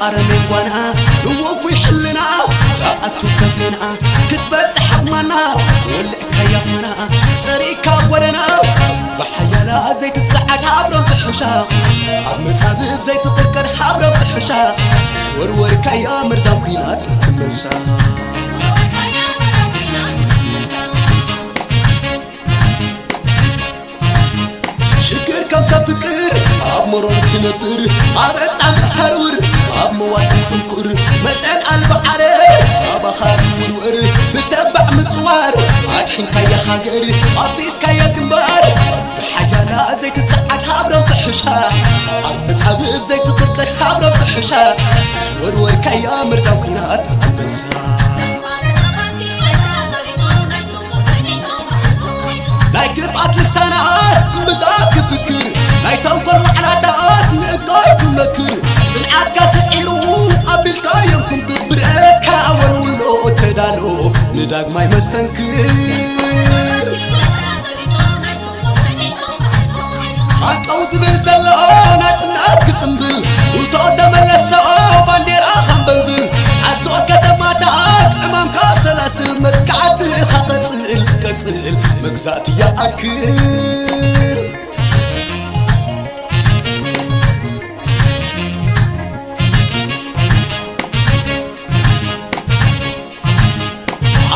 ኣረሜን ጓና ንወፉይ ሕልና ተኣቱ ፈተና ክትበጽሕ ኣቕማና ወልዕካያ ኾና ጸሪካ ወረና ብሓያላ ዘይትሰዓድ ሃብሮም ትሕሻ ኣብ መጻብብ ዘይትፍቅር ሃብሮም ትሕሻ ዝወርወርካያ መርዛም ኲናት ክትመልሳ ሽግር ከም ተፍቅር ኣብ መሮር ትነብር ኣብ ዕጻ ምሃርውር ኣብ መዋጥን ጽንኩር መጠን ኣልባ ዓረር ኣባኻ ትውርወር ብተባዕ ምጽዋር ኣድሕንካያ ሃገር ኣፍሪስካያ ግንባር ብሓያላ ዘይትጸዓድ ሃብሮም ትሕሻ ኣብ መጻብብ ዘይትፍቅር ሃብሮም ትሕሻ ዝወርወርካያ መርዛም ኲናት ክትመልሳ ናይ ክፍኣት ልሳናት ብዛት ክፍክር ናይ ተንኮል ዋዕላታት ንእካብ ክመክር ጽንዓትካ ስዒሩ ኣቢልካዮም ክምክር ብረትካ ኣወልውሎ ተዳሎ ንዳግማይ መስተንክር ሃቀው ዝብል ዘሎ ናጽነት ክጽምብል ውቶ ተመለሰኦ ባንዴራ ኸንበልብል ሓሶት ከተማታት ዕማምካ ሰላስል መጥቃዕትኻ ቀጽል ቀጽል መግዛእቲ ይኣክል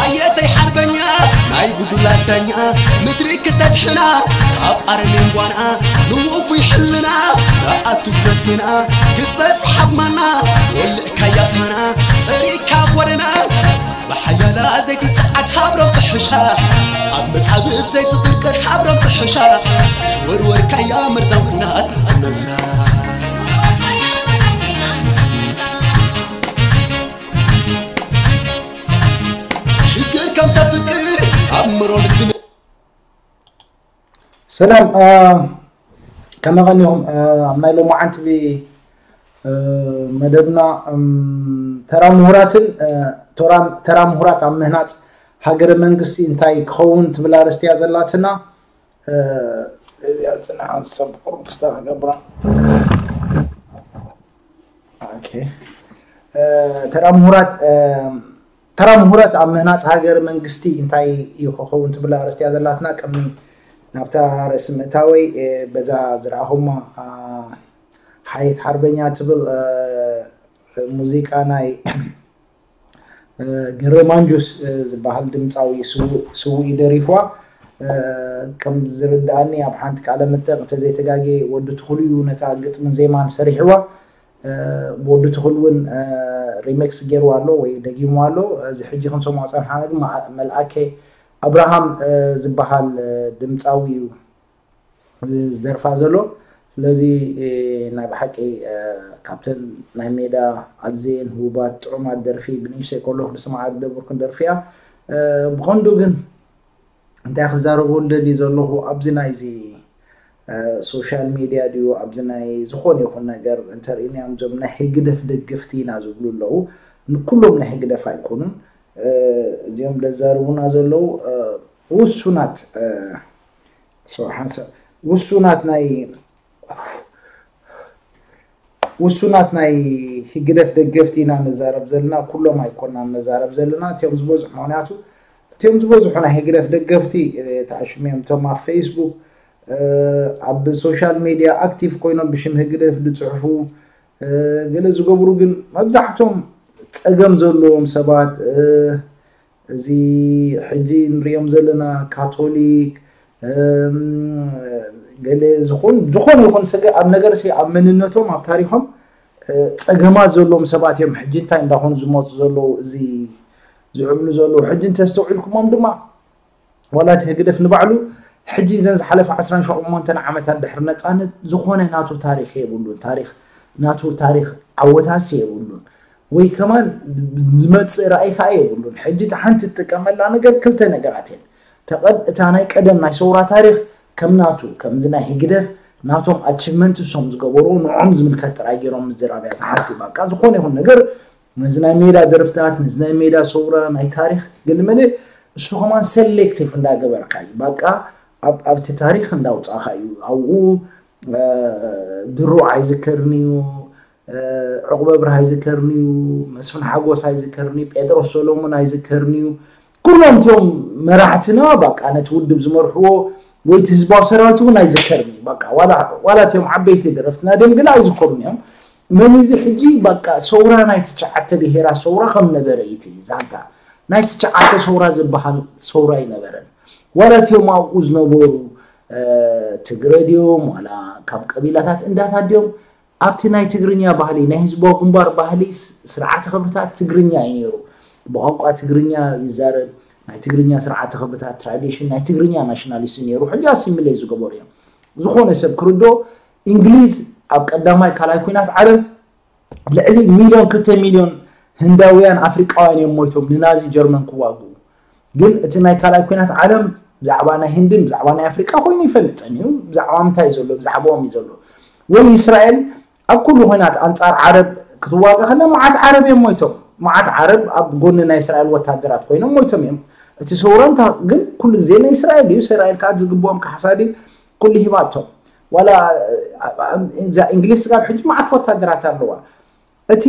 ኣየተይ ሓርበኛ ናይ ጉዱላት ዳኛ ምድሪ ክተድሕና ካብ ኣረሜን ጓና ንውፉይ ሕልና ንኣቱ ፈትና ክትበጽሕ ኣብ ማና ወልዕካያ ፋና ጸሪካ ጎደና ብሓያላ ዘይትጸዓድ ሃብሮም ትሕሻ ኣብ መጻብብ ዘይትፍቅር ሃብሮም ትሕሻ ዝወርወርካያ መርዛም ኲናት ክትመልሳ ሽግር ከም ተፍቅር ኣብ ምሮር ትነ ሰላም ከመይ ቀኒኹም? ኣብ ናይ ሎማዓንቲ መደብና ተራ ምሁራትን ተራ ምሁራት ኣብ ምህናፅ ሃገረ መንግስቲ እንታይ ክኸውን ትብል ኣርእስቲ እያ ዘላትና። እዚኣ ፅንሓት ሰብ ቁሩብ ክስታ ክገብራ። ኦኬ። ተራ ምሁራት ተራ ምሁራት ኣብ ምህናፅ ሃገር መንግስቲ እንታይ እዩ ክኸውን ትብል ኣርእስቲ እያ ዘላትና። ቅድሚ ናብታ ርእሲ ምእታወይ በዛ ዝረኣኹማ ሓየት ሓርበኛ ትብል ሙዚቃ ናይ ገረ ማንጁስ ዝበሃል ድምፃዊ ስውእ እዩ ደሪፍዋ። ከም ዝርድኣኒ ኣብ ሓንቲ ቃለ መጠይቕ እንተዘይተጋጌ ወዲ ትኽሉ እዩ ነታ ግጥምን ዜማን ሰሪሕዋ። ብወዲ ትኽል እውን ሪሜክስ ገይርዋ ኣሎ ወይ ደጊምዋ ኣሎ። እዚ ሕጂ ክንሰምዖ ፀንሓና ግን መልኣከ ኣብርሃም ዝበሃል ድምፃዊ እዩ ዝደርፋ ዘሎ። ስለዚ ናይ ብሓቂ ካብተን ናይ ሜዳ ኣዝየን ህቡባት ጥዑማት ደርፊ ብንእሽተይ ከለኹ ዝሰምዓ ዝነበርኩን ደርፊ እያ። ብቐንዱ ግን እንታይ ክዛረበሉ ደልዩ ዘለኹ ኣብዚ ናይዚ ሶሻል ሚድያ ድዩ ኣብዚ ናይ ዝኾነ ይኹን ነገር እንተርኢናዮም እዞም ናይ ህግደፍ ደገፍቲ ኢና ዝብሉ ኣለዉ። ንኩሎም ናይ ህግደፍ ኣይኮኑን እዚኦም ደዛርቡና ዘለዉ ውሱናት ሓንሳብ ውሱናት ናይ ውሱናት ናይ ህግደፍ ደገፍቲ ኢና ነዛረብ ዘለና፣ ኩሎም ኣይኮናን ነዛረብ ዘለና። እቲኦም ዝበዝሑ ምክንያቱ እቲኦም ዝበዝሑ ናይ ህግደፍ ደገፍቲ ተዓሽሙ እዮም። እቶም ኣብ ፌስቡክ ኣብ ሶሻል ሜድያ ኣክቲቭ ኮይኖም ብሽም ህግደፍ ዝፅሕፉ ገለ ዝገብሩ ግን መብዛሕቶም ፀገም ዘለዎም ሰባት እዚ ሕጂ ንሪኦም ዘለና ካቶሊክ ገለ ዝኾን ዝኾነ ይኹን ስገ ኣብ ነገር ሲ ኣብ መንነቶም ኣብ ታሪኾም ፀገማት ዘለዎም ሰባት እዮም። ሕጂ እንታይ እንዳኾኑ ዝመፁ ዘለዉ እዚ ዝዕብሉ ዘለዉ ሕጂ እንተስተውዒልኩሞም ድማ ዋላ እቲ ህግደፍ ንባዕሉ ሕጂ ዘን ዝሓለፈ ዓስራን ሸሞንተን ዓመታት ድሕሪ ነፃነት ዝኾነ ናቱ ታሪኽ የብሉን። ታሪኽ ናቱ ታሪኽ ዓወታሲ የብሉን። ወይ ከማን ዝመፅእ ራእይ ከዓ የብሉን። ሕጂ እቲ ሓንቲ ትጥቀመላ ነገር ክልተ ነገራት እየን። ተቐድ እታ ናይ ቀደም ናይ ሰውራ ታሪኽ ከም ናቱ ከምዚ ናይ ህግደፍ ናቶም ኣቺቭመንት እሶም ዝገበሩ ንዖም ዝምልከት ጥራይ ገይሮም ምዝራብ እያ። እታ ሓንቲ ባቃ ዝኾነ ይኹን ነገር ነዚ ናይ ሜዳ ደርፍታት ነዚ ናይ ሜዳ ሰውራ ናይ ታሪኽ ገለመለ እሱ ከማን ሰሌክቲቭ እንዳገበርካ እዩ። ባቃ ኣብቲ ታሪኽ እንዳውፃእካ እዩ። ኣብኡ ድሮ ኣይዝከርን እዩ ዑቕበ ብርሃ ኣይዝከርንዩ፣ መስፍን ሓጎስ ኣይዝከርንዩ፣ ጴጥሮስ ሰሎሞን ኣይዝከርንዩ። ኩሎም እቲኦም መራሕትና በቃ ነቲ ውድብ ዝመርሕዎ ወይ እቲ ህዝባዊ ሰራዊት እውን ኣይዝከርንዩ። በቃ ዋላ እቲኦም ዓበይቲ ደረፍትና ድዮም ግላ ኣይዝከሩን እዮም። መን እዚ ሕጂ በቃ ሰውራ ናይ ትሽዓተ ብሄራ ሰውራ ከም ነበረ እዩ እቲ ዛንታ። ናይ ትሽዓተ ሰውራ ዝበሃል ሰውራ ኣይነበረን። ዋላ እቲኦም ኣብኡ ዝነበሩ ትግረ ድዮም ዋላ ካብ ቀቢላታት እንዳታት ድዮም ኣብቲ ናይ ትግርኛ ባህሊ ናይ ህዝባዊ ግንባር ባህሊ ስርዓተ ክብርታት ትግርኛ እዩ ነይሩ። ብቋንቋ ትግርኛ ይዛረብ። ናይ ትግርኛ ስርዓተ ክብርታት ትራዲሽን ናይ ትግርኛ ናሽናሊስት ነይሩ። ሕጂ ኣሲሚሌት ዝገበሩ እዮም። ዝኾነ ሰብ ክርዶ እንግሊዝ ኣብ ቀዳማይ ካልኣይ ኩናት ዓለም ልዕሊ ሚልዮን ክልተ ሚልዮን ህንዳውያን ኣፍሪቃውያን እዮም ሞይቶም ንናዚ ጀርመን ክዋግኡ። ግን እቲ ናይ ካልኣይ ኩናት ዓለም ብዛዕባ ናይ ህንድን ብዛዕባ ናይ ኣፍሪቃ ኮይኑ ይፈልጠን እዩ። ብዛዕባ ምንታይ ዘሎ ብዛዕባኦም እዩ ዘሎ። ወይ እስራኤል ኣብ ኩሉ ኩናት ኣንጻር ዓረብ ክትዋጋ ከላ መዓት ዓረብ እዮም ሞይቶም። መዓት ዓረብ ኣብ ጎኒ ናይ እስራኤል ወታደራት ኮይኖም ሞይቶም እዮም። እቲ ሰውራ እንታ ግን ኩሉ ግዜ ናይ እስራኤል እዩ። እስራኤል ከዓ ዝግብኦም ካሕሳ ድዩ ኩሉ ሂባቶም። ዋላ እዛ እንግሊዝ ስጋብ ሕጂ መዓት ወታደራት ኣለዋ። እቲ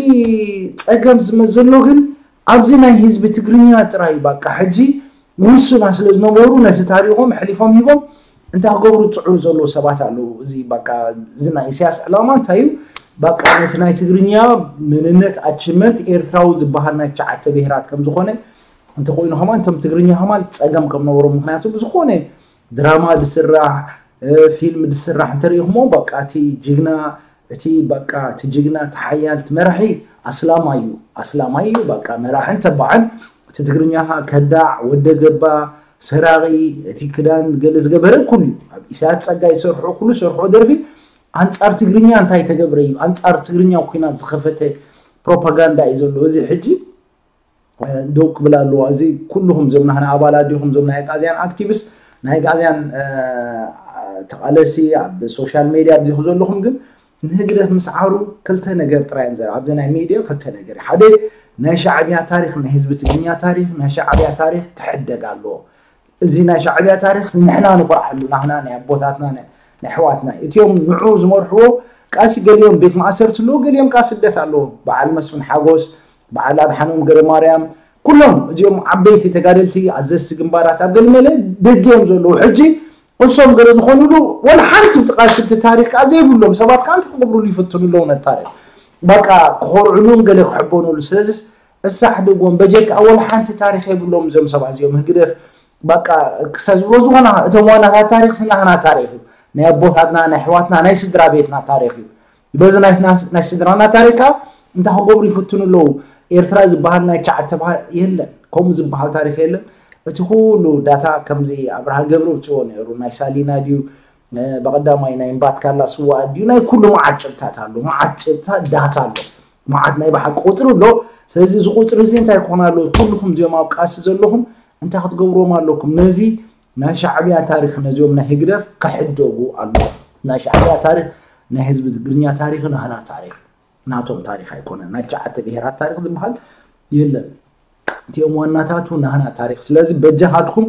ጸገም ዝመዘሎ ግን ኣብዚ ናይ ህዝቢ ትግርኛ ጥራይ በቃ ሕጂ ውሱና ስለ ዝነበሩ ነቲ ታሪኾም ሕሊፎም ሂቦም እንታይ ክገብሩ ዝጽዕሩ ዘለዉ ሰባት ኣለዉ። እዚ በቃ እዚ ናይ ኢሳያስ ዕላማ እንታይ እዩ? በቃ ነቲ ናይ ትግርኛ መንነት ኣችመንት ኤርትራዊ ዝበሃል ናይ ትሽዓተ ብሄራት ከም ዝኾነ እንተኮይኑ ከማን እቶም ትግርኛ ከማን ጸገም ከም ነበሮም ምክንያቱ ብዝኾነ ድራማ ዝስራሕ ፊልም ዝስራሕ እንተሪኢኹሞ በቃ እቲ ጅግና እቲ በቃ እቲ ጅግና እቲ ሓያል እቲ መራሒ ኣስላማይ እዩ ኣስላማይ እዩ በቃ መራሕን ተባዕን እቲ ትግርኛ ከዳዕ ወደ ገባ ሰራቂ እቲ ክዳን ገለ ዝገበረ ኩሉ እዩ ኣብ ኢሳያስ ጸጋ ይሰርሑ ኩሉ ሰርሑ ደርፊ ኣንጻር ትግርኛ እንታይ ተገብረ እዩ ኣንጻር ትግርኛ ኩናት ዝኸፈተ ፕሮፓጋንዳ እዩ ዘሎ እዚ ሕጂ ደው ክብል ኣለዎ እዚ ኩልኹም ዞም ናህና ኣባላት ዲኹም ዞም ናይ ኣግኣዝያን ኣክቲቪስት ናይ ኣግኣዝያን ተቓለሲ ኣብ ሶሻል ሜድያ ኣብዚኹ ዘለኹም ግን ንህግደፍ ምስዓሩ ክልተ ነገር ጥራይ ንዘር ኣብዚ ናይ ሜድያ ክልተ ነገር ሓደ ናይ ሻዕብያ ታሪክ ናይ ህዝቢ ትግርኛ ታሪክ ናይ ሻዕብያ ታሪክ ክሕደግ ኣለዎ እዚ ናይ ሻዕብያ ታሪክ ንሕና ንኮርዓሉ ናህና ናይ ኣቦታትና ናይ ኣሕዋትና እቲኦም ንዑ ዝመርሕዎ ቃሲ ገሊኦም ቤት ማእሰርቲ ኣለዎ ገሊኦም ቃ ስደት ኣለዎ በዓል መስፍን ሓጎስ በዓል ኣድሓኖም ገረማርያም ኩሎም እዚኦም ዓበይቲ ተጋደልቲ ኣዘዝቲ ግንባራት ኣብ ገልመለ ደገ እዮም ዘለዉ ሕጂ እሶም ገለ ዝኾኑሉ ወላ ሓንቲ ብጥቃ ስብቲ ታሪክ ከዓ ዘይብሎም ሰባት ከዓ እንታይ ክገብሩሉ ይፍትኑ ኣለዉ ነታሪክ በቃ ክኾርዕሉን ገለ ክሕበኑሉ ስለዚ እሳሕ ድጎም በጀካ ወላ ሓንቲ ታሪክ የብሎም እዞም ሰባት እዚኦም ህግደፍ በቃ ክሳብ ዝብሎ ዝኾና እቶም ዋናታት ታሪክ ስናህና ታሪክ እዩ ናይ ኣቦታትና ናይ ኣሕዋትና ናይ ስድራ ቤትና ታሪክ እዩ በዚ ናይ ስድራና ታሪክ ከዓ እንታይ ክገብሩ ይፍትኑ ኣለዉ ኤርትራ ዝበሃል ናይ ቻ ተባሃል የለን ከምኡ ዝበሃል ታሪክ የለን እቲ ኩሉ ዳታ ከምዚ ኣብርሃ ገብረ ውፅዎ ነይሩ ናይ ሳሊና ድዩ ብቐዳማይ ናይ እምባትካላ ስዋኣት ድዩ ናይ ኩሉ መዓት ጭብታት ኣሎ መዓት ጭብታ ዳታ ኣሎ መዓት ናይ ብሓቂ ቁፅሪ ኣሎ ስለዚ እዚ ቁፅሪ እዚ እንታይ ክኾን ኣለዎ ኩልኹም እዚኦም ኣብ ቃሲ ዘለኹም እንታይ ክትገብርዎም ኣለኩም ነዚ ናይ ሻዕብያ ታሪክ ነዚኦም ናይ ህግደፍ ክሕደጉ ኣለዎ ናይ ሻዕብያ ታሪክ ናይ ህዝቢ ትግርኛ ታሪክ ናህና ታሪክ ናቶም ታሪክ ኣይኮነን ናይ ትሽዓተ ብሄራት ታሪክ ዝበሃል የለን እቲኦም ዋናታቱ ናህና ታሪክ ስለዚ በጃኻትኩም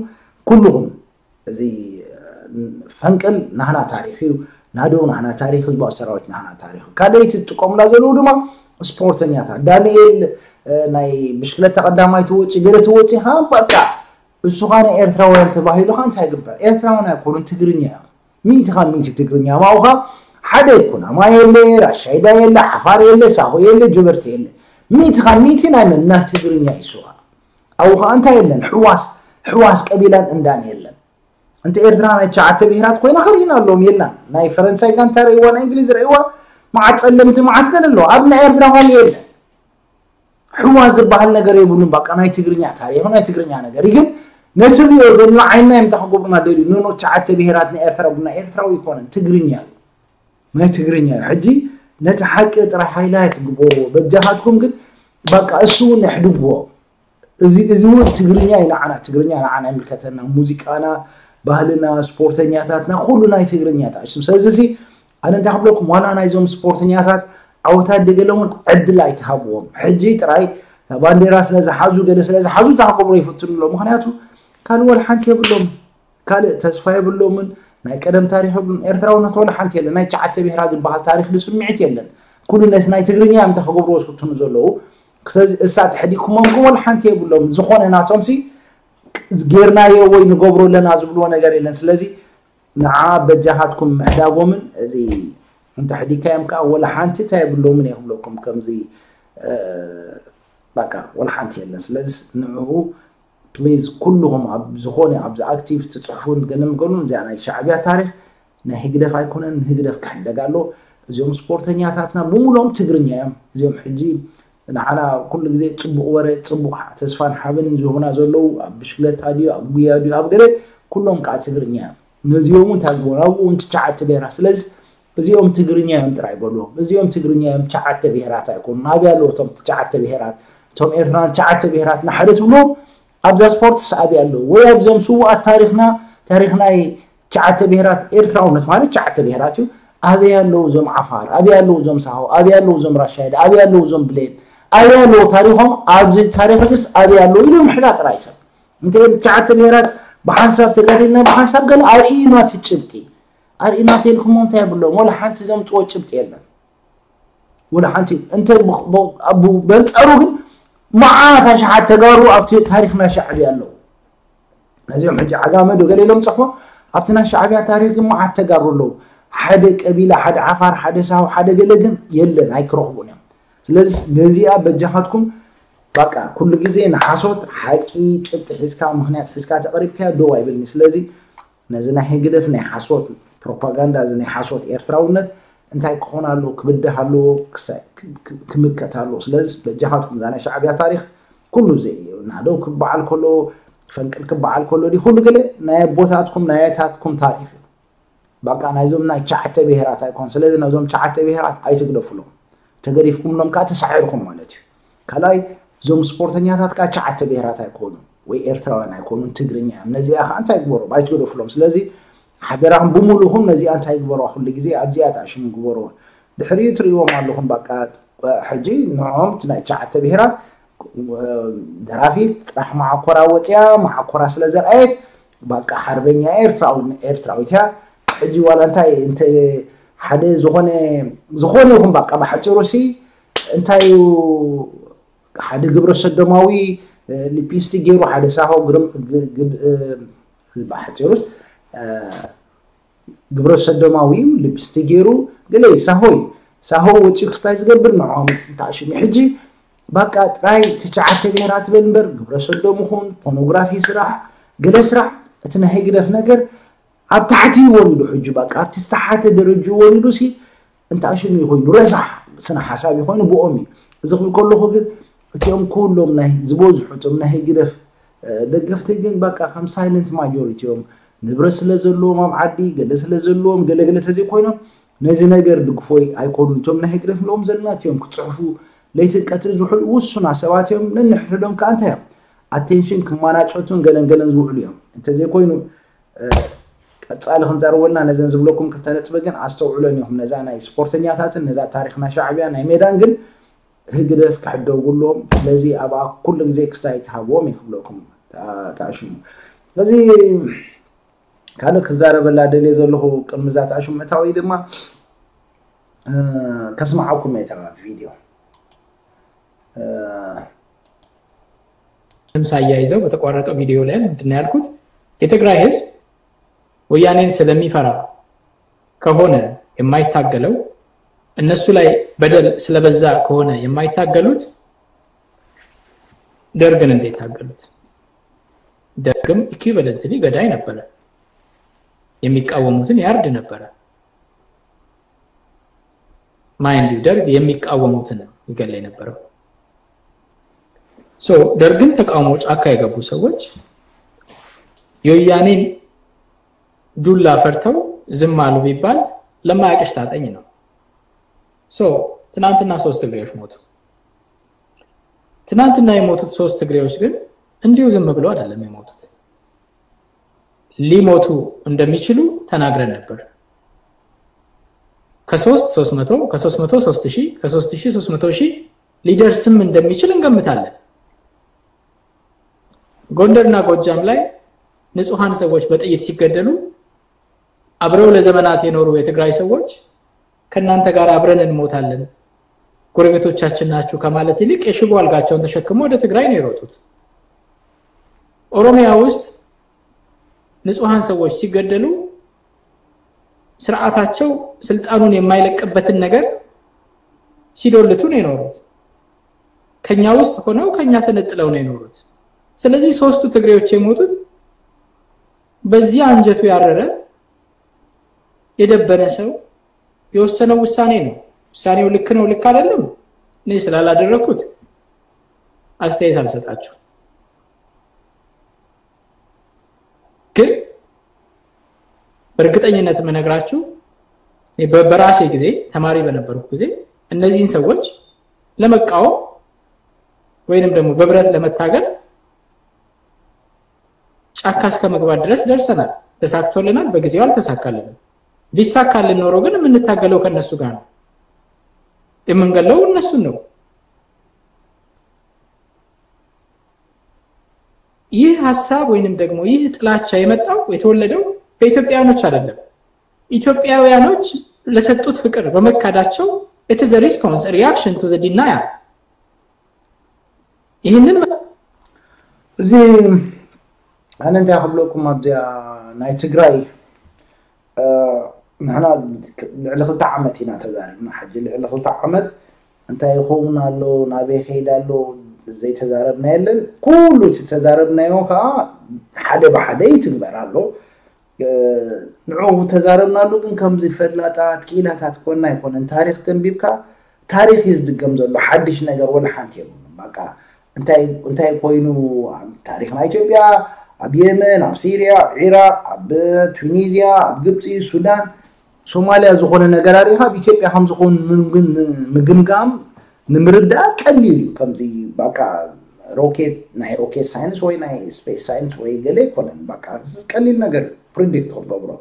ኩልኹም እዚ ፈንቅል ናህና ታሪክ እዩ ናደው ናህና ታሪክ ህዝባዊ ሰራዊት ናህና ታሪክ እዩ ካልኣይቲ ዝጥቀሙላ ዘለዉ ድማ ስፖርተኛታት ዳንኤል ናይ ብሽክለታ ቀዳማይ ትወፂ ገለ ትወፂ ካ በቃ እሱ ካ ናይ ኤርትራውያን ተባሂሉ ካ እንታይ ግበር ኤርትራውያን ኣይኮኑን ትግርኛ እዮም ሚእቲ ካብ ሚእቲ ትግርኛ ማውኻ ሓደ ይኩን ኣማይ የለ ራሻይዳ የለ ዓፋር የለ ሳሆ የለ ጀበርቲ የለ ሚእቲ ካብ ሚእቲ ናይ መን ናይ ትግርኛ ይሱኻ ኣብኡ ከዓ እንታይ የለን ሕዋስ ሕዋስ ቀቢላን እንዳን የለን እንተ ኤርትራ ናይ ትሽዓተ ብሄራት ኮይና ከሪእና ኣለዎም የላን ናይ ፈረንሳይ ጋንታ ረእዋ ናይ እንግሊዝ ረእዋ መዓት ፀለምቲ መዓት ገለ ኣለዎ ኣብ ናይ ኤርትራ ኳን የለን ሕዋ ዝበሃል ነገር የብሉን በቃ ናይ ትግርኛ ታሪክ ናይ ትግርኛ ነገር ግን ነቲ ሪኦ ዘሎ ዓይና እዮም ተክገብሩና ደልዩ ንኖ ትሽዓተ ብሄራት ናይ ኤርትራ ቡና ኤርትራዊ ይኮነን ትግርኛ እዩ ናይ ትግርኛ እዩ ሕጂ ነቲ ሓቂ ጥራይ ሃይላይት ግበርዎ በጃኻትኩም ግን በቃ እሱ እውን ኣሕድግዎ እዚ እዚ እውን ትግርኛ እዩ ንዓና ትግርኛ ንዓና ይምልከተና ሙዚቃና ባህልና ስፖርተኛታትና ኩሉ ናይ ትግርኛ ተኣሽም ስለዚ ሲ ኣነ እንታይ ክብለኩም ዋላ ናይዞም ስፖርተኛታት ዓወታት ደገለ እውን ዕድል ኣይትሃብዎም ሕጂ ጥራይ ባንዴራ ስለዝሓዙ ገለ ስለዝሓዙ እንታይ ክገብሩ ይፍትኑ ኣሎ ምክንያቱ ካልእ ወላ ሓንቲ የብሎም ካልእ ተስፋ የብሎምን ናይ ቀደም ታሪክ የብሎም ኤርትራውነት ወላ ሓንቲ የለን ናይ ትሽዓተ ብሄራ ዝበሃል ታሪክ ስምዒት የለን ኩሉ ነቲ ናይ ትግርኛ እዮም እንተ ክገብርዎ ዝፍትኑ ዘለዉ። ስለዚ እሳ ተሕዲግኩሞም ግን ወላ ሓንቲ የብሎም። ዝኾነ ናቶም ሲ ጌርናዮ ወይ ንገብሮ ኣለና ዝብልዎ ነገር የለን። ስለዚ ንዓ በጃኻትኩም ምሕዳጎምን እዚ እንተ ሕዲግካዮም ከዓ ወላ ሓንቲ እንታይ የብሎምን እየ ክብለኩም። ከምዚ በቃ ወላ ሓንቲ የለን። ስለዚ ንዕኡ ፕሊዝ ኩልኹም ኣብ ዝኾነ ኣብዚ ኣክቲቭ ትፅሕፉን ገለ ምገሉን እዚኣ ናይ ሻዕብያ ታሪኽ ናይ ህግደፍ ኣይኮነን፣ ንህግደፍ ክሕደግ ኣሎ። እዚኦም ስፖርተኛታትና ብምሎም ትግርኛ እዮም። እዚኦም ሕጂ ንዓና ኩሉ ግዜ ፅቡቕ ወረ፣ ፅቡቕ ተስፋን ሓበንን ዝህቡና ዘለዉ ኣብ ብሽክለታ ድዩ፣ ኣብ ጉያ ድዩ፣ ኣብ ገለ ኩሎም ከዓ ትግርኛ እዮም። ነዚኦም እውን እንታይ ግበሩ ኣብኡ እውን ትሽዓተ ብሄራት። ስለዚ እዚኦም ትግርኛ እዮም ጥራይ በልዎም። እዚኦም ትግርኛ እዮም፣ ትሽዓተ ብሄራት ኣይኮኑን። ኣበይ ኣለዉ እቶም ትሽዓተ ብሄራት? እቶም ኤርትራን ትሽዓተ ብሄራት ንሓደ ትብልዎም ኣብዛ ስፖርትስ ኣበይ ኣለዉ? ወይ ኣብዞም ስዉኣት ታሪኽና ታሪኽ ናይ ትሽዓተ ብሄራት ኤርትራውነት ማለት ትሽዓተ ብሄራት እዩ። ኣበይ ኣለዉ እዞም ዓፋር? ኣበይ ኣለዉ እዞም ሳሆ? ኣበይ ኣለዉ እዞም ራሻይዳ? ኣበይ ኣለዉ እዞም ብሌን? ኣበይ ኣለዉ ታሪኾም? ኣብዚ ታሪኽ እዚስ ኣበይ ኣለዉ ኢሉ ምሕዳጥ ጥራይ ሰብ። እንተ ትሽዓተ ብሄራት ብሓንሳብ ተጋዲልና ብሓንሳብ ገለ ኣርእዩና እቲ ጭብጢ ኣርእዩና ተልኩሞ እንታይ የብሎም ወላ ሓንቲ ዘምፅዎ ጭብጢ የለን። ወላ ሓንቲ እንተ በንፃሩ ግን መዓት ኣሽሓት ተጋሩ ኣብቲ ታሪኽና ሻዕብያ ኣለዉ። ነዚኦም ሕጂ ዓጋመ ዶ ገለ ኢሎም ፀሕፎ ኣብቲ ናይ ሻዕብያ ታሪኽ ግን መዓት ተጋሩ ኣለዉ። ሓደ ቀቢላ ሓደ ዓፋር ሓደ ሳሁ ሓደ ገለ ግን የለን ኣይክረኽቡን እዮም። ስለዚ ነዚኣ በጃኻትኩም በቃ ኩሉ ግዜ ንሓሶት ሓቂ ጭብጢ ሒዝካ ምክንያት ሒዝካ ተቐሪብካያ ደው ኣይብልኒ። ስለዚ ነዚ ናይ ህግደፍ ናይ ሓሶት ፕሮፓጋንዳ እዚ ናይ ሓሶት ኤርትራውነት እንታይ ክኾን ኣለዎ ክብድህ ኣለዎ ክምከት ኣለዎ። ስለዚ በጃኻትኩም እዛ ናይ ሻዕብያ ታሪኽ ኩሉ ዘይ ናደው ክበዓል ከሎ ፈንቅል ክበዓል ከሎ ዲ ኩሉ ገለ ናይ ኣቦታትኩም ናይ ኣያታትኩም ታሪኽ እዩ። በቃ ናይዞም ናይ ትሽዓተ ብሄራት ኣይኮን። ስለዚ ነዞም ትሽዓተ ብሄራት ኣይትግደፍሎም። ተገዲፍኩምሎም ከዓ ተሳዒርኩም ማለት እዩ። ካልኣይ እዞም ስፖርተኛታት ከዓ ትሽዓተ ብሄራት ኣይኮኑን ወይ ኤርትራውያን ኣይኮኑን ትግርኛ እዮም። ነዚኣ ከዓ እንታይ ግበሮም ኣይትግደፍሎም። ስለዚ ሓደራኹም ብምሉኹም ነዚኣ እንታይ ግበሮ ኩሉ ግዜ ኣብዚኣ ተኣሽሙ ግበሮ። ድሕሪኡ ትርእይዎም ኣለኹም በቃ ሕጂ ንዕኦም እቲ ናይ ትሽዓተ ብሄራት ደራፊት ጥራሕ መዓኮራ ወፅያ መዓኮራ ስለ ዘርኣየት በቃ ሓርበኛ ኤርትራዊ ኤርትራዊት እያ። ሕጂ ዋላ እንታይ እንተ ሓደ ዝኾነ ዝኾነ ይኹን በቃ ብሓፂሩ ሲ እንታይ እዩ ሓደ ግብረ ሰዶማዊ ሊፕስቲክ ገይሩ ሓደ ሳሆ ብሓፂሩስ ግብረ ሰዶማዊ እዩ ሊፕስቲክ ገይሩ ገለ ሳሆ እዩ። ሳሆ ወፂኡ ክስታይ ዝገብር ንዕኦም እንተኣሽሙ ሕጂ በቃ ጥራይ ትሽዓተ ብሄራት ትበል እምበር ግብረ ሰዶም ይኹን ፖርኖግራፊ ስራሕ ገለ ስራሕ እቲ ናይ ህግደፍ ነገር ኣብ ታሕቲ እዩ ወሪዱ ሕጂ በቃ ኣብቲ ዝተሓተ ደረጅኡ ወሪዱ ሲ እንተኣሽሙ ኮይኑ ረሳሕ ስነ ሓሳብ ኮይኑ ብኦም እዩ። እዚ ክብል ከለኹ ግን እቲኦም ኩሎም ናይ ዝበዝሑ እቶም ናይ ህግደፍ ደገፍቲ ግን በቃ ከም ሳይለንት ማጆሪቲ እዮም። ንብረት ስለ ዘለዎም ኣብ ዓዲ ገለ ስለ ዘለዎም ገለገለ ተዘይኮይኖም ነዚ ነገር ድግፎይ ኣይኮኑን። እቶም ናይ ህግደፍ ንብሎም ዘለና እቲኦም ክፅሕፉ ለይትን ቀትሪ ዝውዕሉ ውሱና ሰባት እዮም። ነንሕድሕዶም ከዓ እንታይ እዮም ኣቴንሽን ክማናጨቱን ገለን ገለን ዝውዕሉ እዮም። እንተዘይኮይኑ ቀፃሊ ክንዛረበልና ነዘን ዝብለኩም ክልተ ነጥቢ ግን ኣስተውዕለን ኢኹም። ነዛ ናይ ስፖርተኛታትን ነዛ ታሪኽና ሻዕብያ ናይ ሜዳን ግን ህግደፍ ክሕደጉሎም ስለዚ ኣብኣ ኩሉ ግዜ ክስታይ ትሃብዎም እዩ ክብለኩም ተኣሽሙ። እዚ ካልእ ክዛረበላ ደልየ ዘለኹ ቅድሚ እዛ ተኣሽሙ ምእታወይ ድማ ከስምዓኩም እየ እታ ቪድዮ። ምስ ኣያይዘው በተቋረጠው ቪዲዮ ላይ ምንድን ነው ያልኩት? የትግራይ ህዝብ ወያኔን ስለሚፈራ ከሆነ የማይታገለው እነሱ ላይ በደል ስለበዛ ከሆነ የማይታገሉት ደርግን እንዴት ታገሉት? ደርግም ኢኩቪለንትሊ ገዳይ ነበረ። የሚቃወሙትን ያርድ ነበረ። ማይንድ ዩ ደርግ የሚቃወሙትን ይገል የነበረው። ሶ ደርግን ተቃውሞ ጫካ የገቡ ሰዎች የወያኔን ዱላ ፈርተው ዝም አሉ ቢባል ለማያውቅሽ ታጠኝ ነው። ሶ ትናንትና ሶስት ትግሬዎች ሞቱ። ትናንትና የሞቱት ሶስት ትግሬዎች ግን እንዲሁ ዝም ብለው አይደለም የሞቱት። ሊሞቱ እንደሚችሉ ተናግረን ነበር። ከሶስት ሶስት መቶ ከሶስት መቶ ሶስት ሺህ ከሶስት ሺህ ሶስት መቶ ሺህ ሊደርስም እንደሚችል እንገምታለን። ጎንደርና ጎጃም ላይ ንጹሃን ሰዎች በጥይት ሲገደሉ አብረው ለዘመናት የኖሩ የትግራይ ሰዎች ከእናንተ ጋር አብረን እንሞታለን፣ ጎረቤቶቻችን ናችሁ ከማለት ይልቅ የሽቦ አልጋቸውን ተሸክመው ወደ ትግራይ ነው የሮጡት። ኦሮሚያ ውስጥ ንጹሐን ሰዎች ሲገደሉ ስርዓታቸው ስልጣኑን የማይለቅበትን ነገር ሲዶልቱ ነው የኖሩት። ከኛ ውስጥ ሆነው ከኛ ተነጥለው ነው የኖሩት። ስለዚህ ሶስቱ ትግሬዎች የሞቱት በዚህ አንጀቱ ያረረ የደበነ ሰው የወሰነው ውሳኔ ነው። ውሳኔው ልክ ነው ልክ አይደለም እኔ ስላላደረኩት አስተያየት አልሰጣችሁ። ግን በእርግጠኝነት የምነግራችሁ በራሴ ጊዜ ተማሪ በነበርኩ ጊዜ እነዚህን ሰዎች ለመቃወም ወይንም ደግሞ በብረት ለመታገል ጫካ እስከ መግባት ድረስ ደርሰናል። ተሳክቶልናል? በጊዜው አልተሳካልንም። ቢሳካልን ኖሮ ግን የምንታገለው ከነሱ ጋር ነው። የምንገለው እነሱን ነው። ይህ ሀሳብ ወይንም ደግሞ ይህ ጥላቻ የመጣው የተወለደው በኢትዮጵያውያኖች አይደለም። ኢትዮጵያውያኖች ለሰጡት ፍቅር በመካዳቸው it is a response reaction to the denial። ይህንን እዚ ኣነ እንታይ ክብለኩም ኣብዚኣ ናይ ትግራይ ንሕና ልዕሊ ክልተ ዓመት ኢና ተዛሪብና። ሕጂ ልዕሊ ክልተ ዓመት እንታይ ይኸውን ኣሎ፣ ናበይ ከይድ ኣሎ ዘይተዛረብና የለን። ኩሉ እቲ ተዛረብናዮ ከዓ ሓደ ብሓደ ይትግበር ኣሎ። ንዑ ተዛረብናሉ ግን ከምዚ ፈላጣት ክኢላታት ኮና ኣይኮነን። ታሪክ ተንቢብካ ታሪክ እዩ ዝድገም ዘሎ። ሓድሽ ነገር ወላ ሓንቲ የብሉን። በቃ እንታይ እንታይ ኮይኑ ኣብ ታሪክና ኢትዮጵያ፣ ኣብ የመን፣ ኣብ ሲርያ፣ ኣብ ዒራቅ፣ ኣብ ቱኒዝያ፣ ኣብ ግብፂ፣ ሱዳን፣ ሶማልያ ዝኾነ ነገር ኣሪኻ ኣብ ኢትዮጵያ ከም ዝኾን ምግምጋም ንምርዳእ ቀሊል እዩ። ከምዚ በቃ ሮኬት ናይ ሮኬት ሳይንስ ወይ ናይ ስፔስ ሳይንስ ወይ ገለ ኣይኮነን። በቃ ቀሊል ነገር ፕሪዲክት ክትገብሮ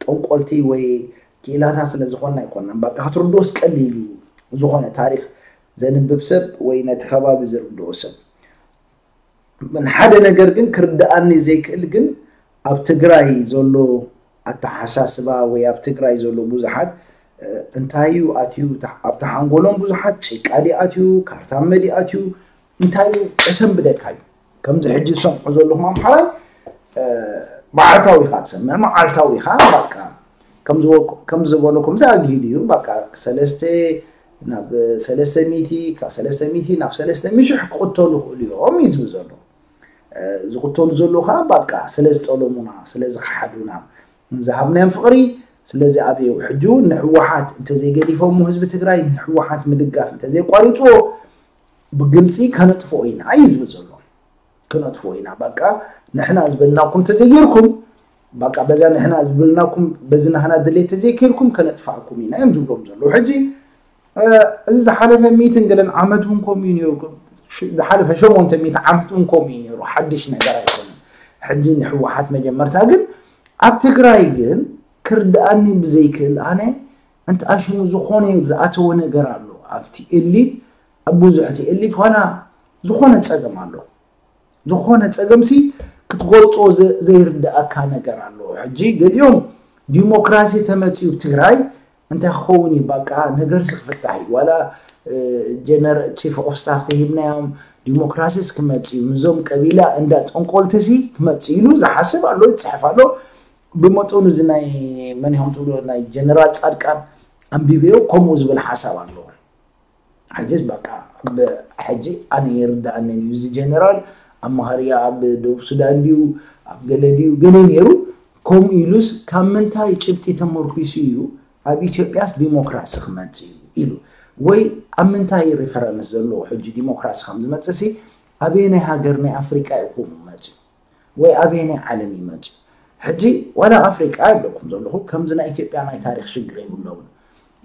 ጠንቆልቲ ወይ ክኢላታት ስለ ዝኾንና ኣይኮናን። በቃ ክትርድኦስ ቀሊል እዩ። ዝኾነ ታሪክ ዘንብብ ሰብ ወይ ነቲ ከባቢ ዝርድኦ ሰብ ሓደ ነገር ግን ክርድኣኒ ዘይክእል ግን ኣብ ትግራይ ዘሎ ኣተሓሳስባ ወይ ኣብ ትግራይ ዘሎ ብዙሓት እንታይ እዩ ኣትዩ ኣብቲ ሓንጎሎም ብዙሓት ጭቃ ዲ ኣትዩ ካርታመ ዲ ኣትዩ እንታይ እዩ ቀሰም ብደካ እዩ ከምዚ ሕጂ ዝሰምዖ ዘለኹም ኣምሓራይ መዓልታዊ ኢኻ ትሰምዕ መዓልታዊ ኢኻ በቃ ከም ዝበልኩ- ከም ዝበለኩም እዚ ኣግሂዱ እዩ በቃ ሰለስተ ናብ ሰለስተ ሚእቲ ካብ ሰለስተ ሚእቲ ናብ ሰለስተ ሚእቲ ሽሕ ክቕተሉ ይኽእሉ እዮም እዩ ዝብል ዘሎ ዝቕተሉ ዘለዉ ከዓ በቃ ስለ ዝጠለሙና ስለ ዝኸሓዱና ዝሃብናዮም ፍቕሪ ስለዚ ኣብዩ ሕጂ እውን ንህወሓት እንተዘይገዲፎሞ ህዝቢ ትግራይ ንህወሓት ምድጋፍ እንተዘይቋሪፅዎ ብግልፂ ከነጥፍኦ ኢና እዩ ዝብል ዘሎ ክነጥፍኦ ኢና በቃ ንሕና ዝበልናኩም እንተዘይጌርኩም በቃ በዛ ንሕና ዝበልናኩም በዚ ናህና ድሌት ተዘይኬድኩም ከነጥፋእኩም ኢና እዮም ዝብሎም ዘለዉ ሕጂ እዚ ዝሓለፈ ሚእትን ገለን ዓመት እውን ከምኡ እዩ ነይሩ ዝሓለፈ ሸሞንተ ሚእቲ ዓመት እውን ከምኡ እዩ ነይሩ ሓድሽ ነገር ኣይኮነን ሕጂ ንሕወሓት መጀመርታ ግን ኣብ ትግራይ ግን ክርድኣኒ ብዘይክእል ኣነ እንተ ኣሽሙ ዝኾነ ዝኣተወ ነገር ኣሎ ኣብቲ ኤሊት ኣብ ብዙሕቲ ኤሊት ዋላ ዝኾነ ፀገም ኣሎ ዝኾነ ፀገምሲ ክትገልፆ ዘይርድኣካ ነገር ኣሎ ሕጂ ገሊኦም ዲሞክራሲ ተመፅዩ ትግራይ እንታይ ክኸውን እዩ በቃ ነገርሲ ክፍታሕ እዩ ዋላ ጀነር ቺፍ ኦፍ ስታፍ ተሂብናዮም ዲሞክራሲስ ክመፅእ እዩ ምዞም ቀቢላ እንዳ ጠንቆልትሲ ክመፅእ ኢሉ ዝሓስብ ኣሎ ይፅሕፍ ኣሎ ብመጠኑ እዚ ናይ መን ኢኹም ትብሎ ናይ ጀነራል ፃድቃን ኣንቢበዮ ከምኡ ዝብል ሓሳብ ኣለዎ ሕጅስ በቃ ሕጂ ኣነ ይርዳኣንን እዩ እዚ ጀነራል ኣብ መሃርያ ኣብ ደቡብ ሱዳን ድዩ ኣብ ገለ ድዩ ገለ ነይሩ ከምኡ ኢሉስ ካብ ምንታይ ጭብጢ ተመርኪሱ እዩ ኣብ ኢትዮጵያስ ዲሞክራሲ ክመፅእ እዩ ኢሉ ወይ ኣብ ምንታይ ሪፈረንስ ዘለዎ ሕጂ ዲሞክራሲ ከም ዝመፅእ ሲ ኣበየናይ ሃገር ናይ ኣፍሪቃ እዩ ከምኡ መፅኡ ወይ ኣበየናይ ዓለም ይመፅኡ ሕጂ ዋላ ኣፍሪቃ ይብለኩም ዘለኹ ከምዚ ናይ ኢትዮጵያ ናይ ታሪክ ሽግር የብሎምን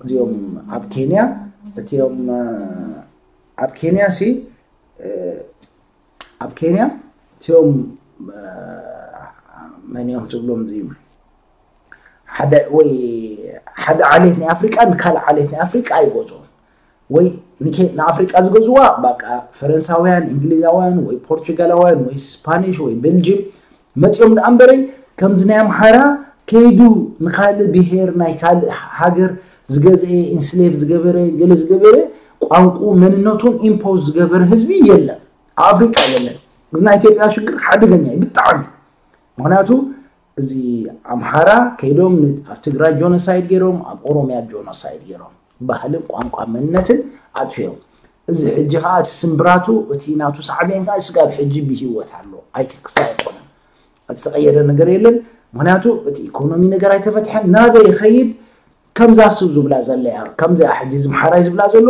እዚኦም ኣብ ኬንያ እቲኦም ኣብ ኬንያ ሲ ኣብ ኬንያ እቲኦም መን እዮም ትብሎም እዚ ሓደ ወይ ሓደ ዓሌት ናይ ኣፍሪቃ ንካልእ ዓሌት ናይ ኣፍሪቃ ኣይገዝኦም ወይ ንኬ- ንኣፍሪቃ ዝገዝዋ በቃ ፈረንሳውያን እንግሊዛውያን ወይ ፖርቹጋላውያን ወይ ስፓኒሽ ወይ ቤልጅም መፂኦም ደኣ እምበረይ ከምዚ ናይ ኣምሓራ ከይዱ ንካልእ ብሄር ናይ ካልእ ሃገር ዝገዝአ ኢንስሌቭ ዝገበረ ገለ ዝገበረ ቋንቋ መንነቱን ኢምፖዝ ዝገበረ ህዝቢ የለን፣ ኣብ ኣፍሪቃ የለን። እዚ ናይ ኢትዮጵያ ሽግር ሓደገኛ እዩ ብጣዕሚ። ምክንያቱ እዚ ኣምሓራ ከይዶም ን-፣ ኣብ ትግራይ ጆኖሳይድ ገይሮም፣ ኣብ ኦሮሚያ ጆኖሳይድ ገይሮም፣ ባህልን ቋንቋ መንነትን ኣጥፊኦም። እዚ ሕጂ ከዓ እቲ ስምብራቱ፣ እቲ ናቱ ሳዕቤን ከዓ ስጋብ ሕጂ ብህይወት ኣሎ፣ ኣይትክስታ ኣይኮነን። ዝተቐየረ ነገር የለን። ምክንያቱ እቲ ኢኮኖሚ ነገር ኣይተፈትሐን። ናበይ ይኸይድ? ከምዛ እሱ ዝብላ ዘለያ፣ ከምዚኣ ሕጂ እዚ ምሓራይ ዝብላ ዘሎ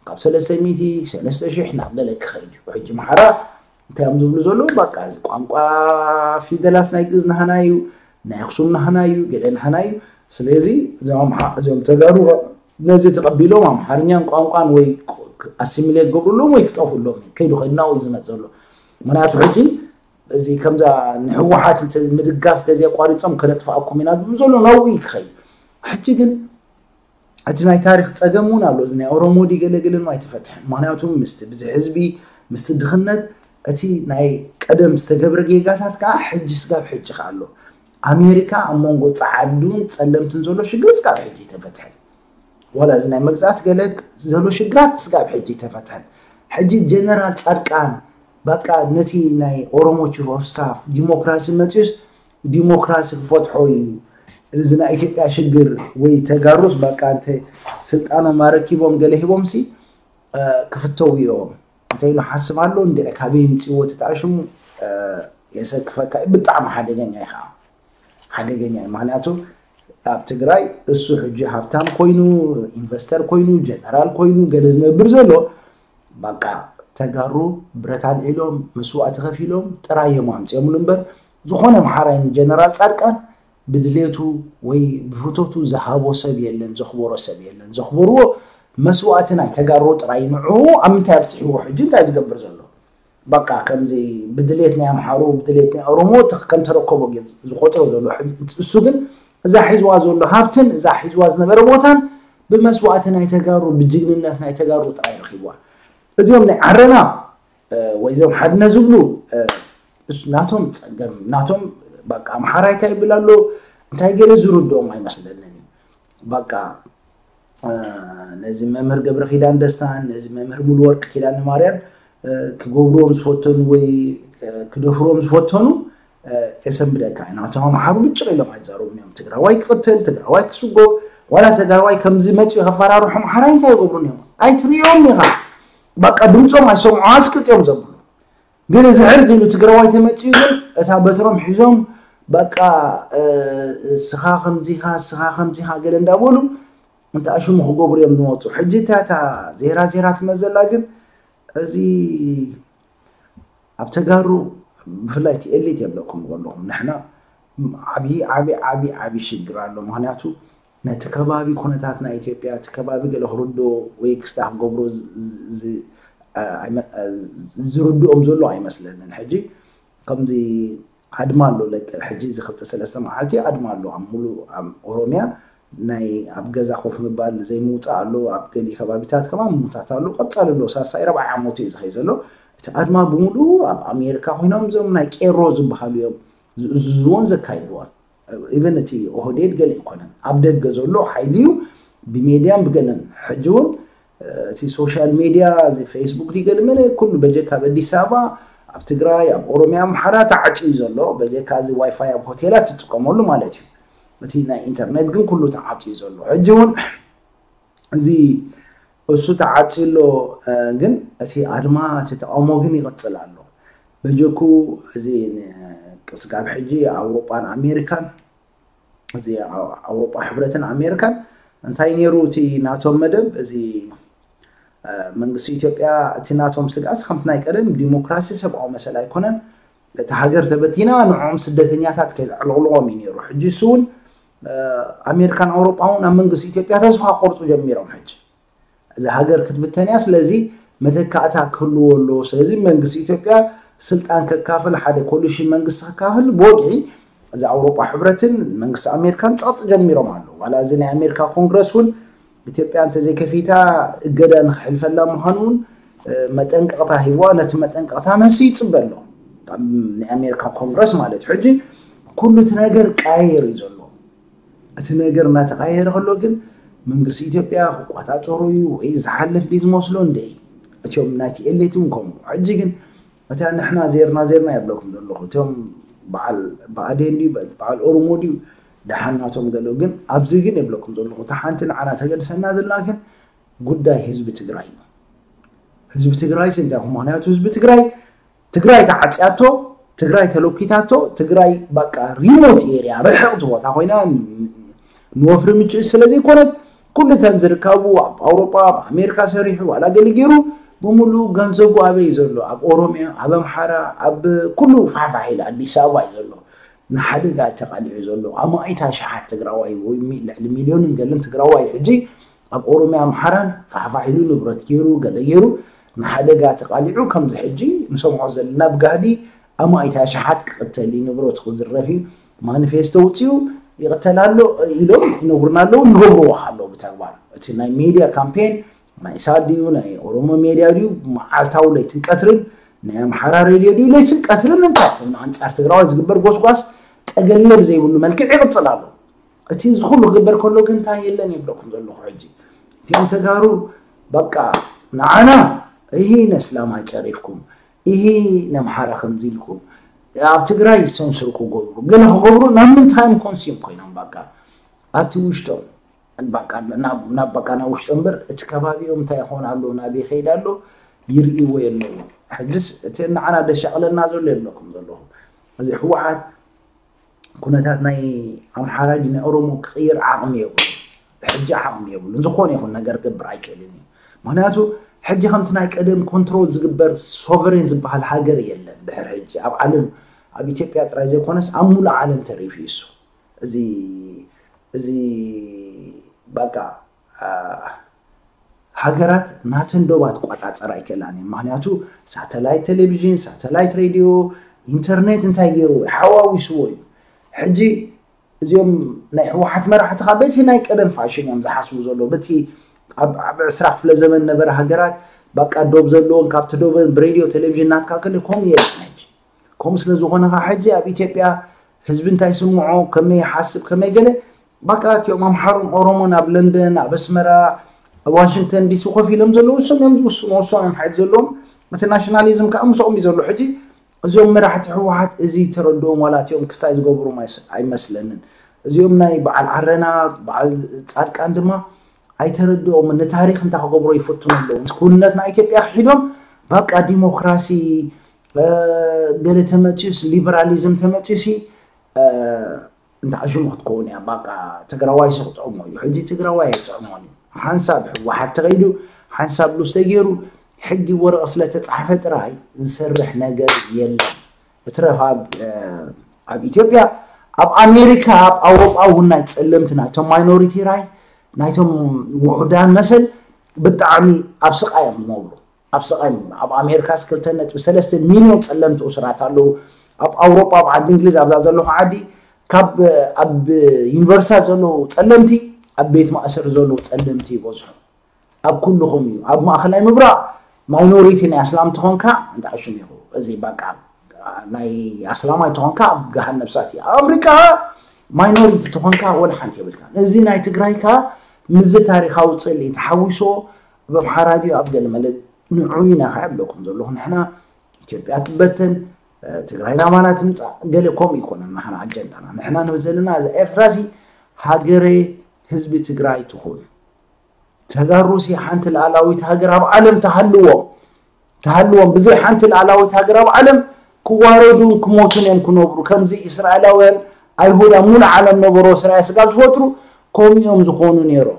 ካብ ሰለስተ ሚእቲ፣ ሰለስተ ሽሕ ናብ ገለ ክኸይድ እዩ። ሕጂ ምሓራ እንታይ እዮም ዝብሉ ዘለዉ? በቃ እዚ ቋንቋ ፊደላት ናይ ግእዝ ናህና እዩ፣ ናይ ኣኽሱም ናህና እዩ፣ ገለ ናህና እዩ። ስለዚ እዞም ኣምሓ-፣ እዞም ተጋሩ ነዚ ተቐቢሎም ኣምሓርኛን ቋንቋን ወይ ኣሲሚሌት ገብሩሎም ወይ ክጠፍኡሎም እዩ። ከይዱ ከይዱ ናብኡ እዩ ዝመጽእ ዘሎ። ምክንያቱ ሕጂ እዚ ከምዛ ንህወሓት እንተ-፣ ምድጋፍ እንተዘየቋሪጾም ከነጥፍኣኩም ኢና ዝብሉ ዘሎ ናብኡ እዩ ክኸይድ። ሕጂ ግን እቲ ናይ ታሪኽ ጸገም እውን ኣሎ። እዚ ናይ ኦሮሞ ድዩ ገለ ገለን ኣይተፈትሐን። ምኽንያቱ ምስቲ ብዝሒ ህዝቢ፣ ምስቲ ድኽነት፣ እቲ ናይ ቀደም ዝተገብረ ጌጋታት ከዓ ሕጂ ስጋብ ሕጂ ከዓ ኣሎ። ኣሜሪካ ኣብ መንጎ ጸዓዱን ጸለምትን ዘሎ ሽግር ስጋብ ሕጂ ኣይተፈትሐን። ዋላ እዚ ናይ መግዛእቲ ገለ ዘሎ ሽግራት ስጋብ ሕጂ ኣይተፈትሐን። ሕጂ ጀነራል ጻድቃን በቃ ነቲ ናይ ኦሮሞ ቺፍ ኦፍ ስታፍ ዲሞክራሲ መፅዩስ ዲሞክራሲ ክፈትሖ እዩ። እዚ ናይ ኢትዮጵያ ሽግር ወይ ተጋሩስ በቃ እንተ ስልጣኖም ኣረኪቦም ገለ ሂቦምሲ፣ እ፣ ክፍተው እዮም። እንታይ ኢሉ ሓስብ ኣሎ? እንድዒ ካበይ ይምፅእዎ እቲ ተኣሽሙ፣ እ፣ የሰክፈካ እዩ። ብጣዕሚ ሓደገኛ እዩ ከዓ። ሓደገኛ እዩ። ምኽንያቱ ኣብ ትግራይ እሱ ሕጂ ሃብታም ኮይኑ፣ ኢንቨስተር ኮይኑ፣ ጀነራል ኮይኑ፣ ገለ ዝነብር ዘሎ፣ በቃ ተጋሩ ብረት ኣልዒሎም፣ መስዋእቲ ከፊሎም ጥራይ እዮም ኣምፂኦምሉ እምበር፣ ዝኾነ ኣምሓራይ ንጀነራል ጻድቃን ብድሌቱ ወይ ብፍቶቱ ዝሃቦ ሰብ የለን፣ ዘኽበሮ ሰብ የለን። ዘኽበርዎ መስዋእቲ ናይ ተጋሩ ጥራይ። ንዕኡ ኣብ ምንታይ ኣብፂሕዎ? ሕጂ እንታይ ዝገብር ዘሎ? በቃ ከምዚ ብድሌት ናይ ኣምሓሩ፣ ብድሌት ናይ ኦሮሞ ተ-፣ ከም ተረከቦ ጌ-፣ ዝቆጥሮ ዘሎ። ሕጂ እሱ ግን እዛ ሒዝዋ ዘሎ ሃብትን እዛ ሒዝዋ ዝነበረ ቦታን ብመስዋእቲ ናይ ተጋሩ፣ ብጅግንነት ናይ ተጋሩ ጥራይ ረኺብዋ። እዚኦም ናይ ዓረና፣ እ፣ ወይ እዚኦም ሓድነ ዝብሉ፣ እ፣ እሱ ናቶም ጸገም፣ ናቶም በቃ ኣምሓራይ እንታይ ይብል ኣሎ፣ እንታይ ገለ ዝርድኦም ኣይመስለንን እዩ። በቃ፣ እ፣ ነዚ መምህር ገብረ ኪዳን ደስታን ነዚ መምህር ሙሉ ወርቅ ኪዳነ ማርያን፣ እ፣ ክገብርዎም ዝፈተኑ ወይ፣ እ፣ ክደፍርዎም ዝፈተኑ፣ እ፣ የሰንብደካ እዩ። ናቶም ኣምሓሩ ብጭቕ ኢሎም ኣይዛረቡን እዮም። ትግራዋይ ክቕተል፣ ትግራዋይ ክስጎ፣ ዋላ ትግራዋይ ከምዚ መፅኡ ከፈራርሑ ኣምሓራይ እንታይ ይገብሩን እዮም? ኣይትርእዮም ኢኻ። በቃ ድምፆም ኣይሰምዑ፣ ኣስቅጥ እዮም ዘብሉ። ግን እዚ ሕርድ ኢሉ ትግራዋይ ተመፅኡ ግን እታ በትሮም ሒዞም በቃ፣ እ፣ ስኻ ከምዚኻ፣ ስኻ ከምዚኻ ገለ እንዳበሉ እንተ ኣሽሙ ክገብሩ እዮም ዝመፁ። ሕጂ እታ፣ እታ ዜራ ዜራ ትመዘላ ግን እዚ ኣብ ተጋሩ ብፍላይ እቲ ኤሊት የብለኩም ከለኹም ንሕና ዓብዪ፣ ዓብዪ፣ ዓብዪ፣ ዓብዪ ሽግር ኣሎ። ምኽንያቱ ነቲ ከባቢ ኩነታት ናይ ኢትዮጵያ፣ እቲ ከባቢ ገለ ክርድኦ ወይ ክስታ ክገብሮ ዝ-፣ ዝ-፣ ዝ-፣ ኣ-፣ ኣይመ-፣ ኣ-፣ ዝርድኦም ዘሎ ኣይመስለንን። ሕጂ ከምዚ ኣድማ ኣሎ፣ ለቀ-፣ ሕጂ እዚ ክልተ ሰለስተ መዓልቲ ኣድማ ኣሎ ኣብ ሙሉእ ኣብ ኦሮምያ። ናይ ኣብ ገዛ ኮፍ ምባል ዘይምውፃእ ኣሎ፣ ኣብ ገሊ ከባቢታት ከማን ምውታት ኣሎ። ቀፃሊ ኣሎ፣ ሳሳይ ራብዓይ ዓመቱ እዩ ዝኸይ ዘሎ። እቲ ኣድማ ብምሉኡ ኣብ ኣሜሪካ ኮይኖም እዞም ናይ ቄሮ ዝበሃሉ እዮም ዝእዝዝዎን ዘካይድዎን። ኢቨን እቲ ኦህዴድ ገለ ኣይኮነን፣ ኣብ ደገ ዘሎ ሓይሊ እዩ፣ ብሜድያን ብገለን። ሕጂ እውን፣ እ፣ እቲ ሶሻል ሜድያ፣ እዚ ፌስቡክ ድዩ ገለ መለ፣ ኩሉ በጀካ ኣብ ኣዲስ ኣበባ፣ ኣብ ትግራይ፣ ኣብ ኦሮምያ፣ ኣምሓራ ተዓፅዩ ዘሎ፣ በጀካ እዚ ዋይፋይ ኣብ ሆቴላት ትጥቀመሉ ማለት እዩ። እቲ ናይ ኢንተርኔት ግን ኩሉ ተዓፅዩ ዘሎ። ሕጂ እውን እዚ እሱ ተዓፅዩ ኣሎ፣ እ፣ ግን እቲ ኣድማ፣ እቲ ተቃውሞ ግን ይቕፅል ኣሎ። በጀኩ እዚ ን-፣ ስጋብ ሕጂ ኣውሮጳን ኣሜሪካን፣ እዚ ኣው-፣ ኣውሮጳ ሕብረትን ኣሜሪካን እንታይ ነይሩ እቲ ናቶም መደብ? እዚ፣ እ፣ መንግስቲ ኢትዮጵያ እቲ ናቶም ስግኣት ከምቲ ናይ ቀደም ዲሞክራሲ፣ ሰብኣዊ መሰል ኣይኮነን። እቲ ሃገር ተበቲና ንዕኦም ስደተኛታት ከይተዕልቕልቖም እዩ ነይሩ። ሕጂ እሱ እውን፣ እ፣ ኣሜሪካን ኣውሮጳ እውን ኣብ መንግስቲ ኢትዮጵያ ተስፋ ክቆርፁ ጀሚሮም። ሕጂ እዛ ሃገር ክትብተን እያ። ስለዚ መተካእታ ክህልዎ ኣለዎ። ስለዚ መንግስቲ ኢትዮጵያ ስልጣን ከካፍል፣ ሓደ ኮሊሽን መንግስቲ ከካፍል ብወግዒ እዚ ኣውሮጳ ሕብረትን መንግስቲ ኣሜሪካን ጸቕጢ ጀሚሮም ኣለዉ። ዋላ እዚ ናይ ኣሜሪካ ኮንግረስ እውን ኢትዮጵያ እንተዘይከፊታ እገዳ ንክሕልፈላ ምዃኑ እውን፣ እ፣ መጠንቀቕታ ሂብዋ። ነቲ መጠንቀቕታ መሲ ይጽበ ኣሎ። ካብ ናይ ኣሜሪካ ኮንግረስ ማለት እዩ። ሕጂ ኩሉ እቲ ነገር ቀያየር እዩ ዘሎ። እቲ ነገር እናተቐያየረ ከሎ ግን መንግስቲ ኢትዮጵያ ክቆፃፀሩ እዩ ወይ ዝሓልፍ ድዩ ዝመስሎ እንድዒ። እቲኦም ናይቲ ኤሊት እውን ከምኡ። ሕጂ ግን እታ ንሕና ዜርና ዜርና የብለኩም ዘለኹ። እቲኦም በዓል ብኣዴን ድዩ በዓል ኦሮሞ ድዩ ደሓን ናቶም ገለ ግን ኣብዚ ግን የብለኩም ዘለኹ። እታ ሓንቲ ንዓና ተገድሰና ዘላ ግን ጉዳይ ህዝቢ ትግራይ እዩ። ህዝቢ ትግራይ ስንታይ ምክንያቱ ህዝቢ ትግራይ ትግራይ ተዓፅያቶ፣ ትግራይ ተለኪታቶ፣ ትግራይ በቃ ሪሞት ኤርያ ርሕቕቲ ቦታ ኮይና ንወፍሪ ምችእ ስለ ዘይኮነት ኩሉ እተን ዝርከቡ ኣብ ኣውሮጳ ኣብ ኣሜሪካ ሰሪሑ ዋላ ገሊ ገይሩ ብምሉእ ገንዘቡ ኣበይ ዘሎ ኣብ ኦሮሚያ ኣብ ኣምሓራ ኣብ ኩሉ ፋሕፋሕ ኢሉ ኣዲስ ኣበባ እዩ ዘሎ። ንሓደጋ ተቓሊዑ ዘሎ ኣማኢት ኣሽሓት ትግራዋይ ወይ ሚ- ልዕሊ ሚልዮንን ገለን ትግራዋይ ሕጂ ኣብ ኦሮሚያ ኣምሓራን ፋሕፋሕ ኢሉ ንብረት ገይሩ ገለ ገይሩ ንሓደጋ ተቓሊዑ ከምዚ ሕጂ ንሰምዖ ዘለና ብጋህዲ ኣማኢት ኣሽሓት ክቕተል እዩ ንብረቱ ክዝረፍ እዩ ማኒፌስቶ ውፅኡ ይቕተል ኣሎ ኢሎም ይነግሩና ኣለዉ ይገብርዎ ኣለዉ ብተግባር እቲ ናይ ሜድያ ካምፔን ናይ ኢሳት ድዩ ናይ ኦሮሞ ሜድያ ድዩ መዓልታዊ ለይትን ቀትርን ናይ ኣምሓራ ሬድዮ ድዩ ለይትን ቀትርን እንታይ ኮይኑ ኣንፃር ትግራዋይ ዝግበር ጎስጓስ ጠገለ ብዘይብሉ መልክዕ ይቕፅል ኣሎ እቲ እዚ ኩሉ ክግበር ከሎ ግን እንታይ የለን የብለኩም ዘለኹ ሕጂ እቲኦም ተጋሩ በቃ ንዓና ይሄ ነስላም ኣይፀሪፍኩም ይሄ ነምሓራ ከምዚ ኢልኩም ኣብ ትግራይ ሰንስር ክገብሩ ገለ ክገብሩ ናብ ምንታይም ኮንሲም ኮይኖም በቃ ኣብቲ ውሽጦም በቃ ናብ ናብ በቃ ናብ ውሽጦም እምበር እቲ ከባቢኦም እንታይ ይኸውን ኣሎ ናበይ ይኸይድ ኣሎ ይርእይዎ የለውን ሕጅስ እቲ ንዓና ደሻቕለና ዘሎ የብለኩም ዘለኹ እዚ ህወሓት ኩነታት ናይ ኣምሓራ ድዩ ናይ ኦሮሞ ክቕይር ዓቕሚ የብሉን ሕጂ ዓቕሚ የብሉን ዝኾነ ይኹን ነገር ክገብር ኣይክእልን እዩ ምክንያቱ ሕጂ ከምቲ ናይ ቀደም ኮንትሮል ዝግበር ሶቨሬን ዝበሃል ሃገር የለን ድሕር ሕጂ ኣብ ዓለም ኣብ ኢትዮጵያ ጥራይ ዘይኮነስ ኣብ ሙሉእ ዓለም ተሪፉ እዩ እሱ እዚ እዚ በቃ ሃገራት ናተን ዶባት ክቆፃፀራ ኣይክእላን እየን ምክንያቱ ሳተላይት ቴሌቪዥን ሳተላይት ሬድዮ ኢንተርኔት እንታይ ገይርዎ ሓዋዊስዎ እዩ ሕጂ እዚኦም ናይ ህወሓት መራሕቲ ካብ በቲ ናይ ቀደም ፋሽን እዮም ዝሓስቡ ዘሎ በቲ ኣብ ዕስራ ክፍለ ዘመን ነበረ ሃገራት በቃ ዶብ ዘለዎን ካብቲ ዶበን ብሬድዮ ቴሌቪዥን ናትካ ከለ ከምኡ የለን ሕጂ ከምኡ ስለ ዝኾነ ከዓ ሕጂ ኣብ ኢትዮጵያ ህዝቢ እንታይ ስምዖ ከመይ ይሓስብ ከመይ ገለ በቃ እቲኦም ኣምሓሩን ኦሮሞን ኣብ ለንደን ኣብ ኣስመራ ኣብ ዋሽንግተን ዲሲ ኮፍ ኢሎም ዘለዉ እሶም እዮም ዝውስኑ እሶም እዮም ሓይል ዘለዎም እቲ ናሽናሊዝም ከዓ ምስኦም እዩ ዘሎ ሕጂ እዚኦም መራሕቲ ህወሓት እዚ ተረድኦም ዋላ እቲኦም ክስታይ ዝገብሮም ኣይመስለንን እዚኦም ናይ በዓል ዓረና በዓል ፃድቃን ድማ ኣይተረድኦምን ንታሪክ እንታይ ክገብሮ ይፈትኑ ኣለዉ ክውንነት ናይ ኢትዮጵያ ክሒዶም በቃ ዲሞክራሲ ገለ ተመፅዩስ ሊበራሊዝም ተመፅዩሲ እንተ ዓሽሙ ክትከውን እያ ባቃ ትግራዋይ ሲ ክጥዕሞ እዩ ሕጂ ትግራዋይ ኣይጥዕሞን እዩ ሓንሳብ ህወሓት ተኸይዱ ሓንሳብ ሉስ ተገይሩ ሕጊ ወረቐ ስለተፃሕፈ ጥራይ ዝሰርሕ ነገር የለን እትረፍ ኣብ ኣብ ኢትዮጵያ ኣብ ኣሜሪካ ኣብ ኣውሮጳ እውን ናይ ፀለምቲ ናይቶም ማይኖሪቲ ራይት ናይቶም ውሑዳን መሰል ብጣዕሚ ኣብ ስቃይ እዮም ዝነብሩ ኣብ ስቃይ ኣብ ኣሜሪካስ ክልተ ነጥቢ ሰለስተ ሚልዮን ፀለምቲ እሱራት ኣለዉ ኣብ ኣውሮጳ ኣብ ዓዲ እንግሊዝ ኣብዛ ዘለኹ ዓዲ ካብ ኣብ ዩኒቨርሲታት ዘለዉ ፀለምቲ ኣብ ቤት ማእሰር ዘለዉ ፀለምቲ ይበዝሑ ኣብ ኩልኹም እዩ ኣብ ማእኸላይ ምብራቕ ማይኖሪቲ ናይ ኣስላም ተኾንካ እንታይ ሽም ኢኹ እዚ በቃ ናይ ኣስላማይ ተኾንካ ኣብ ገሃን ነብሳት እዩ ኣብ ኣፍሪቃ ማይኖሪቲ ተኾንካ ወላ ሓንቲ የብልካ እዚ ናይ ትግራይካ ምዚ ታሪካዊ ፅልኢ ተሓዊሶ ኣብ ኣምሓራ ድዩ ኣብ ገለ መለ ንዑ ኢና ከዓ ኣለኩም ዘለኹ ንሕና ኢትዮጵያ ትበተን ትግራይ ናባና ትምፃእ ገለ ከምኡ ይኮነን ንሕና ኣጀንዳና ንሕና ንብል ዘለና እዛ ኤርትራ ሲ ሃገረ ህዝቢ ትግራይ ትኹን ተጋሩ ሲ ሓንቲ ልኣላዊት ሃገር ኣብ ዓለም ተሃልዎም ተሃልዎም ብዘይ ሓንቲ ልኣላዊት ሃገር ኣብ ዓለም ክዋረዱን ክሞቱን እዮም ክነብሩ ከምዚ እስራኤላውያን ኣይሁድ ኣብ ሙሉእ ዓለም ነበሩ እስራኤል ስጋብ ዝፈጥሩ ከምኡ እዮም ዝኾኑ ነይሮም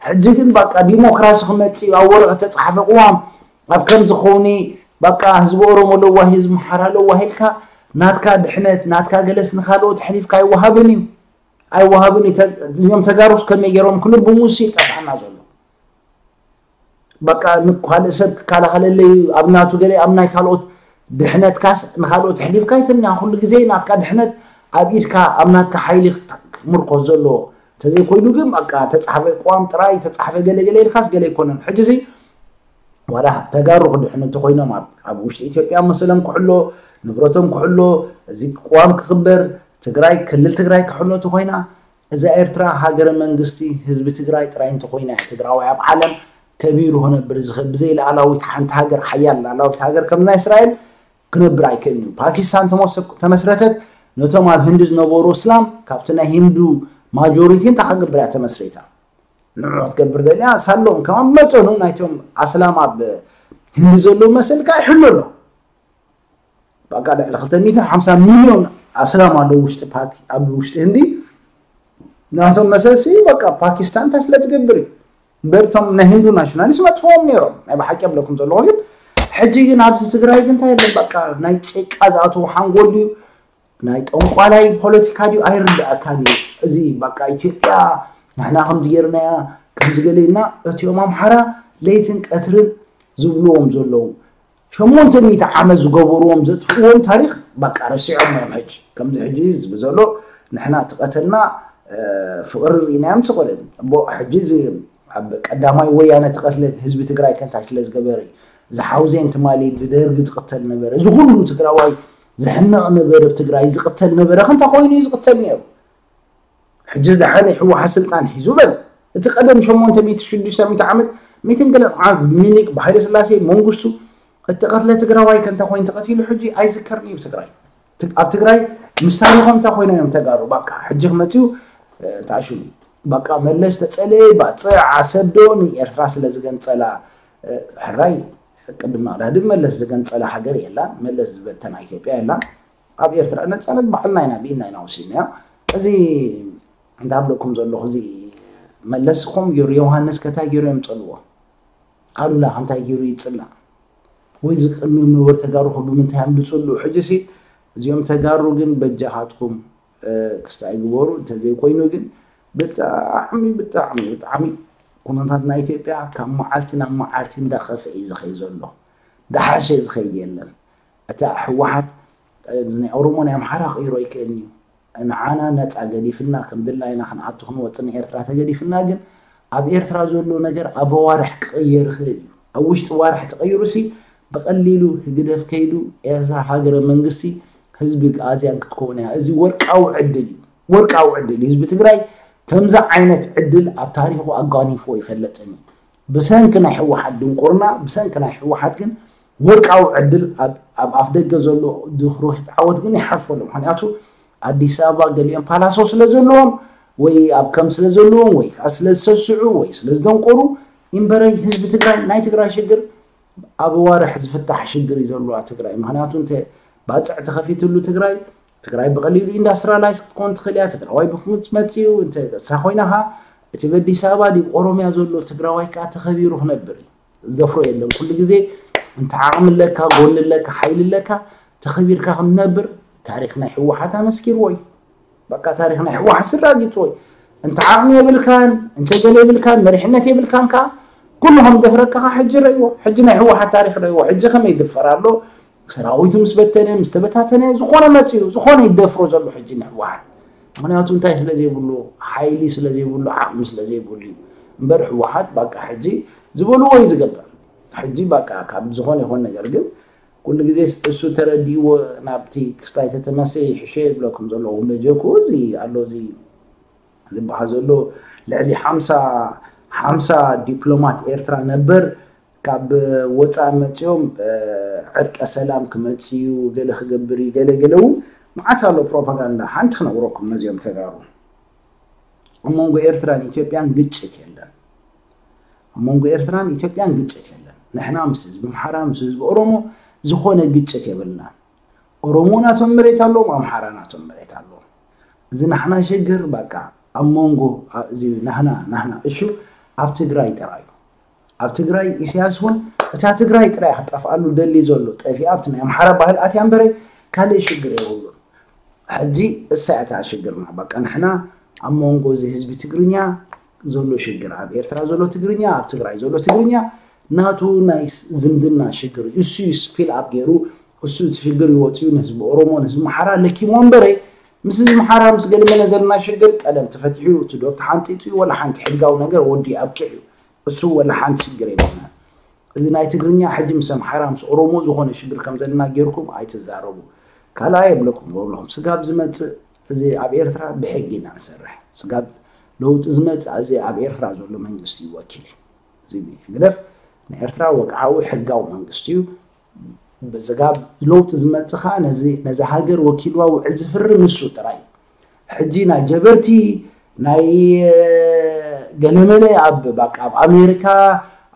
ሕጂ ግን በቃ ዲሞክራሲ ክመፅእ እዩ ኣብ ወረቐት ተፃሓፈ ቅዋም ኣብ ከምዚ ከውኒ በቃ ህዝቢ ኦሮሞ ለዋሂ ህዝቢ ምሓራ ለዋሂ ኢልካ ናትካ ድሕነት ናትካ ገለስ ንካልኦት ኣሕሊፍካ ኣይወሃብን እዩ ኣይወሃብን እዩ እዚኦም ተጋሩስ ከመይ ገይሮም ክልብሙ እሱ ይጠፍኣና ዘሎ በቃ ንካልእ ሰብ ክከላኸለለይ ኣብ ናቱ ገለ ኣብ ናይ ካልኦት ድሕነትካስ ንኻልኦት ኣሕሊፍካ ኣይትምንያ ኩሉ ግዜ ናትካ ድሕነት ኣብ ኢድካ ኣብ ናትካ ሓይሊ ክምርኮስ ዘለዎ እንተዘይኮይኑ ግን በቃ ተፃሕፈ ቅዋም ጥራይ ተፃሕፈ ገለገለ ኢልካስ ገለ ኣይኮነን ሕጂ ሲ ዋላ ተጋሩ ክድሕኑ እንተኮይኖም ኣብ ውሽጢ ኢትዮጵያ መሰሎም ክሕሎ ንብረቶም ክሕሎ እዚ ቅዋም ክክበር ትግራይ ክልል ትግራይ ክሕሎ እንተኮይና እዛ ኤርትራ ሃገረ መንግስቲ ህዝቢ ትግራይ ጥራይ እንተኾይና እያ ትግራዋይ ኣብ ዓለም ከቢሩ ክነብር ዝኽእል። ብዘይ ሉዓላዊት ሓንቲ ሃገር፣ ሓያል ሉዓላዊት ሃገር ከም ናይ እስራኤል ክነብር ኣይክእልን እዩ። ፓኪስታን ተመሰ-፣ ተመስረተት ነቶም ኣብ ህንዲ ዝነበሩ እስላም ካብቲ ናይ ሂንዱ ማጆሪቲ እንታይ ክገብር እያ ተመስሪታ? ንዑ ክትገብር ደልያ ሳሎም ከም ኣብ መጠኑ ናይቶም ኣስላም ኣብ ህንዲ ዘለዉ መሰልካ ይሕሉ ኣሎ። በቃ ልዕሊ ክልተ ሚእትን ሓምሳን ሚልዮን ኣስላም ኣለዉ ውሽጢ ፓኪ-፣ ኣብ ውሽጢ ህንዲ። ናቶም መሰልሲ በቃ ፓኪስታን እንታይ ስለ ትገብር እዩ። እምበር እቶም ናይ ህንዱ ናሽናሊስት መጥፍዎም ነይሮም። ናይ ብሓቂ ኣብለኩም ዘለኹ ግን ሕጂ ግን ኣብዚ ትግራይ ግን እንታይ የለን። በቃ ናይ ጭቃ ዝኣተዉ ሓንጎል ድዩ ናይ ጠንቋላይ ፖለቲካ ድዩ ኣይርድኣካን እዩ። እዚ በቃ ኢትዮጵያ ንሕና ከምዚ ጌርናያ ከምዚ ገለ ኢልና እቲኦም ኣምሓራ ለይትን ቀትርን ዝብልዎም ዘለዉ ሸሞንተ ሚእቲ ዓመት ዝገበርዎም ዘጥፍእዎም ታሪኽ በቃ ረሲዖም እዮም። ሕጂ ከምዚ ሕጂ ዝብል ዘሎ ንሕና እቲ ቀተልና እ፣ ፍቕሪ ርኢናዮም ስቕርን እሞ ሕጂ እዚ ኣብ ቀዳማይ ወያነ ተቐትለ ህዝቢ ትግራይ ከንታይ ስለ ዝገበረ እዩ። ዝሓውዜን ትማሊ ብደርጊ ዝቕተል ነበረ። እዚ ኩሉ ትግራዋይ ዝሕነቕ ነበረ፣ ኣብ ትግራይ ዝቕተል ነበረ። ክንታ ኮይኑ እዩ ዝቕተል ነይሩ። ሕጂ ዝደሓነ ህወሓት ስልጣን ሒዙ በል። እቲ ቀደም ሸሞንተ ሚእቲ ሽዱሽተ ሚእቲ ዓመት ሚእትን ገለን ዓመት ብሚኒክ ብሃይለ ስላሴ መንግስቱ እተቐትለ ትግራዋይ ከንታ ኮይኑ ተቐቲሉ ሕጂ ኣይዝከርን እዩ ብትግራይ። ት-፣ ኣብ ትግራይ ምስ ታሪኾም እንታይ ኮይኖም እዮም ተጋሩ? በቃ ሕጂ ክመፅኡ እ፣ ተኣሽሙ። በቃ መለስ ተፀለየ ባፅዕ ዓሰብ ዶ ንኤርትራ ስለ ዝገንፀላ እ፣ ሕራይ ቅድም ናቕዳድም መለስ ዝገንፀላ ሃገር የላን። መለስ ዝበተና ኢትዮጵያ የላን። ኣብ ኤርትራ ነፃነት ባዕልና ኢና ብኢድና ኢና ወሲድናዮ። እዚ እንታይ ኣብለኩም ዘለኹ እዚ መለስ ከምኡ ገይሩ ዮሃንስ ከታይ ገይሩ እዮም ፀልዎ ኣሉላ ከንታይ ገይሩ ይፅላእ ወይ እዚ ቅድሚኦም ነበሩ ተጋሩ ከ ብምንታይ እዮም ዝፅልኡ? ሕጂ ሲ እዚኦም ተጋሩ ግን በጃኻትኩም እ፣ ክስታይ ግበሩ እንተዘይኮይኑ ግን ብጣዕሚ ብጣዕሚ ብጣዕሚ ኩነታት ናይ ኢትዮጵያ ካብ መዓልቲ ናብ መዓልቲ እንዳኸፍአ እዩ ዝኸይ ዘሎ። ዳሓሸ ዝኸይድ የለን። እታ ህወሓት እ፣ ናይ ኦሮሞ ናይ ኣምሓራ ክቕይሮ ኣይክእልን እዩ። ንዓና ነፃ ገዲፍና ከም ድላይና ክንኣቱ ክንወፅእ ንኤርትራ ተገዲፍና ግን ኣብ ኤርትራ ዘሎ ነገር ኣብ ኣዋርሕ ክቕየር ይኽእል እዩ። ኣብ ውሽጢ ዋርሕ ተቐይሩ ሲ ብቐሊሉ ህግደፍ ከይዱ ኤርትራ ሃገረ መንግስቲ ህዝቢ ኣዝያን ክትከውን እያ። እዚ ወርቃዊ ዕድል እዩ። ወርቃዊ ዕድል እዩ። ህዝቢ ትግራይ ከምዚ ዓይነት ዕድል ኣብ ታሪኹ ኣጓኒፍዎ ይፈልጥን እዩ። ብሰንኪ ናይ ህወሓት ድንቁርና፣ ብሰንኪ ናይ ህወሓት ግን ወርቃዊ ዕድል ኣብ፣ ኣብ ኣፍ ደገ ዘሎ ድኽሩኺት ዓወት ግን ይሓልፎ ኣሎ። ምኽንያቱ ኣዲስ ኣበባ ገሊኦም ፓላሶ ስለ ዘለዎም ወይ ኣብ ከም ስለ ዘለዎም ወይ ከዓ ስለ ዝሰስዑ ወይ ስለ ዝደንቆሩ እምበረይ ህዝቢ ትግራይ ናይ ትግራይ ሽግር ኣብ ዋርሕ ዝፍታሕ ሽግር እዩ ዘለዋ ትግራይ። ምኽንያቱ እንተ ባፅዕ ተኸፊትሉ ትግራይ፣ ትግራይ ብቐሊሉ ኢንዳስትሪያላይዝ ክትኮን ትኽእል እያ። ትግራዋይ ብክሙት መፅኡ እንተ እሳ ኮይና ኸዓ እቲ በዲስ ኣበባ ድዩ ኦሮሚያ ዘሎ ትግራዋይ ከዓ ተኸቢሩ ክነብር እዩ። ዝደፍሮ የለን። ኩሉ ግዜ እንተ ዓቕሚ ኣለካ፣ ጎኒ ኣለካ፣ ሓይሊ ኣለካ፣ ተኸቢርካ ከም ትነብር ታሪኽ ናይ ህወሓት ኣመስኪርዎ እዩ። በቃ ታሪኽ ናይ ህወሓት ስራጊፅዎ እዩ። እንተ ዓቕሚ የብልካን፣ እንተ ገለ የብልካን፣ መሪሕነት የብልካን ከዓ ኩሉ ከም ደፍረካ ከዓ ሕጂ ረእይዎ። ሕጂ ናይ ህወሓት ታሪኽ ረእይዎ። ሕጂ ከመይ ይድፈር ኣሎ? ሰራዊቱ ምስ በተነ፣ ምስ ተበታተነ፣ ዝኾነ መፂኡ፣ ዝኾነ ይደፍሮ ዘሎ ሕጂ ንህወሓት። ምኽንያቱ እንታይ ስለ ዘይብሉ፣ ሓይሊ ስለ ዘይብሉ፣ ዓቕሚ ስለ ዘይብሉ እዩ። እምበር ህወሓት ባቃ ሕጂ ዝበልዎ እዩ ዝገብር። ሕጂ ባቃ ካብ ዝኾነ ይኾን ነገር ግን ኩሉ ግዜ እሱ ተረዲእዎ ናብቲ ክስታይ ተተመሰ ይሕሸ ይብለኩም ዘለኹ። መጀኩ እዚ ኣሎ እዚ ዝበሃል ዘሎ ልዕሊ ሓምሳ፣ ሓምሳ ዲፕሎማት ኤርትራ ነበር ካብ ወፃኢ መፂኦም፣ እ፣ ዕርቀ ሰላም ክመፅእ እዩ፣ ገለ ክገብር እዩ፣ ገለ ገለ እውን መዓት ኣሎ ፕሮፓጋንዳ። ሓንቲ ክነግረኩም ነዚኦም ተጋሩ። ኣብ መንጎ ኤርትራን ኢትዮጵያን ግጭት የለን። ኣብ መንጎ ኤርትራን ኢትዮጵያን ግጭት የለን። ንሕና ምስ ህዝቢ ኣምሓራ፣ ምስ ህዝቢ ኦሮሞ ዝኾነ ግጭት የብልናን። ኦሮሞ ናቶም መሬት ኣለዎም፣ ኣምሓራ ናቶም መሬት ኣለዎም። እዚ ናሕና ሽግር በቃ ኣብ መንጎ፣ አ-፣ እዚ ናህና፣ ናህና እሹ ኣብ ትግራይ ጥራይ እዩ። ኣብ ትግራይ ኢሳያስ እውን እታ ትግራይ ጥራይ ክትጠፍኣሉ ደሊ ዘሎ ጠፊኣ ኣብቲ ናይ ኣምሓራ ባህል ኣትያ እምበረ ካልእ ሽግር የብሉን። ሕጂ እሳ እታ ሽግርና በቃ ንሕና ኣብ መንጎ እዚ ህዝቢ ትግርኛ ዘሎ ሽግር፣ ኣብ ኤርትራ ዘሎ ትግርኛ፣ ኣብ ትግራይ ዘሎ ትግርኛ ናቱ ናይ ስ-፣ ዝምድና ሽግር እዩ። እሱ እዩ ስፒል ኣፕ ገይሩ፣ እሱ እቲ ሽግር ይወፅዩ ንህዝቢ ኦሮሞ፣ ንህዝቢ ኣምሓራ ለኪሞ እምበረ ምስ ህዝቢ ኣምሓራ ምስ ገለመለ ዘለና ሽግር ቀደም ተፈቲሑ እዩ። እቲ ዶብ ተሓንጢጡ እዩ፣ ወላ ሓንቲ ሕጋዊ ነገር ወዲ ኣብቂዑ እዩ። እሱ ወላ ሓንቲ ሽግር የብልናን። እዚ ናይ ትግርኛ ሕጂ ምስ ኣምሓራ ምስ ኦሮሞ ዝኾነ ሽግር ከም ዘለና ጌርኩም ኣይትዛረቡ። ካልኣይ የብለኩም፣ ወብለኹም ስጋብ ዝመጽእ እዚ ኣብ ኤርትራ ብሕጊ ኢና ንሰርሕ። ስጋብ ለውጢ ዝመጽእ እዚ ኣብ ኤርትራ ዘሎ መንግስቲ እዩ ወኪል። እዚ ህግደፍ ንኤርትራ ወግዓዊ ሕጋዊ መንግስቲ እዩ። ብስጋብ ለውጢ ዝመጽእ ኸዓ ነዚ ነዛ ሃገር ወኪልዋ ውዕል ዝፍርም ንሱ ጥራይ እዩ። ሕጂ ናይ ጀበርቲ ናይ ገለመለ ኣብ ባቃ ኣብ ኣሜሪካ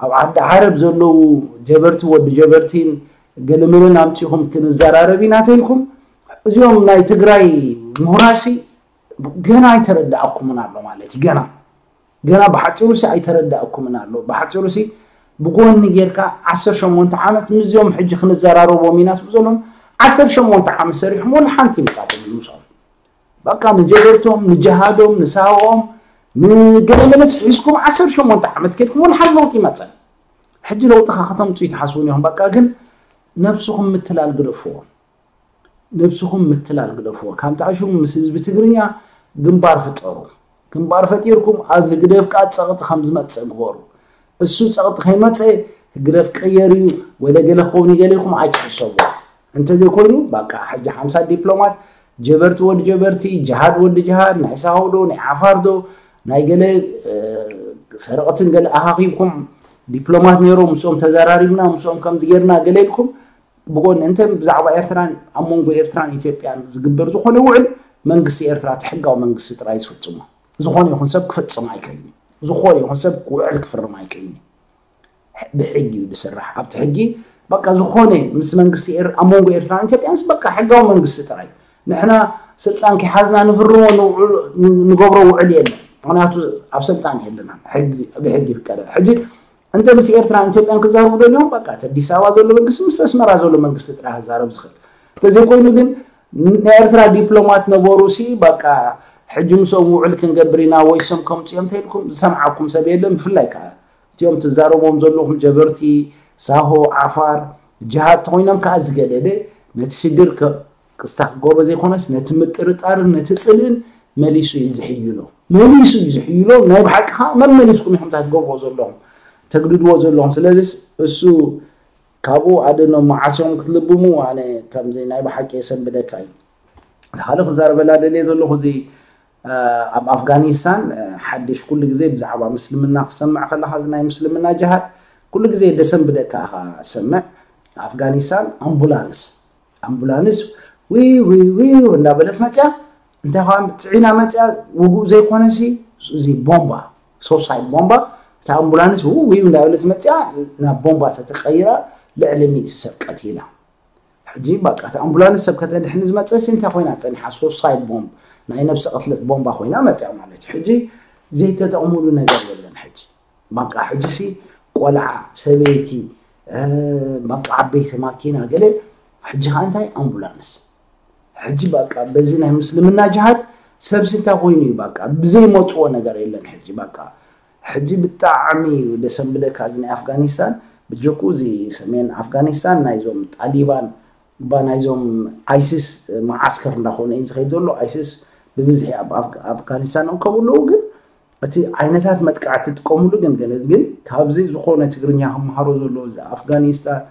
ኣብ ዓዲ ዓረብ ዘለዉ ጀበርቲ ወዲ ጀበርቲን ገለመለን ኣምጺኹም ክንዘራረብ ኢና ተልኩም እዚኦም ናይ ትግራይ ምሁራሲ ገና ኣይተረዳእኩምን ኣሎ ማለት እዩ። ገና ገና ብሓፂሩ ሲ ኣይተረዳእኩምን ኣሎ። ብሓፂሩ ሲ ብጎኒ ጌርካ ዓሰርተ ሸሞንተ ዓመት ምስዚኦም ሕጂ ክንዘራረቦም ኢና ትብሉ ዘለኹም ዓሰርተ ሸሞንተ ዓመት ሰሪሕኩም ወላ ሓንቲ ይምፃኩም ምስኦም በቃ ንጀበርቶም ንጀሃዶም ንሳሆኦም ንገለመለስ ሒዝኩም ዓሰርተ ሸሞንተ ዓመት ከድኩም ወላ ሓንቲ ለውጢ ይመፀን። ሕጂ ለውጢ ካ ከተምፁ ይትሓስቡ ኢኹም በቃ ግን ነብስኹም ምትላል ግደፍዎ። ነብስኹም ምትላል ግደፍዎ። ካብ ተኣሽሙ ምስ ህዝቢ ትግርኛ ግንባር ፍጠሩ። ግንባር ፈጢርኩም ኣብ ህግደፍ ከዓ ፀቕጢ ከም ዝመፅእ ግበሩ። እሱ ፀቕጢ ከይመፀ ህግደፍ ቀየር እዩ ወለ ገለ ክኸውን እዩ ገለ ኢልኩም ኣይትሕሰቡ። እንተዘይኮይኑ በቃ ሕጂ ሓምሳ ዲፕሎማት ጀበርቲ ወዲ ጀበርቲ ጅሃድ ወዲ ጅሃድ ናይ ሳሆ ዶ ናይ ዓፋር ዶ ናይ ገለ ሰረቕትን ገለ ኣኻኺብኩም ዲፕሎማት ነይሮም ምስኦም ተዘራሪብና ምስኦም ከምዚ ጌርና ገለ ኢልኩም ብጎኒ እንተ ብዛዕባ ኤርትራን ኣብ መንጎ ኤርትራን ኢትዮጵያን ዝግበር ዝኾነ ውዕል መንግስቲ ኤርትራ እቲ ሕጋዊ መንግስቲ ጥራይ ዝፍጽሞ ዝኾነ ይኹን ሰብ ክፈጽም ኣይክእልን ዝኾነ ይኹን ሰብ ውዕል ክፍርም ኣይክእልን ብሕጊ እዩ ዝስራሕ ኣብቲ ሕጊ በቃ ዝኾነ ምስ መንግስቲ ኣብ መንጎ ኤርትራን ኢትዮጵያን በቃ ሕጋዊ መንግስቲ ጥራይ ንሕና ስልጣን ከይሓዝና ንፍርሞ ንገብሮ ውዕል የለን ምክንያቱ ኣብ ስልጣን የለና ብሕጊ ይፍቀደ ሕጂ እንተ ምስ ኤርትራን ኢትዮጵያን ክዛረቡ ደልዮም በቃ እቲ ኣዲስ ኣበባ ዘሎ መንግስቲ ምስ ኣስመራ ዘሎ መንግስቲ ጥራሕ ክዛረብ ዝኽእል እንተዘይኮይኑ ግን ናይ ኤርትራ ዲፕሎማት ነበሩ ሲ በቃ ሕጂ ምስኦም ውዕል ክንገብር ኢና ወይ ሶም ከምፅኦም ተልኩም ዝሰምዓኩም ሰብ የለን ብፍላይ ከዓ እቲኦም ትዛረቦም ዘለኹም ጀበርቲ ሳሆ ዓፋር ጅሃድ ተኮይኖም ከዓ ዝገደደ ነቲ ሽግር ክስታ ክገብሮ ዘይኮነስ ነቲ ምጥርጣርን ነቲ ፅልእን መሊሱ እዩ ዝሕይሎ መሊሱ እዩ ዝሕይሎ ናይ ብሓቂ ከዓ መመሊስኩም ኢኹም እንታይ ትገብርዎ ዘለኹም ተግድድዎ ዘለኹም ስለዚ እሱ ካብኡ ኣደኖም መዓስ እዮም ክትልብሙ ኣነ ከምዚ ናይ ብሓቂ የሰንብደካ እዩ ሓደ ክዛረበላ ደልየ ዘለኹ እዚ ኣብ ኣፍጋኒስታን ሓድሽ ኩሉ ግዜ ብዛዕባ ምስልምና ክሰምዕ ከለካ እዚ ናይ ምስልምና ጅሃድ ኩሉ ግዜ ደሰንብደካ ኢኻ ሰምዕ ኣፍጋኒስታን ኣምቡላንስ ኣምቡላንስ ዊው ዊው ዊው እንዳበለት መፅያ እንታይ ከዓ ፅዒና መፅያ ውጉእ ዘይኮነሲ እዚ ቦምባ ሶሳይድ ቦምባ እታ ኣምቡላንስ ውው ዊው እንዳበለት መፅያ ናብ ቦምባ ተተቀይራ ልዕሊ ሚእቲ ሰብ ቀቲላ ሕጂ በቃ እታ ኣምቡላንስ ሰብ ከተድሕን ዝመፀሲ እንታይ ኮይና ፀኒሓ ሶሳይድ ቦምብ ናይ ነብሲ ቅትለት ቦምባ ኮይና መፅያ ማለት እዩ ሕጂ ዘይተጠቕሙሉ ነገር የለን ሕጂ በቃ ሕጂሲ ቆልዓ ሰበይቲ በቃ ዓበይቲ ማኪና ገለ ሕጂ ከዓ እንታይ ኣምቡላንስ ሕጂ በቃ በዚ ናይ ምስልምና ጅሃድ ሰብሲ እንታይ ኮይኑ እዩ በቃ ብዘይመፅዎ ነገር የለን ሕጂ በቃ ሕጂ ብጣዕሚ እዩ ደሰንብደካ እዚ ናይ ኣፍጋኒስታን ብጀኩ እዚ ሰሜን ኣፍጋኒስታን ናይዞም ጣሊባን እባ ናይዞም ኣይሲስ መዓስከር እንዳኾነ እዩ ዝኸይድ ዘሎ ኣይሲስ ብብዝሒ ኣብ ኣፍጋኒስታን እከቡ ኣለዉ ግን እቲ ዓይነታት መጥቃዕቲ ጥቀሙሉ ግን ግን ግን ካብዚ ዝኾነ ትግርኛ ክመሃሮ ዘሎ እዚ ኣፍጋኒስታን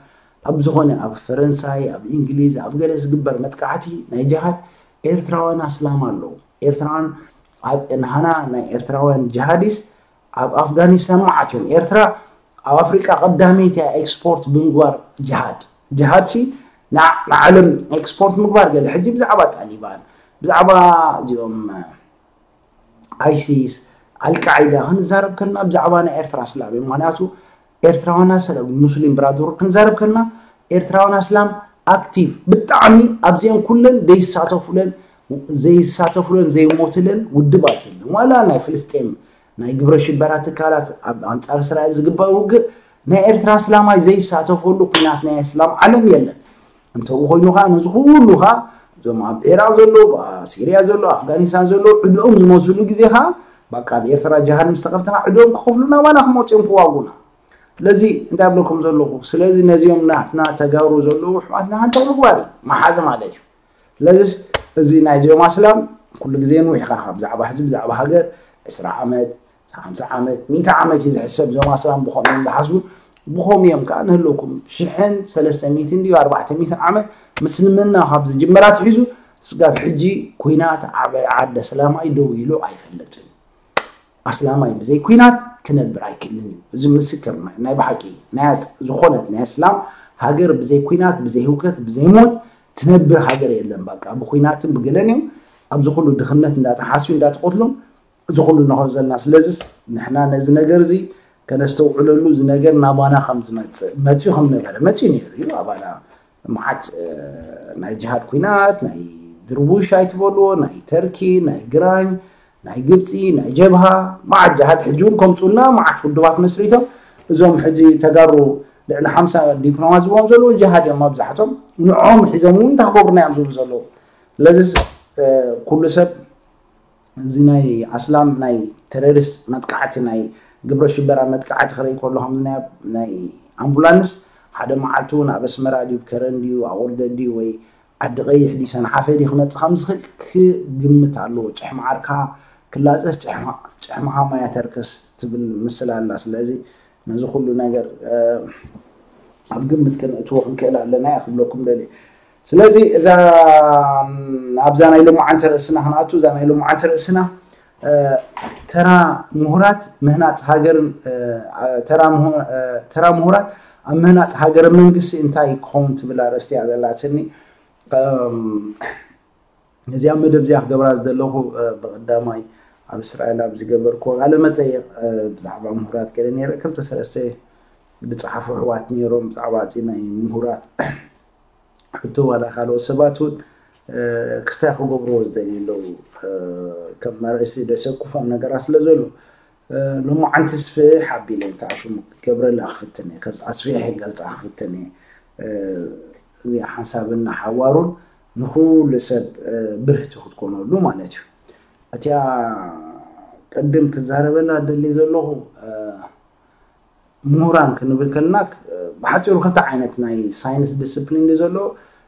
ኣብ ዝኾነ ኣብ ፈረንሳይ ኣብ እንግሊዝ ኣብ ገለ ዝግበር መጥቃዕቲ ናይ ጅሃድ ኤርትራውያን ኣስላም ኣለዉ ኤርትራውያን ኣብ ንሃና ናይ ኤርትራውያን ጅሃዲስ ኣብ ኣፍጋኒስታን መዓት እዮም ኤርትራ ኣብ ኣፍሪቃ ቀዳመይቲ እያ ኤክስፖርት ብምግባር ጅሃድ ጅሃድ ሲ ንዓለም ኤክስፖርት ምግባር ገለ ሕጂ ብዛዕባ ጣሊባን ብዛዕባ እዚኦም ኣይሲስ ኣልቃዒዳ ክንዛረብ ከለና ብዛዕባ ናይ ኤርትራ ስላም እዩ ምክንያቱ ኤርትራውያን ኣሰላም ሙስሊም ብራደሩ ክንዛረብ ከለና ኤርትራውያን ኣስላም ኣክቲቭ ብጣዕሚ ኣብዚአን ኩለን ዘይሳተፉለን ዘይሳተፉለን ዘይሞትለን ውድባት የለን ዋላ ናይ ፍልስጤም ናይ ግብረ ሽበራ ትካላት ኣብ ኣንጻር እስራኤል ዝግበር ውግእ ናይ ኤርትራ ኣስላማይ ዘይሳተፈሉ ኩናት ናይ ኣስላም ዓለም የለን እንተኡ ኮይኑ ከዓ ነዚ ኩሉ ከዓ እዞም ኣብ ዒራቅ ዘሎ ሲርያ ዘሎ ኣፍጋኒስታን ዘሎ ዕድኦም ዝመዝሉ ግዜ ከዓ በቃ ኣብ ኤርትራ ጅሃድ ምስ ተኸፍተ ከዓ ዕድኦም ክኸፍሉና ዋላ ክመፅኦም ክዋጉና ስለዚ እንታይ ብለኩም ዘለኹ ስለዚ ነዚኦም ናትና ተጋሩ ዘለዉ ኣሕዋትና ሓንቲ ምግባር እዩ መሓዝ ማለት እዩ ስለዚስ እዚ ናይዚኦም ኣስላም ኩሉ ግዜ ንውሕ ኢኻ ካብ ብዛዕባ ህዝቢ ብዛዕባ ሃገር ዕስራ ዓመት ሓምሳ ዓመት ሚእቲ ዓመት እዩ ዝሕሰብ እዞም ኣስላም ብኸምኡ እዮም ዝሓስቡ ብኸምኡ እዮም ከዓ ንህልውኩም ሽሕን ሰለስተ ሚእትን ድዩ ኣርባዕተ ሚእትን ዓመት ምስልምና ካብ ዝጅመር ኣትሒዙ ስጋብ ሕጂ ኩናት ዓባይ ዓዲ ኣስላማይ ደው ኢሉ ኣይፈልጥን። ኣስላማይ ብዘይ ኩናት ክነብር ኣይክእልን እዩ። እዚ ምስክር ናይ ብሓቂ ዝኾነት ናይ ኣስላም ሃገር ብዘይ ኩናት፣ ብዘይ ህውከት፣ ብዘይ ሞት ትነብር ሃገር የለን። በቃ ብኩናትን ብገለን እዮም ኣብዚ ኩሉ ድኽነት እንዳተሓስዩ እንዳተቆትሎም እዚ ኩሉ ንኸው ዘለና። ስለዚስ ንሕና ነዚ ነገር እዚ ከነስተውዕለሉ፣ እዚ ነገር ናባና ከም ዝመፅእ፣ መፅኡ ከም ነበረ መፅኡ ነይሩ እዩ። ኣባና መዓት ናይ ጅሃድ ኩናት፣ ናይ ድርቡሽ ኣይትበልዎ፣ ናይ ተርኪ፣ ናይ ግራኝ፣ ናይ ግብፂ፣ ናይ ጀብሃ፣ መዓት ጅሃድ ሕጂ እውን ከምፁና መዓት ውድባት መስሪቶም። እዞም ሕጂ ተጋሩ ልዕሊ ሓምሳ ዲፕሎማት ዝብዎም ዘለዉ ጅሃድ እዮም መብዛሕቶም። ንዕኦም ሒዞም እውን እንታይ ክገብሩና እዮም ዝብሉ ዘለዉ። ስለዚስ ኩሉ ሰብ እዚ ናይ ኣስላም ናይ ተረሪስት መጥቃዕቲ፣ ናይ ግብረ ሽበራ መጥቃዕቲ ክርኢ ከሎ ከም ናይ ኣምቡላንስ ሓደ መዓልቲ እውን ኣብ ኣስመራ ድዩ ከረን ድዩ ኣቑርደት ድዩ ወይ ዓዲ ቀይሕ ድዩ ሰንሓፈ ድዩ ክመፅእ ከም ዝኽእል ክግምት ኣለዎ። ጭሕሚ ዓርካ ክላፀስ ጭሕምኻ ማያ ተርከስ ትብል ምስላ ኣላ። ስለዚ ነዚ ኩሉ ነገር ኣብ ግምት ከነእትዎ ክንክእል ኣለና እያ ክብለኩም ደልየ። ስለዚ እዛ ኣብዛ ናይ ሎማዓንቲ ርእስና ክንኣቱ፣ እዛ ናይ ሎማዓንቲ ርእስና ተራ ምሁራት ምህናፅ ሃገርን ተራ ምሁራት ኣብ ምህናፅ ሃገርን መንግስቲ እንታይ ክኸውን ትብል ኣርእስቲ እያ ዘላትኒ። ነዚኣ መደብ እዚኣ ክገብራ ዝደለኹ ብቐዳማይ ኣብ እስራኤል ኣብ ዝገበርክዎ ቃለ መጠይቕ ብዛዕባ ምሁራት ገለ ነይረ ክልተ ሰለስተ ዝፀሓፉ ኣሕዋት ነይሮም ብዛዕባ እቲ ናይ ምሁራት ሕቶ ዋላ ካልኦት ሰባት እውን ክስታይ ክገብርዎ ዝደልዩ ኣለዉ። ከም ኣርእስቲ ደሰኩፎም ነገራት ስለ ዘሎ ሎማዓንቲ ስፍሕ ኣቢለ ተኣሽሙ ክገብረላ ክፍትን እየ፣ ከዚ ኣስፊሐ ክገልፃ ክፍትን እየ። እዚ ሓሳብና ሓዋሩን ንኩሉ ሰብ ብርህቲ ክትኮነሉ ማለት እዩ። እቲኣ ቅድም ክዛረበላ ደሊ ዘለኹ ምሁራን ክንብል ከለና ብሓፂሩ ክልተ ዓይነት ናይ ሳይንስ ዲስፕሊን እዩ ዘሎ።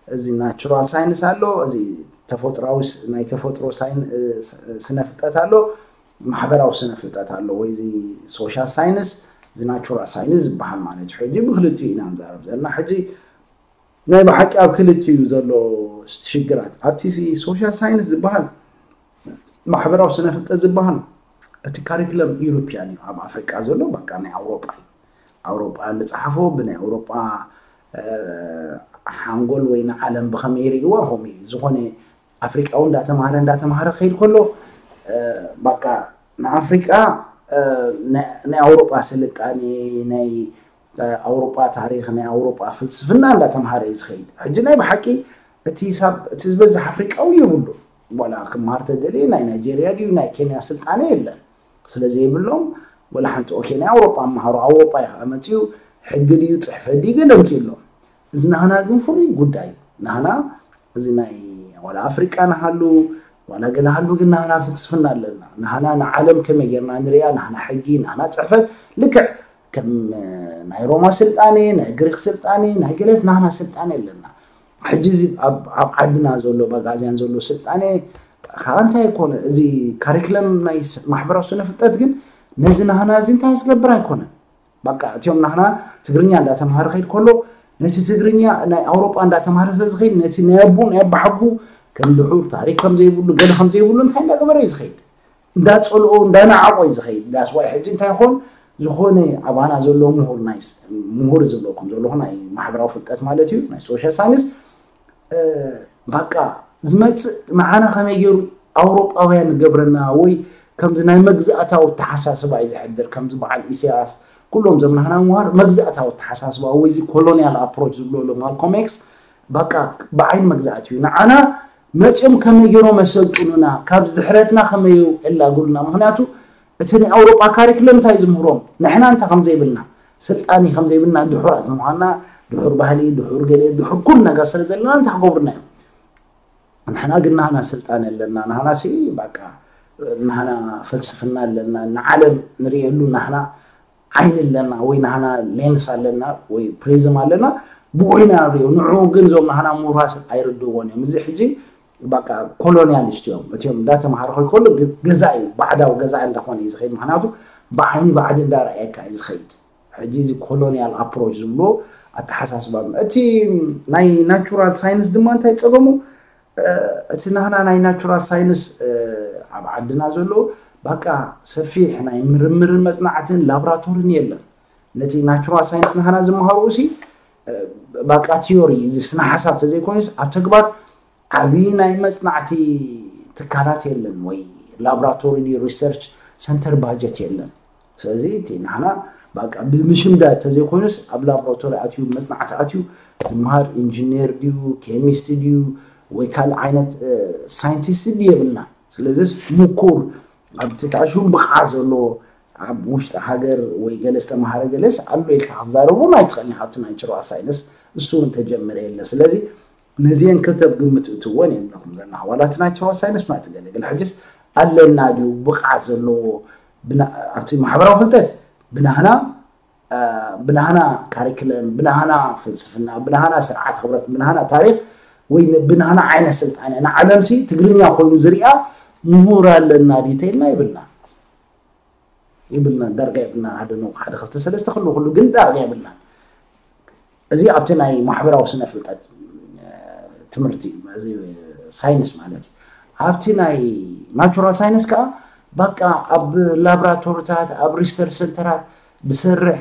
እዚ ናቹራል ሳይንስ ኣሎ፣ እዚ ተፈጥሮዊ ናይ ተፈጥሮ ስነ ፍልጠት ኣሎ፣ ማሕበራዊ ስነ ፍልጠት ኣሎ ወይ እዚ ሶሻል ሳይንስ፣ እዚ ናቹራል ሳይንስ ዝበሃል ማለት እዩ። ሕጂ ብክልቲኡ ኢና ንዛረብ ዘለና። ሕጂ ናይ ብሓቂ ኣብ ክልቲኡ ዘሎ ሽግራት ኣብቲ ሶሻል ሳይንስ ዝበሃል ማሕበራዊ ስነ ፍልጠት ዝበሃል እቲ ካሪክለም ኢሮፒያን እዩ። ኣብ ኣፍሪቃ ዘሎ በቃ ናይ ኣውሮጳ እዩ። ኣውሮጳ ዝፀሓፎ ብናይ ኣውሮጳ ሓንጎል ወይ ንዓለም ብኸመይ ይርእይዋ ከምኡ እዩ። ዝኾነ ኣፍሪቃዊ እንዳተማሃረ እንዳተማሃረ ክኸይድ ከሎ በቃ ንኣፍሪቃ ናይ ኣውሮጳ ስልጣኔ ናይ ኣውሮጳ ታሪኽ ናይ ኣውሮጳ ፍልስፍና እንዳተምሃረ እዩ ዝኸይድ። ሕጂ ናይ ብሓቂ እቲ ሳብ እቲ ዝበዝሕ ኣፍሪቃዊ የብሉ ዋላ ክምሃር ተደልየ ናይ ናይጀርያ ድዩ ናይ ኬንያ ስልጣነ የለን ስለ ዘይብሎም ወላ ሓንቲ ኦኬ ናይ ኣውሮጳ ኣምሃሩ ኣውሮጳ እዩ ከዓ መፅኡ ሕጊ ድዩ ፅሕፈት ድዩ ገለ ምፅእሎም እዚ ናህና ግን ፍሉይ ጉዳይ ናህና እዚ ናይ ዋላ ኣፍሪቃ ንሃሉ ዋላ ገለ ሃሉ ግን ናህና ፍልስፍና ኣለና ናህና ንዓለም ከመይ ጌርና ንሪኣ ናህና ሕጊ ናህና ፅሕፈት ልክዕ ከም ናይ ሮማ ስልጣኔ ናይ ግሪክ ስልጣኔ ናይ ገለት ናህና ስልጣኔ ኣለና ሕጂ እዚ ኣብ ዓድና ዘሎ በጋዝያን ዘሎ ስልጣኔ ከዓ እንታይ ኣይኮነ እዚ ካሪክለም ናይ ማሕበራዊ ስነ ፍልጠት ግን ነዚ ናህና እዚ እንታይ ዝገብር ኣይኮነን በቃ እቲኦም ናህና ትግርኛ እንዳተምሃረ ከይድ ከሎ ነቲ ትግርኛ ናይ ኣውሮጳ እንዳተምሃረ ስለ ዝኸይድ ነቲ ናይ ኣቦ ናይ ኣባሓጉ ከም ድሑር ታሪክ ከም ዘይብሉ ገለ ከም ዘይብሉ እንታይ እንዳገበረ እዩ ዝኸይድ እንዳፀልኦ እንዳናዓቆ እዩ ዝኸይድ that's why ሕጂ እንታይ ይኾን ዝኾነ ኣባና ዘሎ ምሁር ናይ ምሁር ዝብለኩም ዘለኹ ናይ ማሕበራዊ ፍልጠት ማለት እዩ ናይ ሶሻል ሳይንስ በቃ ዝመፅእ ንዓና ከመይ ገይሩ ኣውሮጳውያን ንገብረና ወይ ከምዚ ናይ መግዛእታዊ ኣተሓሳስባ እዩ ዘሕድር ከምዚ በዓል ኢሳያስ ኩሎም ዘምናህና ምሃር መግዛእታዊ ኣተሓሳስባ ወይ እዚ ኮሎኒያል ኣፕሮች ዝብሎ ማልኮም ኤክስ በቃ ብዓይኒ መግዛእቲ እዩ ንዓና መፅኦም ከመይ ገይሮም መሰልጥኑና ካብ ዝድሕረትና ከመይ የላግሉና ምክንያቱ እቲ ናይ ኣውሮጳ ካሪክለም እንታይ ዝምህሮም ንሕና እንታይ ከምዘይብልና ስልጣኒ ከምዘይብልና ድሑራት ምኳንና ድሑር ባህሊ ድሑር ገለ ድሑር ኩሉ ነገር ስለ ዘለና እንታይ ክገብሩና እዮም ንሕና ግን ናህና ስልጣን ኣለና ናህና ሲ በቃ ናህና ፍልስፍና ኣለና ንዓለም ንርእየሉ ናህና ዓይኒ ኣለና ወይ ናህና ሌንስ ኣለና ወይ ፕሪዝም ኣለና ብኡ ኢና ንሪኦ ንዑ ግን እዞም ናህና ምሁራት ኣይርድእዎን እዮም እዚ ሕጂ በቃ ኮሎኒያሊስት እዮም እቲኦም እንዳተምሃረ ከይከሉ ገዛኢ ባዕዳዊ ገዛኢ እንዳኾነ እዩ ዝኸይድ ምክንያቱ ብዓይኒ ባዕዲ እንዳረኣየካ እዩ ዝኸይድ ሕጂ እዚ ኮሎኒያል ኣፕሮች ዝብሎ ኣተሓሳስባ እቲ ናይ ናቹራል ሳይንስ ድማ እንታይ ፀገሙ እቲ ናህና ናይ ናቹራል ሳይንስ ኣብ ዓድና ዘሎ ባቃ ሰፊሕ ናይ ምርምርን መፅናዕትን ላብራቶርን የለን። ነቲ ናቹራል ሳይንስ ናህና ዝመሃሩ ሲ ባቃ ቲዮሪ፣ እዚ ስነ ሓሳብ ተዘይኮይኑስ ኣብ ተግባር ዓብዪ ናይ መፅናዕቲ ትካላት የለን፣ ወይ ላብራቶሪ ሪሰርች ሰንተር ባጀት የለን። ስለዚ እቲ ናህና ባቃ ብምሽምዳ ተዘይኮይኑስ ኣብ ላብራቶሪ ኣትዩ መፅናዕቲ ኣትዩ ዝመሃር ኢንጂነር ድዩ፣ ኬሚስት ድዩ፣ ወይ ካልእ ዓይነት ሳይንቲስት ድዩ የብልና። ስለዚስ ምኩር ኣብ ትታሹ ብቕዓት ዘለዎ ኣብ ውሽጢ ሃገር ወይ ገለ ዝተምሃረ ገለስ ኣሎ ኢልካ ክትዛረቦም ኣይትኽእልን ኢኻ። ኣብቲ ናይ ናቹራል ሳይንስ እሱ እውን ተጀመረ የለ። ስለዚ ነዚአን ክልተ ብግምት እትወን የብለኩም ዘለኻ። ዋላ እቲ ናይ ናቹራል ሳይንስ ማለት ገለ ገለ ሕጅስ ኣለና ድዩ ብቕዓት ዘለዎ ብና-፣ ኣብቲ ማሕበራዊ ፍልጠት ብናህና ብናህና ካሪክለም፣ ብናህና ፍልስፍና፣ ብናህና ስርዓት ክብረት፣ ብናህና ታሪክ ወይ ብናህና ዓይነት ስልጣነ ንዓለምሲ ትግርኛ ኮይኑ ዝሪኣ ምሁር ኣለና ድዩ ተይልና ይብልና ይብልና ዳርጋ የብልና። ሓደ ነው ሓደ ክልተ ሰለስተ ክሉ ክሉ ግን ዳርጋ የብልና። እዚ ኣብቲ ናይ ማሕበራዊ ስነ ፍልጠት ትምህርቲ እዚ ሳይንስ ማለት እዩ። ኣብቲ ናይ ናቹራል ሳይንስ ከዓ በቃ ኣብ ላብራቶሪታት ኣብ ሪሰርች ሰንተራት ዝሰርሕ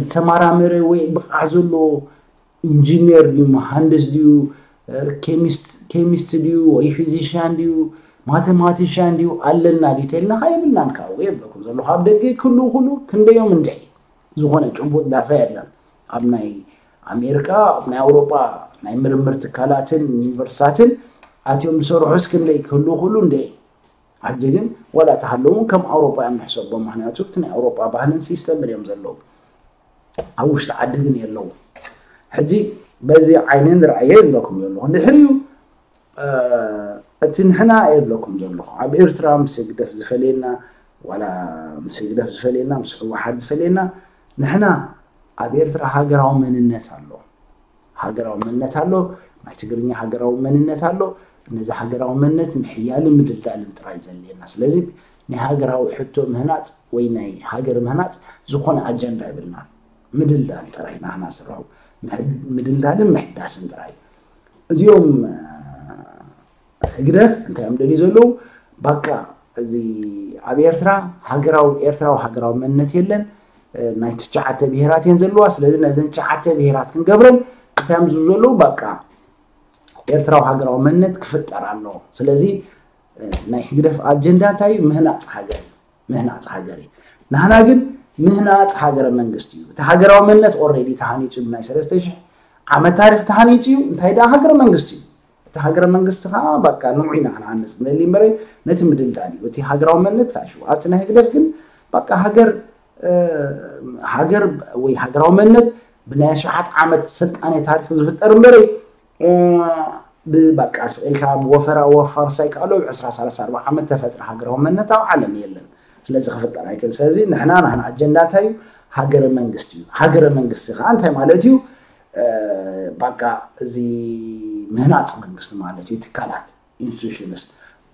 ዝተመራመረ ወይ ብቕዓት ዘለዎ ኢንጂነር ድዩ መሃንድስ ድዩ ኬሚስት ድዩ ወይ ፊዚሽያን ድዩ ማቴማቲሽያን ድዩ ኣለና ድዩ ተልናኻ የብልናን። ካብኡ የብለኩም ዘለኹ ኣብ ደገ ክሉ ክሉ ክንደዮም እንድዒ ዝኾነ ጭቡጥ ዳታ የለን። ኣብ ናይ ኣሜሪካ ኣብ ናይ ኣውሮጳ ናይ ምርምር ትካላትን ዩኒቨርሲታትን ኣትዮም ዝሰርሑ እስክንደይ ክህሉ ክሉ እንድዒ ሕጂ ግን ዋላ ተሃለውን ከም ኣውሮጳ እዮም ንሕሰቦም። ምክንያቱ እቲ ናይ ኣውሮጳ ባህልን ሲስተምን እዮም ዘለዉ። ኣብ ውሽጢ ዓዲ ግን የለዉ። ሕጂ በዚ ዓይኒ ንርኣዮ ይብለኩም ዘለኹ። ድሕሪኡ እቲ ንሕና የብለኩም ዘለኹ ኣብ ኤርትራ ምስ ህግደፍ ዝፈለየና ዋላ ምስ ህግደፍ ዝፈለየና ምስ ህወሓት ዝፈለየና ንሕና ኣብ ኤርትራ ሃገራዊ መንነት ኣሎ። ሃገራዊ መንነት ኣሎ። ናይ ትግርኛ ሃገራዊ መንነት ኣሎ። ነዚ ሃገራዊ መንነት ምሕያልን ምድልዳልን ጥራይ ዘድልየና። ስለዚ ናይ ሃገራዊ ሕቶ ምህናፅ ወይ ናይ ሃገር ምህናፅ ዝኾነ ኣጀንዳ የብልናን። ምድልዳል ጥራይ ናህና ስራው ምድልዳልን ምሕዳስን ጥራይ። እዚኦም ህግደፍ እንታይ እዮም ደልዩ ዘለዉ? ባቃ እዚ ኣብ ኤርትራ ሃገራዊ ኤርትራዊ ሃገራዊ መንነት የለን። ናይ ትሽዓተ ብሄራት እየን ዘለዋ። ስለዚ ነዘን ትሽዓተ ብሄራት ክንገብረን እንታይ እዮም ዝብሉ ዘለዉ? ባቃ ኤርትራዊ ሃገራዊ መንነት ክፍጠር ኣለዎ። ስለዚ ናይ ህግደፍ ኣጀንዳ እንታይ እዩ? ምህናፅ ሃገር እዩ። ምህናፅ ሃገር እዩ። ናህና ግን ምህናፅ ሃገረ መንግስቲ እዩ። እቲ ሃገራዊ መንነት ኦሬዲ ተሃኒፁ እዩ። ናይ ሰለስተ ሽሕ ዓመት ታሪክ ተሃኒፁ እዩ። እንታይ ደኣ ሃገረ መንግስቲ እዩ። እቲ ሃገረ መንግስቲ ከዓ በቃ ንዑ ኢና ክንሃንፅ ንደሊ እምበረ ነቲ ምድልዳል እዩ። እቲ ሃገራዊ መንነት ታሹ ኣብቲ ናይ ህግደፍ ግን በቃ ሃገር ሃገር ወይ ሃገራዊ መንነት ብናይ ኣሽሓት ዓመት ስልጣኔ ታሪክ ዝፍጠር እምበረ ብበቃ ስቕ ኢልካ ብወፈራ ወፋርሳ ይከኣሎ ብ ዕስራ ሰላሳ ኣርባዓ ዓመት ተፈጥረ ሃገራዊ መንነት ኣብ ዓለም የለን። ስለዚ ክፍጠር ኣይክእል። ስለዚ ንሕና ናህና ኣጀንዳ እንታይ እዩ? ሃገረ መንግስቲ እዩ። ሃገረ መንግስቲ ከዓ እንታይ ማለት እዩ? ባቃ እዚ ምህናፅ መንግስቲ ማለት እዩ። ትካላት ኢንስቲቱሽንስ፣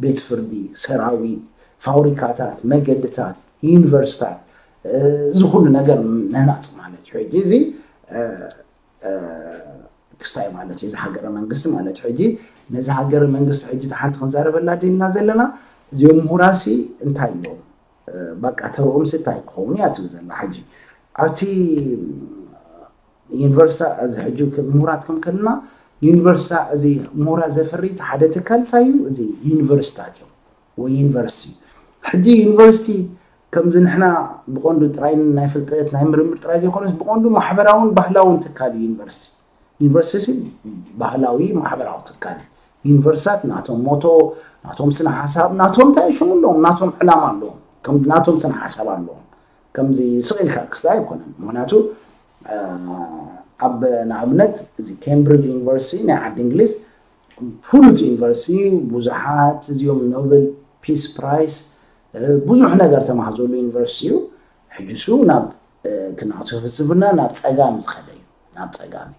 ቤት ፍርዲ፣ ሰራዊት፣ ፋብሪካታት፣ መገድታት፣ ዩኒቨርሲታት፣ እዚ ኩሉ ነገር ምህናፅ ማለት እዩ። ሕጂ እዚ ክስታይ ማለት እዩ። እዚ ሃገረ መንግስቲ ማለት እዩ። ሕጂ ነዚ ሃገረ መንግስቲ ሕጂ ሓንቲ ክንዛረበላ ድልና ዘለና እዚኦም ምሁራሲ እንታይ እዮም? ባቃ ተርኦም እንታይ ክኸውን እያ ትብል ዘላ ሕጂ ኣብቲ ዩኒቨርሲታ እዚ ሕጂ ምሁራት ከም ከልና ዩኒቨርሲታ እዚ ምሁራት ዘፍሪ ሓደ ትካል እንታይ እዩ? እዚ ዩኒቨርሲታት እዮም ወይ ዩኒቨርሲቲ። ሕጂ ዩኒቨርሲቲ ከምዚ ንሕና ብቐንዱ ጥራይ ናይ ፍልጠት ናይ ምርምር ጥራይ ዘይኮነስ ብቐንዱ ማሕበራውን ባህላውን ትካል እዩ ዩኒቨርሲቲ። ዩኒቨርሲቲ ባህላዊ ማሕበራዊ ትካል እዩ። ዩኒቨርሲታት ናቶም ሞቶ ናቶም ስነ ሓሳብ ናቶም እንታይ ሽሙ ኣለዎም ናቶም ዕላማ ኣለዎም ናቶም ስነ ሓሳብ ኣለዎም። ከምዚ ስቕ ኢልካ ክስታይ ኣይኮነን። ምክንያቱ ኣብ ንኣብነት እዚ ኬምብሪጅ ዩኒቨርሲቲ ናይ ዓዲ እንግሊዝ ፍሉጥ ዩኒቨርሲቲ ብዙሓት እዚኦም ኖብል ፒስ ፕራይስ ብዙሕ ነገር ተማሃዘሉ ዩኒቨርሲቲ እዩ። ሕጂ ሱ ናብ እቲ ናቱ ፍልስፍና ናብ ፀጋም ዝኸደ እዩ። ናብ ፀጋም እዩ።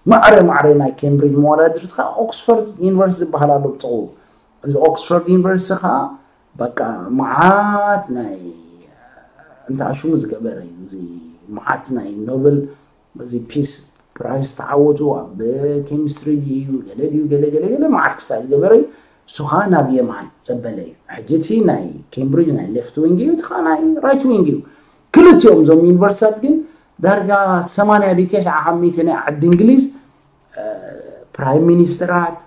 ማዕረ ማዕረ ናይ ኬምብሪጅ መወዳድርቲ ከዓ ኦክስፎርድ ዩኒቨርሲቲ ዝበሃል ኣሎ ብጥቕኡ። እዚ ኦክስፎርድ ዩኒቨርሲቲ ከዓ በቃ መዓት ናይ እንታይ ሽሙ ዝገበረ እዩ። እዚ መዓት ናይ ኖብል እዚ ፒስ ፕራይስ ተዓወቱ ኣብ ኬሚስትሪ ድዩ ገለ ድዩ ገለ ገለ ገለ መዓት ክስታይ ዝገበረ እዩ። እሱ ከዓ ናብ የማን ዘበለ እዩ። ሕጂ እቲ ናይ ኬምብሪጅ ናይ ሌፍት ዊንግ እዩ፣ እቲ ከዓ ናይ ራይት ዊንግ እዩ። ክልቲኦም እዞም ዩኒቨርሲታት ግን ዳርጋ ሰማንያ ድዩ ተስዓ ካብ ሚእቲ ናይ ዓዲ እንግሊዝ ፕራይም ሚኒስትራት፣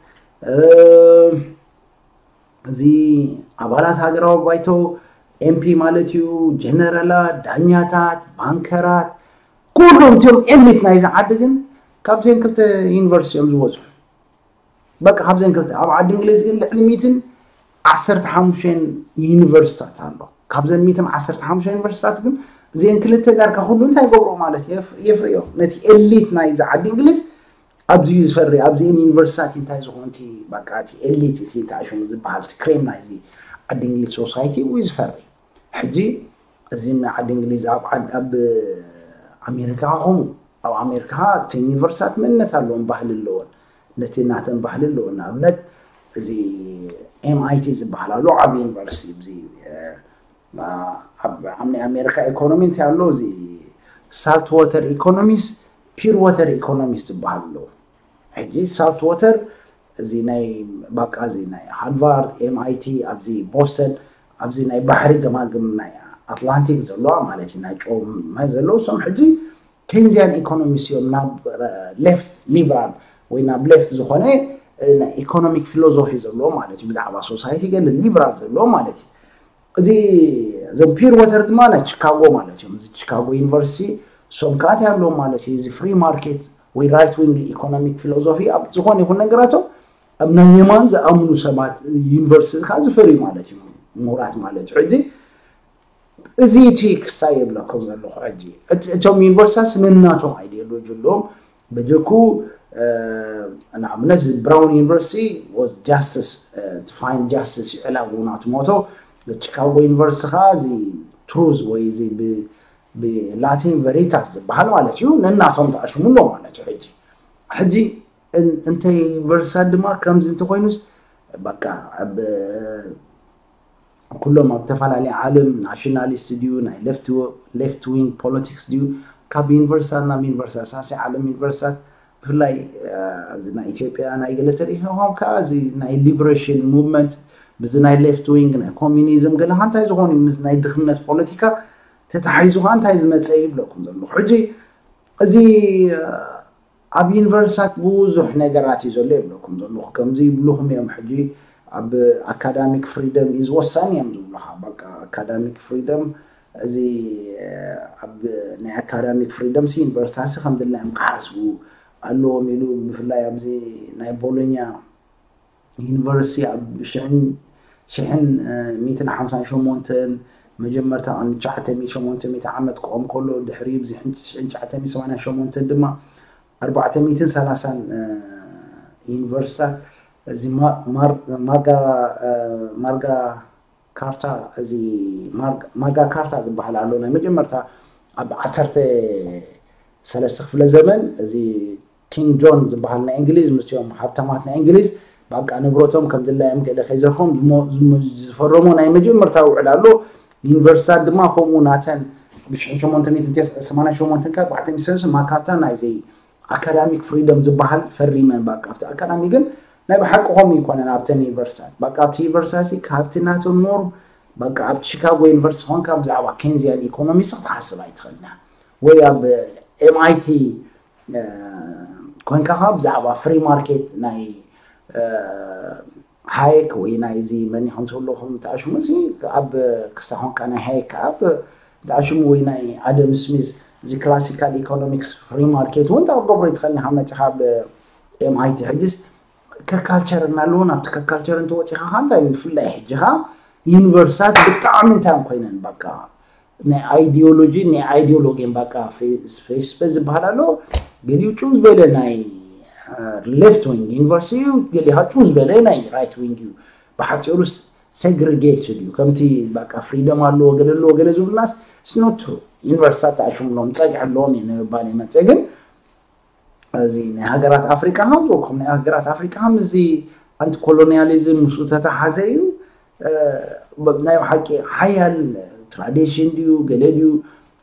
እዚ ኣባላት ሃገራዊ ባይቶ፣ ኤምፒ ማለት እዩ፣ ጀነራላት፣ ዳኛታት፣ ባንከራት፣ ኩሎም እቲኦም ኤሊት ናይዚ ዓዲ ግን ካብዘን ክልተ ዩኒቨርሲቲ እዮም ዝበዝሑ። በቃ ካብዘን ክልተ። ኣብ ዓዲ እንግሊዝ ግን ልዕሊ ሚእትን ዓሰርተ ሓሙሽተን ዩኒቨርሲታት ኣሎ። ካብዘን ሚእትን ዓሰርተ ሓሙሽተ ዩኒቨርሲታት ግን እዚአን ክልተ ዳርጋ ኩሉ እንታይ ይገብሮ ማለት እዩ? የፍ- የፍርዮ። ነቲ ኤሊት ናይዚ ዓዲ እንግሊዝ ኣብዚ እዩ ዝፈሪ። ኣብዚአን ዩኒቨርሲታት እንታይ ዝኾንቲ በቃ እቲ ኤሊት እቲ ተኣሽሙ ዝበሃል እቲ ክሬም ናይዚ ዓዲ እንግሊዝ ሶሳይቲ እዩ ዝፈሪ። ሕጂ እዚ ዓዲ እንግሊዝ ኣብ ዓድ- ኣብ ኣሜሪካ ከምኡ። ኣብ ኣሜሪካ እቲ ዩኒቨርሲታት መንነት ኣለዎም፣ ባህሊ ኣለዎን፣ ነቲ ናተን ባህሊ ኣለዎን። ንኣብነት እዚ ኤምኣይቲ ዝበሃል ኣሎ ዓብ ዩኒቨርሲቲ እዚ ኣብ ናይ ኣሜሪካ ኢኮኖሚ እንታይ ኣሎ? እዚ ሳልት ወተር ኢኮኖሚስ፣ ፒር ወተር ኢኮኖሚስ ዝበሃል ኣሎ። ሕጂ ሳልት ወተር እዚ ናይ ባቃ እዚ ናይ ሃርቫርድ፣ ኤምኣይቲ፣ ኣብዚ ቦስተን፣ ኣብዚ ናይ ባሕሪ ገማግም ናይ ኣትላንቲክ ዘለዋ ማለት እዩ፣ ናይ ጨው ማይ ዘለዉ እሶም ሕጂ ኬንዚያን ኢኮኖሚስ እዮም፣ ናብ ሌፍት ሊብራል ወይ ናብ ሌፍት ዝኾነ ናይ ኢኮኖሚክ ፊሎዞፊ ዘለዎ ማለት እዩ። ብዛዕባ ሶሳይቲ ገለ ሊብራል ዘለዎ ማለት እዩ። እዚ እዞም ፒር ወተር ድማ ናይ ቺካጎ ማለት እዮም። እዚ ቺካጎ ዩኒቨርሲቲ እሶም ከዓ እንታይ ኣለዎም ማለት እዩ? እዚ ፍሪ ማርኬት ወይ ራይት ዊንግ ኢኮኖሚክ ፊሎዞፊ ኣብ ዝኾነ ይኹን ነገራቶም ኣብ ናይ የማን ዝኣምኑ ሰባት ዩኒቨርሲቲ ከዓ ዝፈርዩ ማለት እዩ፣ ምሁራት ማለት እዩ። ሕጂ እዚ እቲ ክስታይ የብለኩም ዘለኹ ሕጂ እቲ- እቶም ዩኒቨርሲታት ነናቶም ኣይዲዮሎጂ ኣለዎም። በጀኩ ንኣብነት እዚ ብራውን ዩኒቨርሲቲ was justice to find justice ይዕላቡ ናቱ ሞቶ። ቺካጎ ዩኒቨርሲቲ ከዓ እዚ ትሩዝ ወይ እዚ ብላቲን ቨሪታስ ዝበሃል ማለት እዩ። ነናቶም ተኣሽሙ ኣሎ ማለት እዩ። ሕጂ ሕጂ እንተ ዩኒቨርሲታት ድማ ከምዚ እንተኮይኑስ በቃ ኣብ ኩሎም ኣብ ተፈላለየ ዓለም ናሽናሊስት ድዩ ናይ ሌፍት ዊንግ ፖለቲክስ ድዩ ካብ ዩኒቨርሲታት ናብ ዩኒቨርሲታት ሳሲ ዓለም ዩኒቨርሲታት ብፍላይ እዚ ናይ ኢትዮጵያ ናይ ገለ ተሪኢኻ ከኣ እዚ ናይ ሊብሬሽን ሙቭመንት ብዚ ናይ ሌፍት ዊንግ ናይ ኮሚኒዝም ገለ እንታይ ዝኾኑ እዩ ምስ ናይ ድኽነት ፖለቲካ ተታሒዙ ከኣ እንታይ ዝመፀ ይብለኩም ዘለኹ ሕጂ እዚ ኣብ ዩኒቨርሲታት ብዙሕ ነገራት እዩ ዘሎ ይብለኩም ዘለኹ። ከምዚ ይብልኹም እዮም ሕጂ ኣብ ኣካዳሚክ ፍሪደም is ወሳኒ እዮም ዝብሉኻ። በቃ ኣካዳሚክ ፍሪደም እዚ ኣብ ናይ ኣካዳሚክ ፍሪደም ሲ ዩኒቨርሲታት ሲ ከም ድላዮም ክሓስቡ ኣለዎም ኢሉ ብፍላይ ኣብዚ ናይ ቦሎኛ ዩኒቨርሲቲ ኣብ ሽሕን ሽሕን ሚእትን ሓምሳን ሸሞንተን መጀመርታ ቅድሚ ትሽዓተ ሚእቲ ሸሞንተ ሚእቲ ዓመት ክቆም ከሎ ድሕሪ ብዚ ሽሕን ትሽዓተ ሚእቲ ሰማንያን ሸሞንተን ድማ ኣርባዕተ ሚእትን ሰላሳን ዩኒቨርሲታት እዚ ማጋ ካርታ እዚ ማጋ ካርታ ዝበሃል ኣሎ ናይ መጀመርታ ኣብ ዓሰርተ ሰለስተ ክፍለ ዘመን እዚ ኪንግ ጆን ዝበሃል ናይ እንግሊዝ ምስኦም ሃብታማት ናይ እንግሊዝ በቃ ንብረቶም ከም ድላዮም ገለ ከይዘርፎም ዝፈረሞ ናይ መጀመርታ ውዕል ኣሎ። ዩኒቨርሲታት ድማ ከምኡ ናተን ብ ሸሞንተ ሚእትን ሰማንያን ሸሞንተን ካብ ኣርባዕተ ሚእቲ ሰለስተ ማካታ ናይዚ ኣካዳሚክ ፍሪደም ዝበሃል ፈሪመን በቃ ኣብቲ ኣካዳሚ ግን ናይ ብሓቂ ከምኡ ይኮነን ኣብተን ዩኒቨርሲታት በቃ ኣብቲ ዩኒቨርሲታት ካብቲ ናቶም ኖርም በቃ ኣብ ቺካጎ ዩኒቨርሲቲ ኮንካ ብዛዕባ ኬንዚያን ኢኮኖሚስ ክትሓስብ ኣይትኽእልና ወይ ኣብ ኤምኣይቲ ኮንካ ከዓ ብዛዕባ ፍሪ ማርኬት ናይ ሃየክ ወይ ናይዚ መን ከም ትብልኹም ተኣሽሙ እዚ ኣብ ክስታ ኮንካ ናይ ሃየክ ከዓ ተኣሽሙ ወይ ናይ ኣደም ስሚዝ እዚ ክላሲካል ኢኮኖሚክስ ፍሪ ማርኬት እውን ተገብሮ ይትኽእል ንካ መፅኻ ኣብ ኤምኣይቲ ሕጅስ ከካልቸር እናለዎ ናብቲ ከካልቸር እንተወፂኻ ካ እንታይ ብፍላይ ሕጂ ካ ዩኒቨርሲታት ብጣዕሚ እንታይ ኮይነን በቃ ናይ ኣይዲዮሎጂ ናይ ኣይዲዮሎጊን በቃ ፌስበ ዝበሃል ኣሎ ገሊኡ ጭው ዝበለ ናይ ሌፍት ዊንግ ዩኒቨርሲቲ እዩ ገሊካ ጭው ዝበለ ናይ ራይት ዊንግ እዩ ብሓፂሩስ ሴግሪጌትድ እዩ ከምቲ በቃ ፍሪደም ኣለዎ ገለ ኣለዎ ገለ ዝብሉናስ ስኖቱ ዩኒቨርሲታት ተኣሽምሎም ፀግዒ ኣለዎም እየ ንምባል ይመፀ ግን እዚ ናይ ሃገራት ኣፍሪቃ ከም ዝበልኩም ናይ ሃገራት ኣፍሪቃ ምስ እዚ ኣንቲ ኮሎኒያሊዝም ምስኡ ተተሓዘ እዩ ናይ ብሓቂ ሓያል ትራዲሽን ድዩ ገለ ድዩ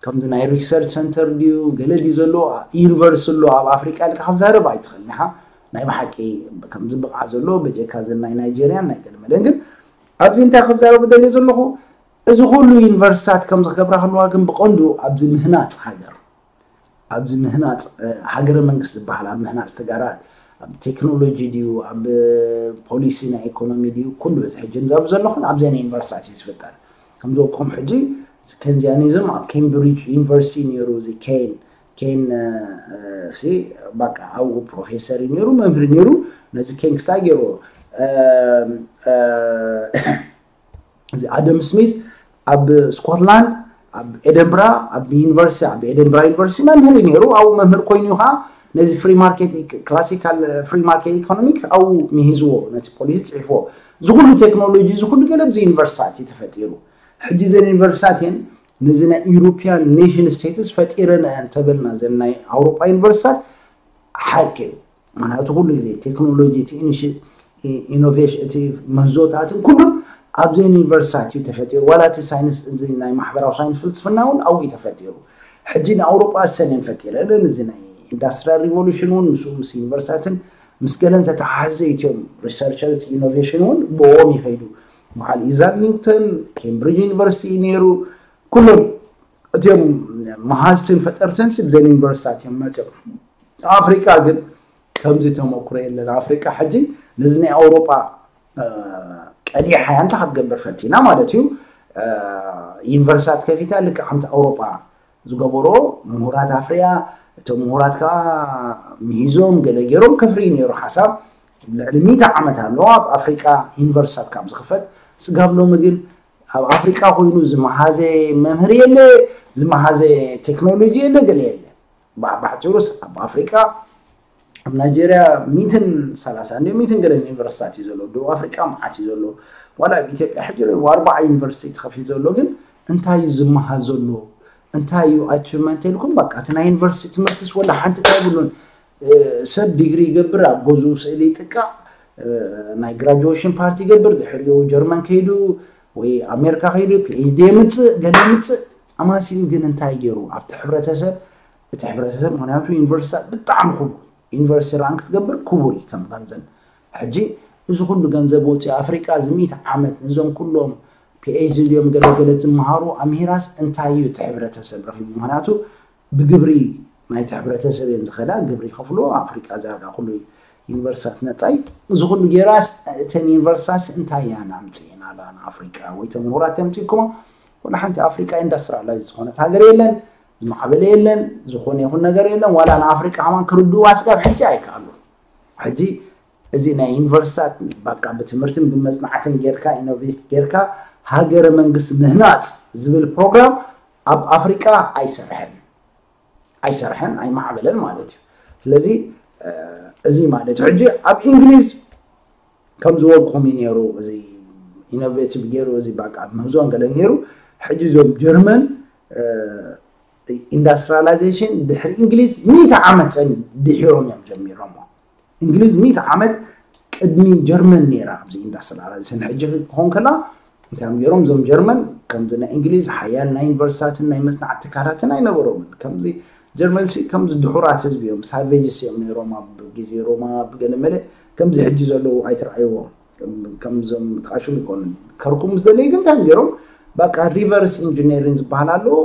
ከምዚ ናይ ሪሰርች ሰንተር ድዩ ገለ ድዩ ዘሎ ዩኒቨርስ ኣሎ ኣብ ኣፍሪቃ ኢልካ ክትዛረብ ኣይትኽእልን ኢኻ። ናይ ብሓቂ ከምዚ ብቕዓ ዘሎ በጀካ ዘን ናይ ናይጀርያን ናይ ገለመለን ግን ኣብዚ እንታይ ክዛረብ ደልየ ዘለኹ እዚ ኩሉ ዩኒቨርሲታት ከምዚ ክገብራ ከለዋ ግን ብቐንዱ ኣብዚ ምህናፅ ሃገር ኣብዚ ምህናፅ ሃገረ መንግስት ዝበሃል ኣብ ምህናፅ ተጋራት ኣብ ቴክኖሎጂ ድዩ ኣብ ፖሊሲ ናይ ኢኮኖሚ ድዩ ኩሉ እዚ ሕጂ ንዛብ ዘለኹን ኣብዘን ዩኒቨርሲታት እዩ ዝፍጠር ከምዚ ወቅኹም ሕጂ ከንዚያኒዝም ኣብ ኬምብሪጅ ዩኒቨርሲቲ ነይሩ እዚ ኬን ኬን ሲ በቃ ኣብኡ ፕሮፌሰር እዩ ነይሩ መምህር ነይሩ ነዚ ኬን ክስታይ ገይሩ እዚ ኣደም ስሚዝ ኣብ ስኮትላንድ ኣብ ኤደንብራ ኣብ ዩኒቨርሲቲ ኣብ ኤደንብራ ዩኒቨርሲቲ መምህር እዩ ነይሩ ኣብኡ መምህር ኮይኑ ከዓ ነዚ ፍሪ ማርኬት ክላሲካል ፍሪ ማርኬት ኢኮኖሚክ ኣብኡ ሚሂዝዎ ነቲ ፖሊሲ ፅሒፍዎ እዚ ኩሉ ቴክኖሎጂ እዚ ኩሉ ገለ ብዚ ዩኒቨርሲታት እዩ ተፈጢሩ ሕጂ ዘን ዩኒቨርሲታት እየን ነዚ ናይ ኢሮፒያን ኔሽን ስቴትስ ፈጢረን እየን ተበልና ዘን ናይ ኣውሮጳ ዩኒቨርሲታት ሓቂ እዩ ምክንያቱ ኩሉ ግዜ ቴክኖሎጂ እቲ ኢኖቬሽን እቲ ምህዞታትን ኩሉ ኣብዘን ዩኒቨርሲታት እዩ ተፈጢሩ ዋላ እቲ ሳይንስ እዚ ናይ ማሕበራዊ ሳይንስ ፍልስፍና እውን ኣብኡ እዩ ተፈጢሩ ሕጂ ንኣውሮጳ ሰኔን ፈጢረ እለን እዚ ናይ ኢንዳስትሪያል ሪቮሉሽን እውን ምስኡ ምስ ዩኒቨርሲታትን ምስ ገለን ተተሓዘ እትዮም ሪሰርቸርስ ኢኖቬሽን እውን ብኦም ይኸይዱ በዓል ኢዛክ ኒውተን ኬምብሪጅ ዩኒቨርሲቲ እዩ ነይሩ ኩሎም እትዮም መሃዝትን ፈጠርትን ብዘን ዩኒቨርሲታት እዮም መፅኦም ኣፍሪቃ ግን ከምዚ ተመክሮ የለን ኣፍሪቃ ሕጂ ነዚ ናይ ኣውሮጳ ቀዲሓ እንታይ ክትገብር ፈቲና ማለት እዩ ዩኒቨርሲታት ከፊታ ልክዕ ከምቲ ኣውሮጳ ዝገበሮ ምሁራት ኣፍርያ እቶም ምሁራት ከዓ ምሂዞም ገለ ገይሮም ከፍሪ ነይሩ ሓሳብ ልዕሊ ሚእቲ ዓመት ኣለዋ ኣብ ኣፍሪቃ ዩኒቨርሲታት ካብ ዝኽፈት ስጋብ ሎሚ ግን ኣብ ኣፍሪቃ ኮይኑ ዝመሃዘ መምህር የለ ዝመሃዘ ቴክኖሎጂ የለ ገለ የለ ብሓፂሩስ ኣብ ኣፍሪቃ ኣብ ናይጀርያ ሚትን ሰላሳ እንደ ሚትን ገለ ዩኒቨርሲታት እዩ ዘሎ ደቡብ ኣፍሪቃ መዓት እዩ ዘሎ ዋላ ኣብ ኢትዮጵያ ሕጂ ኣርባዓ ዩኒቨርሲቲ ተኸፊት ዘሎ ግን እንታይ እዩ ዝመሃዝ ዘሎ እንታይ እዩ ኣችቭመንት ኢልኩም በቃ እቲ ናይ ዩኒቨርሲቲ ትምህርትስ ወላ ሓንቲ እንታይ ብሉን ሰብ ዲግሪ ይገብር ኣብ ገዝኡ ስእሊ ይጥቃዕ ናይ ግራጁዌሽን ፓርቲ ይገብር ድሕሪኡ ጀርመን ከይዱ ወይ ኣሜሪካ ከይዱ ፒኤችዲ የምፅእ ገለ የምፅእ ኣማሲኡ ግን እንታይ ገይሩ ኣብቲ ሕብረተሰብ እቲ ሕብረተሰብ ምክንያቱ ዩኒቨርሲታት ብጣዕሚ ክቡር ዩኒቨርሲቲ ራን ክትገብር ክቡር እዩ ከም ገንዘብ ሕጂ እዚ ኩሉ ገንዘብ ወፂኡ ኣፍሪቃ እዚ ሚእቲ ዓመት ነዞም ኩሎም ፒኤችዲ ድዮም ገለገለ ዝመሃሩ ኣምሂራስ እንታይ እዩ እቲ ሕብረተሰብ ረኪቡ ምክንያቱ ብግብሪ ናይቲ ሕብረተሰብ እየን ዝኸዳ ግብሪ ይኸፍልዎ ኣፍሪቃ ዛርጋ ኩሉ ዩኒቨርሲታት ነፃይ እዚ ኩሉ ጌራስ እተን ዩኒቨርሲታት እንታይ እያ ናምፅእና ኣላ ንኣፍሪቃ ወይ ተምሁራት የምፅእኩሞ ወላ ሓንቲ ኣፍሪቃ ኢንዳስትሪላይዝ ዝኾነት ሃገር የለን ዝማዕበለ የለን ዝኾነ ይኹን ነገር የለን ዋላ ንኣፍሪቃ ከማን ክርድዋ ስጋብ ሕጂ ኣይከኣሉ ሕጂ እዚ ናይ ዩኒቨርሲታት በቃ ብትምህርትን ብመፅናዕትን ጌርካ ኢኖቬት ጌርካ ሃገረ መንግስቲ ምህናፅ ዝብል ፕሮግራም ኣብ ኣፍሪቃ ኣይሰርሐን ኣይሰርሐን ኣይማዕበለን ማለት እዩ ስለዚ እዚ ማለት ሕጂ ኣብ እንግሊዝ ከም ዝበልኩም እዩ ነይሩ እዚ ኢኖቬቲቭ ገይሩ እዚ በቃ ምህዞን ገለን ነይሩ ሕጂ እዞም ጀርመን ኢንዳስትሪላይዜሽን ድሕሪ እንግሊዝ ሚእቲ ዓመት ፀን ድሒሮም እዮም ጀሚሮሞ እንግሊዝ ሚእቲ ዓመት ቅድሚ ጀርመን ነይራ ኣብዚ ኢንዳስትሪላይዜሽን ሕጂ ክኾን ከላ እንታይ እዮም ገይሮም እዞም ጀርመን ከምዚ ናይ እንግሊዝ ሓያል ናይ ዩኒቨርሲታትን ናይ መፅናዕቲ ትካላትን ኣይነበሮምን ከምዚ ጀርመን ሲ ከምዚ ድሑራት ህዝቢ እዮም ሳቬጅስ እዮም ነይሮም ኣብ ግዜ ሮማ ብገለ መለ ከምዚ ሕጂ ዘለዉ ኣይትረኣይዎም ከምዞም ተቃሽም ይኮኑ ከርኩም ምስ ደለዩ ግን እንታይ ገይሮም በቃ ሪቨርስ ኢንጂነሪን ዝበሃል ኣለዎ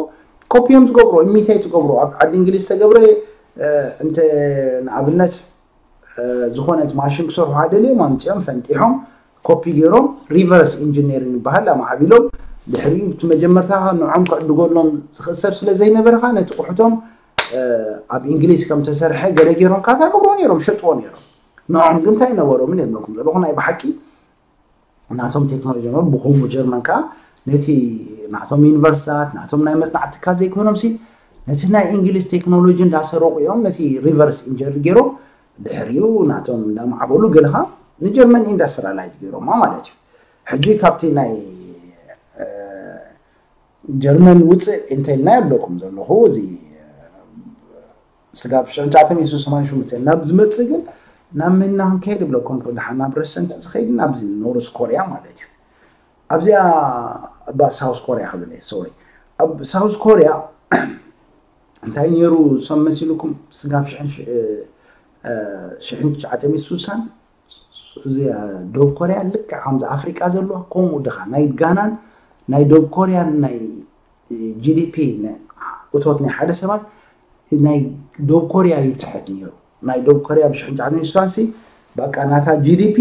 ኮፒ እዮም ዝገብሩ ኢሚቴት ዝገብሩ ኣብ ዓዲ እንግሊዝ ዝተገብረ እንተ ንኣብነት ዝኾነት ማሽን ክሰርሑ ደልዮም ኣምፅኦም ፈንጢሖም ኮፒ ገይሮም ሪቨርስ ኢንጂነሪን ይበሃል ኣማዕቢሎም ድሕሪኡ እቲ መጀመርታ ንዖም ክዕድገሎም ዝኽእል ሰብ ስለ ዘይነበረ ከዓ ነቲ ቁሕቶም ኣብ እንግሊዝ ከም ተሰርሐ ገለ ገይሮም ካታ ገብሮ ነይሮም ሸጥዎ ነይሮም ንዖም ግን እንታይ ነበሮምን የብለኩም ዘለኹ ናይ ብሓቂ ናቶም ቴክኖሎጂ ሞ ብኹሙ ጀርመን ከዓ ነቲ ናቶም ዩኒቨርሲታት ናቶም ናይ መፅናዕቲ ትካል ዘይኮኖም ሲ ነቲ ናይ እንግሊዝ ቴክኖሎጂ እንዳሰረቁ እዮም ነቲ ሪቨርስ ኢንጀር ገይሮም ድሕሪኡ ናቶም እንዳማዕበሉ ገለኻ ንጀርመን ኢንዳስትሪላይዝ ገይሮማ ማለት እዩ ሕጂ ካብቲ ናይ ጀርመን ውፅእ እንተልና የብለኩም ዘለኹ እዚ ስጋብ ሽዑ ትሽዓተ ሚእቲ ሰማንያን ሽዱሽተ ናብ ዝመፅእ ግን ናብ ምና ክንከይድ ይብለኩም ደሓን ናብ ረሰንት ዝኸይድ ናብዚ ኖርስ ኮርያ ማለት እዩ ኣብዚኣ እባ ሳውስ ኮርያ ክብል እየ ሶሪ ኣብ ሳውስ ኮርያ እንታይ ነይሩ? እሶም መሲልኩም ስጋብ ሽሕን ሽ- እ፣ እ፣ ሽሕን ትሽዓተ ሚእቲ ስሳን እዚ እ፣ ደቡብ ኮርያ ልክዕ ከምዚ ኣፍሪቃ ዘለዋ ከምኡ ድኻ ናይ ጋናን ናይ ደቡብ ኮርያን ናይ ጂዲፒ እቶት ናይ ሓደ ሰባት ናይ ደቡብ ኮርያ ይትሕት ነይሩ። ናይ ደቡብ ኮርያ ብሽሕን ትሽዓተ ሚእቲ ስሳን ሲ በቃ ናታ ጂዲፒ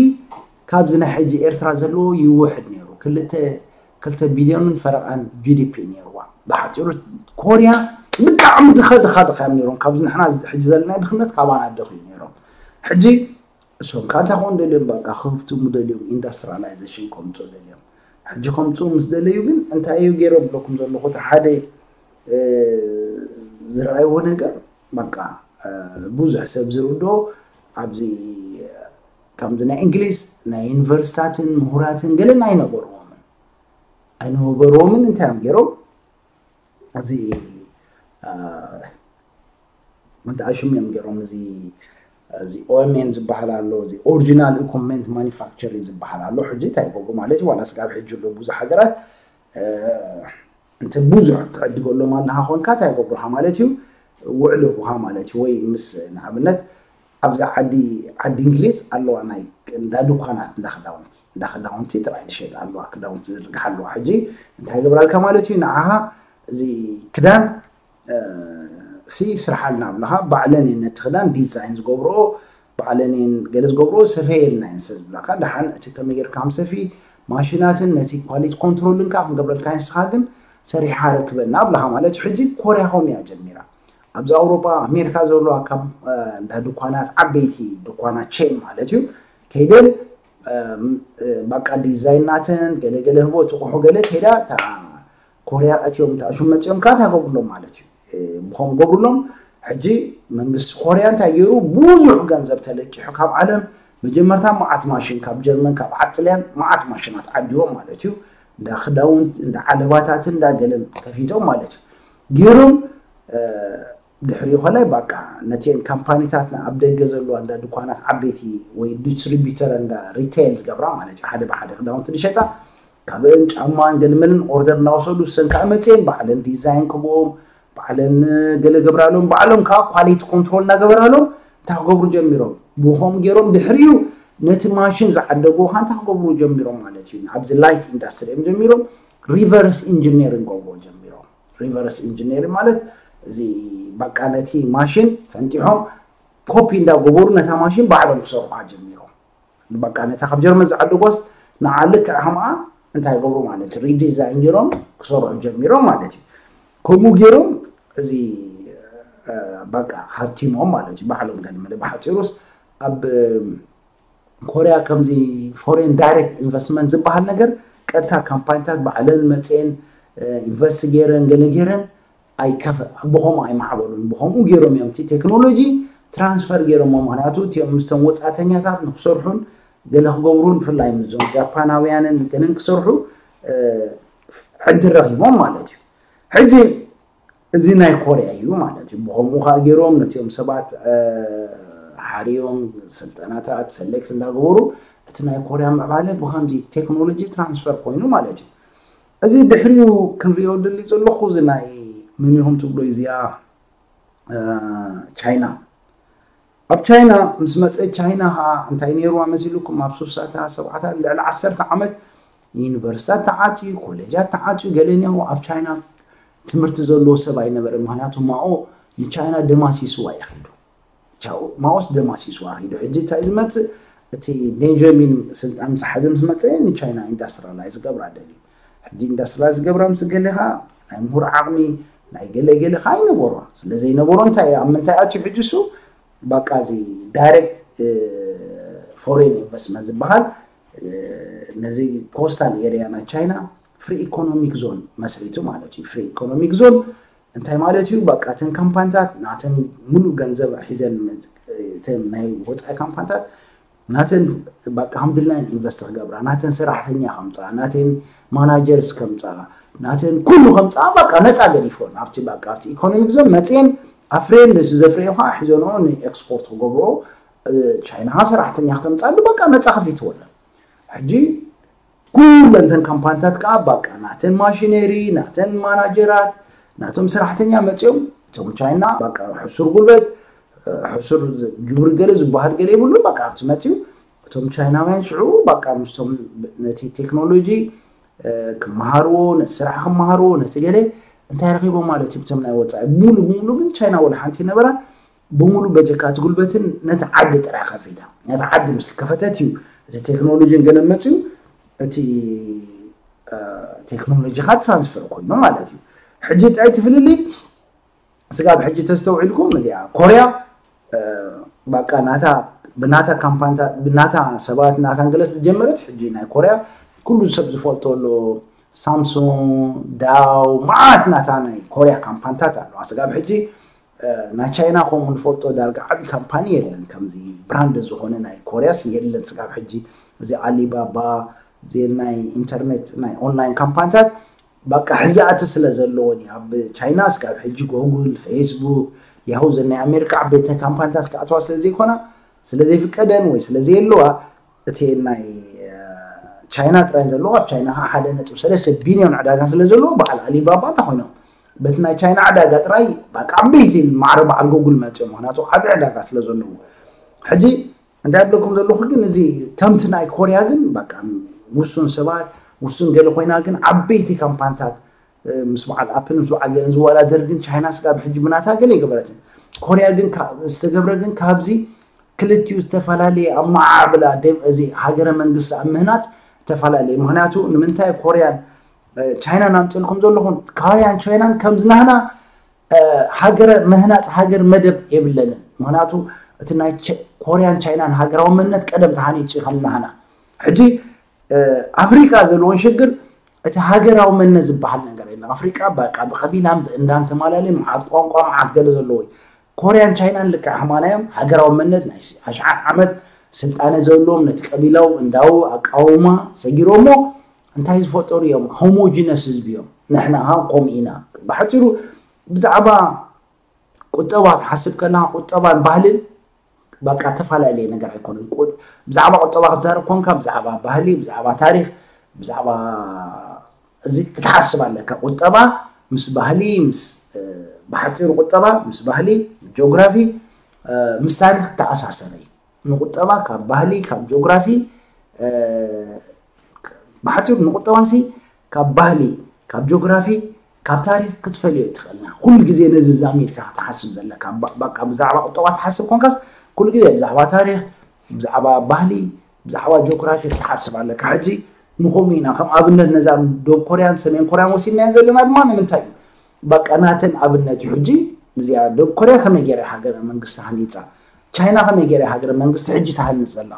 ካብዚ ናይ ሕጂ ኤርትራ ዘለዎ ይውሕድ ነይሩ። ክልተ ክልተ ቢልዮንን ፈረቓን ጂዲፒ ነይርዋ። ብሓፂሩ ኮርያ ብጣዕሚ ድኸ ድኻ ድኻ እዮም ነይሮም። ካብዚ ንሕና ሕጂ ዘለና ድኽነት ካባና ድኽ እዩ ነይሮም። ሕጂ እሶም ከ እንታይ ክኾኑ ደልዮም? በቃ ክህብትሙ ደልዮም፣ ኢንዳስትሪላይዜሽን ከምፅኡ ደልዮም። ሕጂ ከምፅኡ ምስ ደለዩ ግን እንታይ እዩ ገይሮም ብለኩም ዘለኹ? እቲ ሓደ እ፣ ዝረኣይዎ ነገር በቃ እ፣ ብዙሕ ሰብ ዝርድኦ ኣብዚ ከምዚ ናይ እንግሊዝ ናይ ዩኒቨርሲታትን ምሁራትን ገለን ኣይነበርዎምን ኣይነበርዎምን። እንታይ እዮም ገይሮም? እዚ እ፣ እንታይ ሽም እዮም ገይሮም? እዚ እዚ ኦኤምኤን ዝበሃል ኣሎ፣ እዚ ኦሪጂናል ኢኩፕመንት ማኒፋክቸሪንግ ዝበሃል ኣሎ። ሕጂ እንታይ ይገብሩ ማለት እዩ? ዋላ ስጋብ ሕጂ ኣሎ ብዙሕ ሃገራት እ፣ እንተ ብዙሕ ትዕድገሎም ኣለኻ ኮንካ እንታይ ይገብሩኻ ማለት እዩ? ውዕል ይህቡኻ ማለት እዩ። ወይ ምስ ንኣብነት ኣብዚ ዓዲ ዓዲ እንግሊዝ ኣለዋ ናይ እንዳ ድኳናት እንዳ ክዳውንቲ እንዳ ክዳውንቲ ጥራይ ዝሸጣ ኣለዋ፣ ክዳውንቲ ዝርግሓ ኣለዋ። ሕጂ እንታይ ይገብራልካ ማለት እዩ? ንዓኻ እዚ ክዳን እ፣ ሲ ስርሓልና ብለኻ ባዕለን እየን ነቲ ክዳን ዲዛይን ዝገብርኦ ባዕለን እየን ገለ ዝገብርኦ ሰፈየልና እየን ስለ ዝብላካ ደሓን እቲ ከመይ ጌርካ ከም ሰፊ ማሽናትን ነቲ ኳሊቲ ኮንትሮልን ከዓ ክንገብረልካ ንስኻ ግን ሰሪሓ ረክበና ብለኻ ማለት እዩ። ሕጂ ኮርያ ከምኡ እያ ጀሚራ። ኣብዚ ኣውሮጳ ኣሜሪካ ዘለዋ ካብ እ፣ እንዳ ድኳናት ዓበይቲ ድኳናት ቼን ማለት እዩ ከይደን እ፣ እ፣ በቃ ዲዛይን ናተን ገለ ገለ ህቦ ትቑሑ ገለ ከይዳ እታ ኮርያ እቲኦም ተኣሹም መፂኦም ከዓ እንታይ ገብሩሎም ማለት እዩ። እ፣ ብኸም ገብሩሎም ሕጂ መንግስቲ ኮርያ እንታይ ገይሩ ብዙሕ ገንዘብ ተለቂሑ ካብ ዓለም መጀመርታ መዓት ማሽን ካብ ጀርመን ካብ ዓጥልያን መዓት ማሽናት ዓዲዎም ማለት እዩ። እንዳ ክዳውንት እንዳ ዓለባታትን እንዳ ገለን ከፊቶም ማለት እዩ ገይሮም እ፣ ድሕሪኡ ከላይ በቃ ነቲአን ካምፓኒታትና ኣብ ደገ ዘለዋ እንዳ ድኳናት ዓበይቲ ወይ ዲስትሪቢተር እንዳ ሪቴል ዝገብራ ማለት እዩ ሓደ ብሓደ ክዳውንቲ ዝሸጣ ካብአን ጫማን ገልመልን ኦርደር እናወሰዱ እሰን ከዓ መፅየን ባዕለን ዲዛይን ክብኦም ባዕለን ገለ ገብራሎም ባዕሎም ከዓ ኳሊቲ ኮንትሮል እናገበራሎም እንታይ ክገብሩ ጀሚሮም ብኸም ገይሮም ድሕሪኡ ነቲ ማሽን ዝዓደጉ ከዓ እንታይ ክገብሩ ጀሚሮም ማለት እዩ ኣብዚ ላይት ኢንዳስትሪ እዮም ጀሚሮም ሪቨርስ ኢንጂኒሪንግ ገብርዎ ጀሚሮም ሪቨርስ ኢንጂኒሪንግ ማለት እዚ በቃ ነቲ ማሽን ፈንጢሖም ኮፒ እንዳገበሩ ነታ ማሽን ባዕሎም ክሰርሑ ጀሚሮም በቃ ነታ ካብ ጀርመን ዝዓደጓስ ንዓ ልክዕ ከምኣ እንታይ ይገብሩ ማለት ሪዲዛይን ገይሮም ክሰርሑ ጀሚሮም ማለት እዩ ከምኡ ገይሮም እዚ በቃ ሃብቲሞም ማለት እዩ ባዕሎም ገለ መለ ብሓፂሩስ ኣብ ኮርያ ከምዚ ፎሬን ዳይሬክት ኢንቨስትመንት ዝበሃል ነገር ቀጥታ ካምፓኒታት ባዕለን መፅኤን ኢንቨስት ገይረን ገለ ገይረን ኣይከፈ ብኸምኡ ኣይማዕበሉን ብኸምኡ ገይሮም እዮም እቲ ቴክኖሎጂ ትራንስፈር ገይሮሞ ምክንያቱ እቲኦም ምስቶም ወፃእተኛታት ንክሰርሑን ገለ ክገብሩን ብፍላይ ምስዞም ጃፓናውያንን ገለን ክሰርሑ ዕድል ረኪቦም ማለት እዩ ሕጂ እዚ ናይ ኮርያ እዩ ማለት እዩ ብኸምኡ ከዓ ገይሮም ነቲኦም ሰባት ሓርዮም ስልጠናታት ሰሌክት እንዳገበሩ እቲ ናይ ኮርያ ምዕባለ ብከምዚ ቴክኖሎጂ ትራንስፈር ኮይኑ ማለት እዩ እዚ ድሕሪኡ ክንሪኦ ደሊ ዘለኹ እዚ ናይ መን ኢኹም ትብሎ እዚኣ ቻይና ኣብ ቻይና ምስ መፀ ቻይና ከዓ እንታይ ነይርዋ መሲልኩም ኣብ ሱሳታ ሰብዓታት ልዕሊ ዓሰርተ ዓመት ዩኒቨርሲታት ተዓፅዩ ኮሌጃት ተዓፅዩ ገለ እኒኦ ኣብ ቻይና ትምህርቲ ዘለዎ ሰብ ኣይነበረ ምክንያቱ ማኦ ንቻይና ደማሲስዋ እዩ ኪዱ ማኦስ ደማሲስዋ ኪዱ ሕጂ እንታይ ዝመፅእ እቲ ቤንጃሚን ስልጣን ምስ ሓዘ ምስ መፀ ንቻይና ኢንዳስትሪላይዝ ዝገብራ ደልዩ ሕጂ ኢንዳስትሪላይዝ ዝገብራ ምስ ገሌኻ ናይ ምሁር ዓቕሚ ናይ ገለ ገለ ከዓ ኣይነበሮ ስለ ዘይነበሮ እንታይ ኣብ ምንታይ ኣትዩ ሕጂ እሱ በቃ እዚ ዳይሬክት ፎሬን ኢንቨስትመንት ዝበሃል ነዚ ኮስታል ኤሪያ ናይ ቻይና ፍሪ ኢኮኖሚክ ዞን መስሪቱ ማለት እዩ ፍሪ ኢኮኖሚክ ዞን እንታይ ማለት እዩ በቃ እተን ካምፓኒታት ናተን ሙሉእ ገንዘብ ሒዘን እተን ናይ ወፃኢ ካምፓኒታት ናተን በቃ ከም ድልናየን ኢንቨስት ክገብራ ናተን ሰራሕተኛ ከምፃ ናተን ማናጀርስ ከምፃ ናተን ኩሉ ከምፃ በቃ ነፃ ገዲፎን ኣብቲ በቃ ኣብቲ ኢኮኖሚክ ዞን መፅየን ኣፍሬን ነሱ ዘፍረዮ ከዓ ሒዘንኦ ንኤክስፖርት ክገብርኦ ቻይና ከዓ ሰራሕተኛ ክተምፃሉ በቃ ነፃ ከፊትወለን ሕጂ ኩለን እተን ካምፓኒታት ከዓ በቃ ናተን ማሽነሪ ናተን ማናጀራት ናቶም ሰራሕተኛ መፅኦም እቶም ቻይና በቃ ሕሱር ጉልበት ሕሱር ግብሪ ገለ ዝበሃል ገለ የብሉ። በቃ ኣብቲ መፅኡ እቶም ቻይናውያን ሽዑ በቃ ምስቶም ነቲ ቴክኖሎጂ ክመሃርዎ፣ ነቲ ስራሕ ክመሃርዎ፣ ነቲ ገለ እንታይ ረኺቦም ማለት እዩ። እቶም ናይ ወፃኢ ሙሉ ብሙሉ ግን ቻይና ወላ ሓንቲ ነበራ ብሙሉ በጀካት ጉልበትን ነቲ ዓዲ ጥራይ ከፊታ። ነቲ ዓዲ ምስ ከፈተት እዩ እቲ ቴክኖሎጂን ገለ መፅኡ እቲ ቴክኖሎጂኻ ትራንስፈር ኮይኑ ማለት እዩ። ሕጂ እንታይ ትፍልልይ ስጋብ ሕጂ ተስተውዒልኩም እዚኣ ኮርያ በቃ ናታ ብናታ ካምፓንታ ብናታ ሰባት ናታን ገለ ዝጀመረት ሕጂ ናይ ኮርያ ኩሉ ሰብ ዝፈልጦ ኣሎ። ሳምሱንግ፣ ዳው፣ መዓት ናታ ናይ ኮርያ ካምፓንታት ኣለዋ። ስጋብ ሕጂ ናይ ቻይና ከምኡ ንፈልጦ ዳርጋ ዓብዪ ካምፓኒ የለን። ከምዚ ብራንድ ዝኾነ ናይ ኮርያስ የለን ስጋብ ሕጂ። እዚ ኣሊባባ እዚ ናይ ኢንተርኔት ናይ ኦንላይን ካምፓንታት በቃ ሕዛእቲ ስለ ዘለዎን እዩ። ኣብ ቻይና ስጋብ ሕጂ ጎጉል፣ ፌስቡክ፣ ያሁ ዘን ናይ ኣሜሪካ ዓበይቲ ካምፓንታት ክኣትዋ ስለ ዘይኮና ስለ ዘይፍቀደን ወይ ስለ ዘየለዋ እቲ ናይ ቻይና ጥራይ ዘለዎ ኣብ ቻይና ከዓ ሓደ ነጥብ ሰለስተ ቢልዮን ዕዳጋ ስለ ዘለዎ በዓል ኣሊባባ እንተ ኮይኖም በቲ ናይ ቻይና ዕዳጋ ጥራይ በቃ ዓበይቲ ማዕረ በዓል ጎጉል መፅኦም። ምክንያቱ ዓብዪ ዕዳጋ ስለ ዘለዎ ሕጂ እንታይ ብለኩም ዘለኹ ግን እዚ ከምቲ ናይ ኮርያ ግን በቃ ውሱን ሰባት ውሱን ገለ ኮይና ግን ዓበይቲ ካምፓንታት ምስ በዓል ኣፕል ምስ በዓል ገለን ዝወዳደር ግን ቻይና ስጋብ ሕጂ ብናታ ገለ ይገበረትን። ኮርያ ግን ዝተገብረ ግን ካብዚ ክልቲኡ ዝተፈላለየ ኣመዓዕብላ እዚ ሃገረ መንግስቲ ኣብ ምህናፅ ዝተፈላለየ። ምክንያቱ ንምንታይ ኮርያን ቻይናን ኣምፅልኩም ዘለኹም? ኮርያን ቻይናን ከምዝናህና ሃገረ ምህናፅ ሃገር መደብ የብለንን። ምክንያቱ እቲ ናይ ኮርያን ቻይናን ሃገራዊ መንነት ቀደም ተሃኒፁ እዩ ከምናህና። ሕጂ ኣፍሪቃ ዘለዎን ሽግር እቲ ሃገራዊ መንነት ዝበሃል ነገር የለን። ኣፍሪቃ በቃ ብቀቢላን ብእንዳን ተማላለዩ መዓት ቋንቋ መዓት ገለ ዘለዎ እዩ። ኮርያን ቻይናን ልክዕ ከማና እዮም። ሃገራዊ መንነት ናይ ኣሽዓት ዓመት ስልጣነ ዘለዎም ነቲ ቀቢላዊ እንዳው ኣቃውማ ሰጊሮሞ እንታይ ዝፈጠሩ እዮም? ሆሞጂነስ ህዝቢ እዮም። ንሕና ከምኡ ኢና። ብሓፂሩ ብዛዕባ ቁጠባ ትሓስብ ከለካ ቁጠባን ባህልን በቃ ተፈላለየ ነገር ኣይኮነን። ብዛዕባ ቁጠባ ክትዛረብ ኮንካ ብዛዕባ ባህሊ፣ ብዛዕባ ታሪክ፣ ብዛዕባ እዚ ክትሓስብ ኣለካ። ቁጠባ ምስ ባህሊ ምስ ብሓፂሩ ቁጠባ ምስ ባህሊ ጂኦግራፊ ምስ ታሪክ ተኣሳሰረ እዩ። ንቁጠባ ካብ ባህሊ ካብ ጂኦግራፊ ብሓፂሩ ንቁጠባሲ ካብ ባህሊ ካብ ጂኦግራፊ ካብ ታሪክ ክትፈልዮ ትኽእልና። ኩሉ ግዜ ነዚ ዛሚድካ ክትሓስብ ዘለካ በቃ ብዛዕባ ቁጠባ ትሓስብ ኮንካስ ኩሉ ግዜ ብዛዕባ ታሪክ ብዛዕባ ባህሊ ብዛዕባ ጂኦግራፊ ክትሓስብ ኣለካ። ሕጂ ንኸምኡ ኢና ከም ኣብነት ነዛ ደቡብ ኮርያን ሰሜን ኮርያን ወሲድናዮ ዘለና ድማ ንምንታይ እዩ በቃ ናተን ኣብነት እዩ። ሕጂ እዚኣ ደቡብ ኮርያ ከመይ ገይራ ሃገረ መንግስቲ ሃኒፃ፣ ቻይና ከመይ ገይራ ሃገረ መንግስቲ ሕጂ ትሃንፅ ዘላ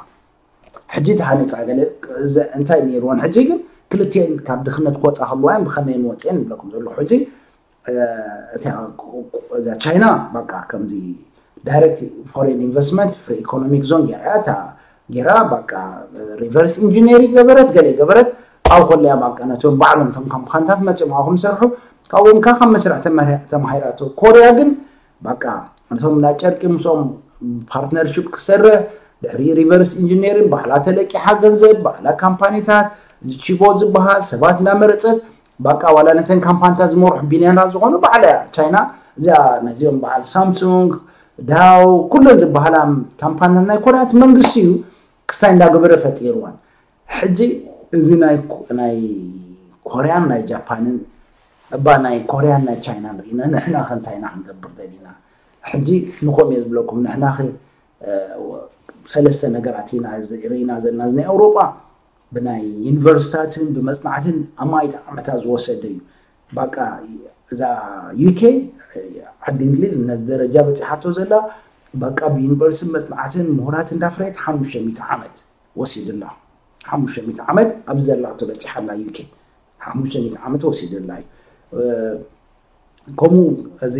ሕጂ ተሃኒፃ ገለ እንታይ ነይርወን ሕጂ ግን ክልቲኤን ካብ ድኽነት ክወፃ ከለዋ እየን ብኸመይ ንወፅኤን ይብለኩም ዘለኹ ሕጂ እዛ ቻይና በቃ ከምዚ ዳይሬክት ፎሬን ኢንቨስትመንት ፍሪ ኢኮኖሚክ ዞን ገይራ እያ እታ ገይራ በቃ ሪቨርስ ኢንጂነሪ ገበረት ገለ ገበረት ኣብ ኮለያ በቃ ነቶም ባዕሎም ቶም ካምፓንታት መፅኦም ኣብኹም ሰርሑ ካብኦም ካ ካብ መስርሕ ተማሂራቶ ኮርያ ግን በቃ እቶም ናይ ጨርቂ ምስኦም ፓርትነርሽፕ ክሰርሕ ድሕሪ ሪቨርስ ኢንጂነሪን ባዕላ ተለቂሓ ገንዘብ ባዕላ ካምፓኒታት እዚ ቺቦ ዝበሃል ሰባት እናመረፀት በቃ ዋላ ነተን ካምፓኒታት ዝመርሑ ቢልዮነራት ዝኾኑ ባዕላ እያ ቻይና እዚኣ ነዚኦም በዓል ሳምሱንግ ዳው ኩለን ዝበሃላ ካምፓኒታት ናይ ኮርያ እቲ መንግስቲ እዩ ክስታይ እንዳገበረ ፈጢርወን ሕጂ እዚ ናይ ኮርያን ናይ ጃፓንን እባ ናይ ኮርያን ናይ ቻይናን ርኢና ንሕና ከ እንታይ ኢና ክንገብር ደሊና ሕጂ ንኸም እየ ዝብለኩም ንሕና ኸ ሰለስተ ነገራት ኢና ርኢና ዘለና ናይ ኣውሮጳ ብናይ ዩኒቨርሲታትን ብመፅናዕትን ኣማይት ዓመታት ዝወሰደ እዩ በቃ እዛ ዩኬ ዓዲ እንግሊዝ ነዚ ደረጃ በፂሓቶ ዘላ በቃ ብዩኒቨርሲቲ መፅናዕትን ምሁራት እንዳፍረየት ሓሙሽተ ሚእቲ ዓመት ወሲድላ ሓሙሽተ ሚእቲ ዓመት ኣብዚ ዘላቶ በፂሓላ ዩኬ ሓሙሽተ ሚእቲ ዓመት ወሲድላ እዩ ከምኡ እዚ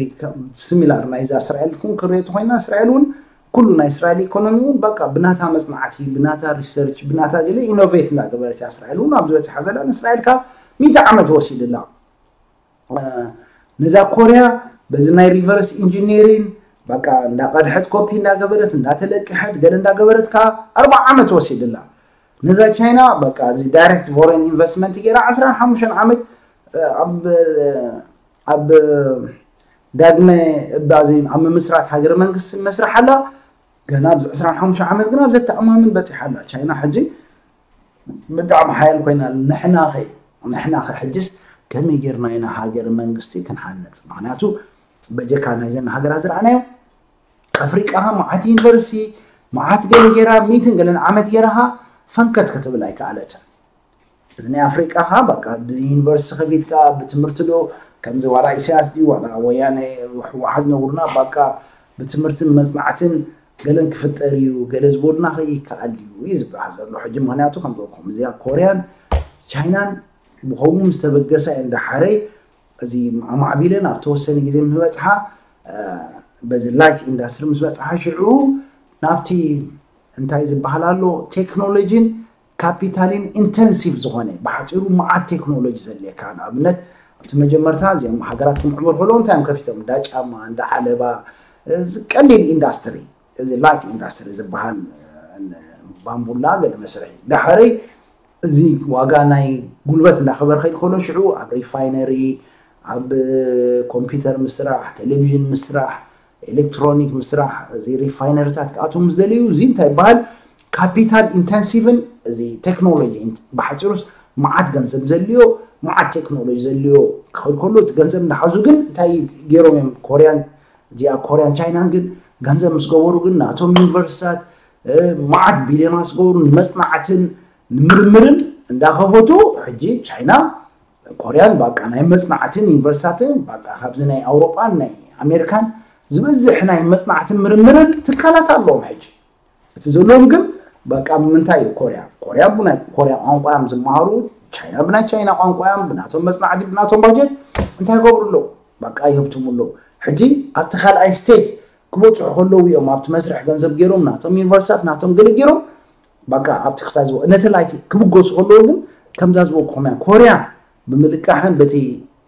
ስሚላር ናይዛ እስራኤል እውን ክሪኦ ተኮይና እስራኤል እውን ኩሉ ናይ እስራኤል ኢኮኖሚ እውን በቃ ብናታ መፅናዕቲ ብናታ ሪሰርች ብናታ ገለ ኢኖቬት እንዳገበረት እያ እስራኤል እውን ኣብዚ በፂሓ ዘላ ንእስራኤል ካብ ሚእቲ ዓመት ወሲድላ ነዛ ኮርያ በዚ ናይ ሪቨርስ ኢንጂነሪን በቃ እንዳቀድሐት ኮፒ እንዳገበረት እንዳተለቅሐት ገለ እንዳገበረት ካብ ኣርባዓ ዓመት ወሲድላ ነዛ ቻይና በቃ እዚ ዳይሬክት ፎሬን ኢንቨስትመንት ገይራ ዓስራን ሓሙሽተን ዓመት ኣብ ኣብ ዳግመ እባዚ ኣብ ምምስራት ሃገረ መንግስቲ መስርሕ ኣላ። ገና ኣብዚ ዕስራን ሓሙሽተ ዓመት ግን ኣብ ዘተኣማምን በፂሓ ኣላ። ቻይና ሕጂ ብጣዕሚ ሓያል ኮይና ኣላ። ንሕናኸ ንሕናኸ ሕጅስ ከመይ ጌርና ኢና ሃገረ መንግስቲ ክንሃነፅ? ምክንያቱ በጀካ ናይዘን ሃገራት ዝረኣናዮ ኣፍሪቃ መዓት ዩኒቨርሲቲ መዓት ገለ ጌራ ሚትን ገለን ዓመት ጌራኻ ፈንከት ክትብል ኣይከኣለትን። እዚ ናይ ኣፍሪቃ ኻ በቃ ብዩኒቨርሲቲ ከፊትካ ብትምህርቲ ዶ ከምዚ ዋላ ኢሳያስ ድዩ ዋላ ወያነ ህወሓት ነጉርና በቃ ብትምህርትን መፅናዕትን ገለን ክፍጠር እዩ ገለ ዝበሉና ከይከኣል እዩ እዩ ዝበሃል ዘሎ ሕጂ። ምክንያቱ ከም ዝበልኩም እዚኣ ኮርያን ቻይናን ብኸምኡ ምስ ተበገሳ እየን ዳሓረይ እዚ ኣማዕቢለን ኣብ ተወሰነ ግዜ ምስ በፅሓ በዚ ላይት ኢንዳስትሪ ምስ በፅሓ ሽዑ ናብቲ እንታይ ዝበሃል ኣሎ ቴክኖሎጂን ካፒታልን ኢንተንሲቭ ዝኾነ ብሓፂሩ መዓት ቴክኖሎጂ ዘድልየካ ንኣብነት ኣብቲ መጀመርታ እዚኦም ሃገራት ክምዕበሉ ከለዉ እንታይ እዮም ከፊቶም እንዳ ጫማ እንዳ ዓለባ እዚ ቀሊል ኢንዳስትሪ እዚ ላይት ኢንዳስትሪ ዝበሃል ባምቡላ ገለ መስርሒ ዳሕረይ እዚ ዋጋ ናይ ጉልበት እንዳኸበረ ከይድ ከሎ ሽዑ ኣብ ሪፋይነሪ ኣብ ኮምፒውተር ምስራሕ ቴሌቪዥን ምስራሕ ኤሌክትሮኒክ ምስራሕ እዚ ሪፋይነሪታት ክኣትዉ ምስ ደለዩ እዚ እንታይ ይበሃል ካፒታል ኢንተንሲቭን እዚ ቴክኖሎጂ ብሓፂሩስ መዓት ገንዘብ ዘድልዮ መዓት ቴክኖሎጂ ዘድልዮ ክኸድ ከሎ እቲ ገንዘብ እንዳሓዙ ግን እንታይ ገይሮም እዮም ኮርያን እዚኣ ኮርያን ቻይናን ግን ገንዘብ ምስ ገበሩ ግን ናቶም ዩኒቨርሲታት መዓት ቢልዮናት ዝገብሩ ንመፅናዕትን ንምርምርን እንዳኸፈቱ ሕጂ ቻይና ኮርያን ባቃ ናይ መፅናዕትን ዩኒቨርሲታትን ባቃ ካብዚ ናይ ኣውሮጳን ናይ ኣሜሪካን ዝበዝሕ ናይ መፅናዕትን ምርምርን ትካላት ኣለዎም ሕጂ እቲ ዘለዎም ግን በቃ ብምንታይ እዩ ኮርያ ኮርያ ብናይ ኮርያ ቋንቋ እዮም ዝመሃሩ ቻይና ብናይ ቻይና ቋንቋ እዮም ብናቶም መፅናዕቲ ብናቶም ባጀት እንታይ ይገብሩ ኣለዉ በቃ ይህብትሙ ኣለዉ ሕጂ ኣብቲ ካልኣይ ስቴጅ ክበፅሑ ከለዉ እዮም ኣብቲ መስርሕ ገንዘብ ገይሮም ናቶም ዩኒቨርሲታት ናቶም ገለ ገይሮም በቃ ኣብቲ ክሳብ ዝበ ነቲ ላይቲ ክብገሱ ከለዉ ግን ከምዛ ዝበልኩኹም እያ ኮርያ ብምልቃሕን በቲ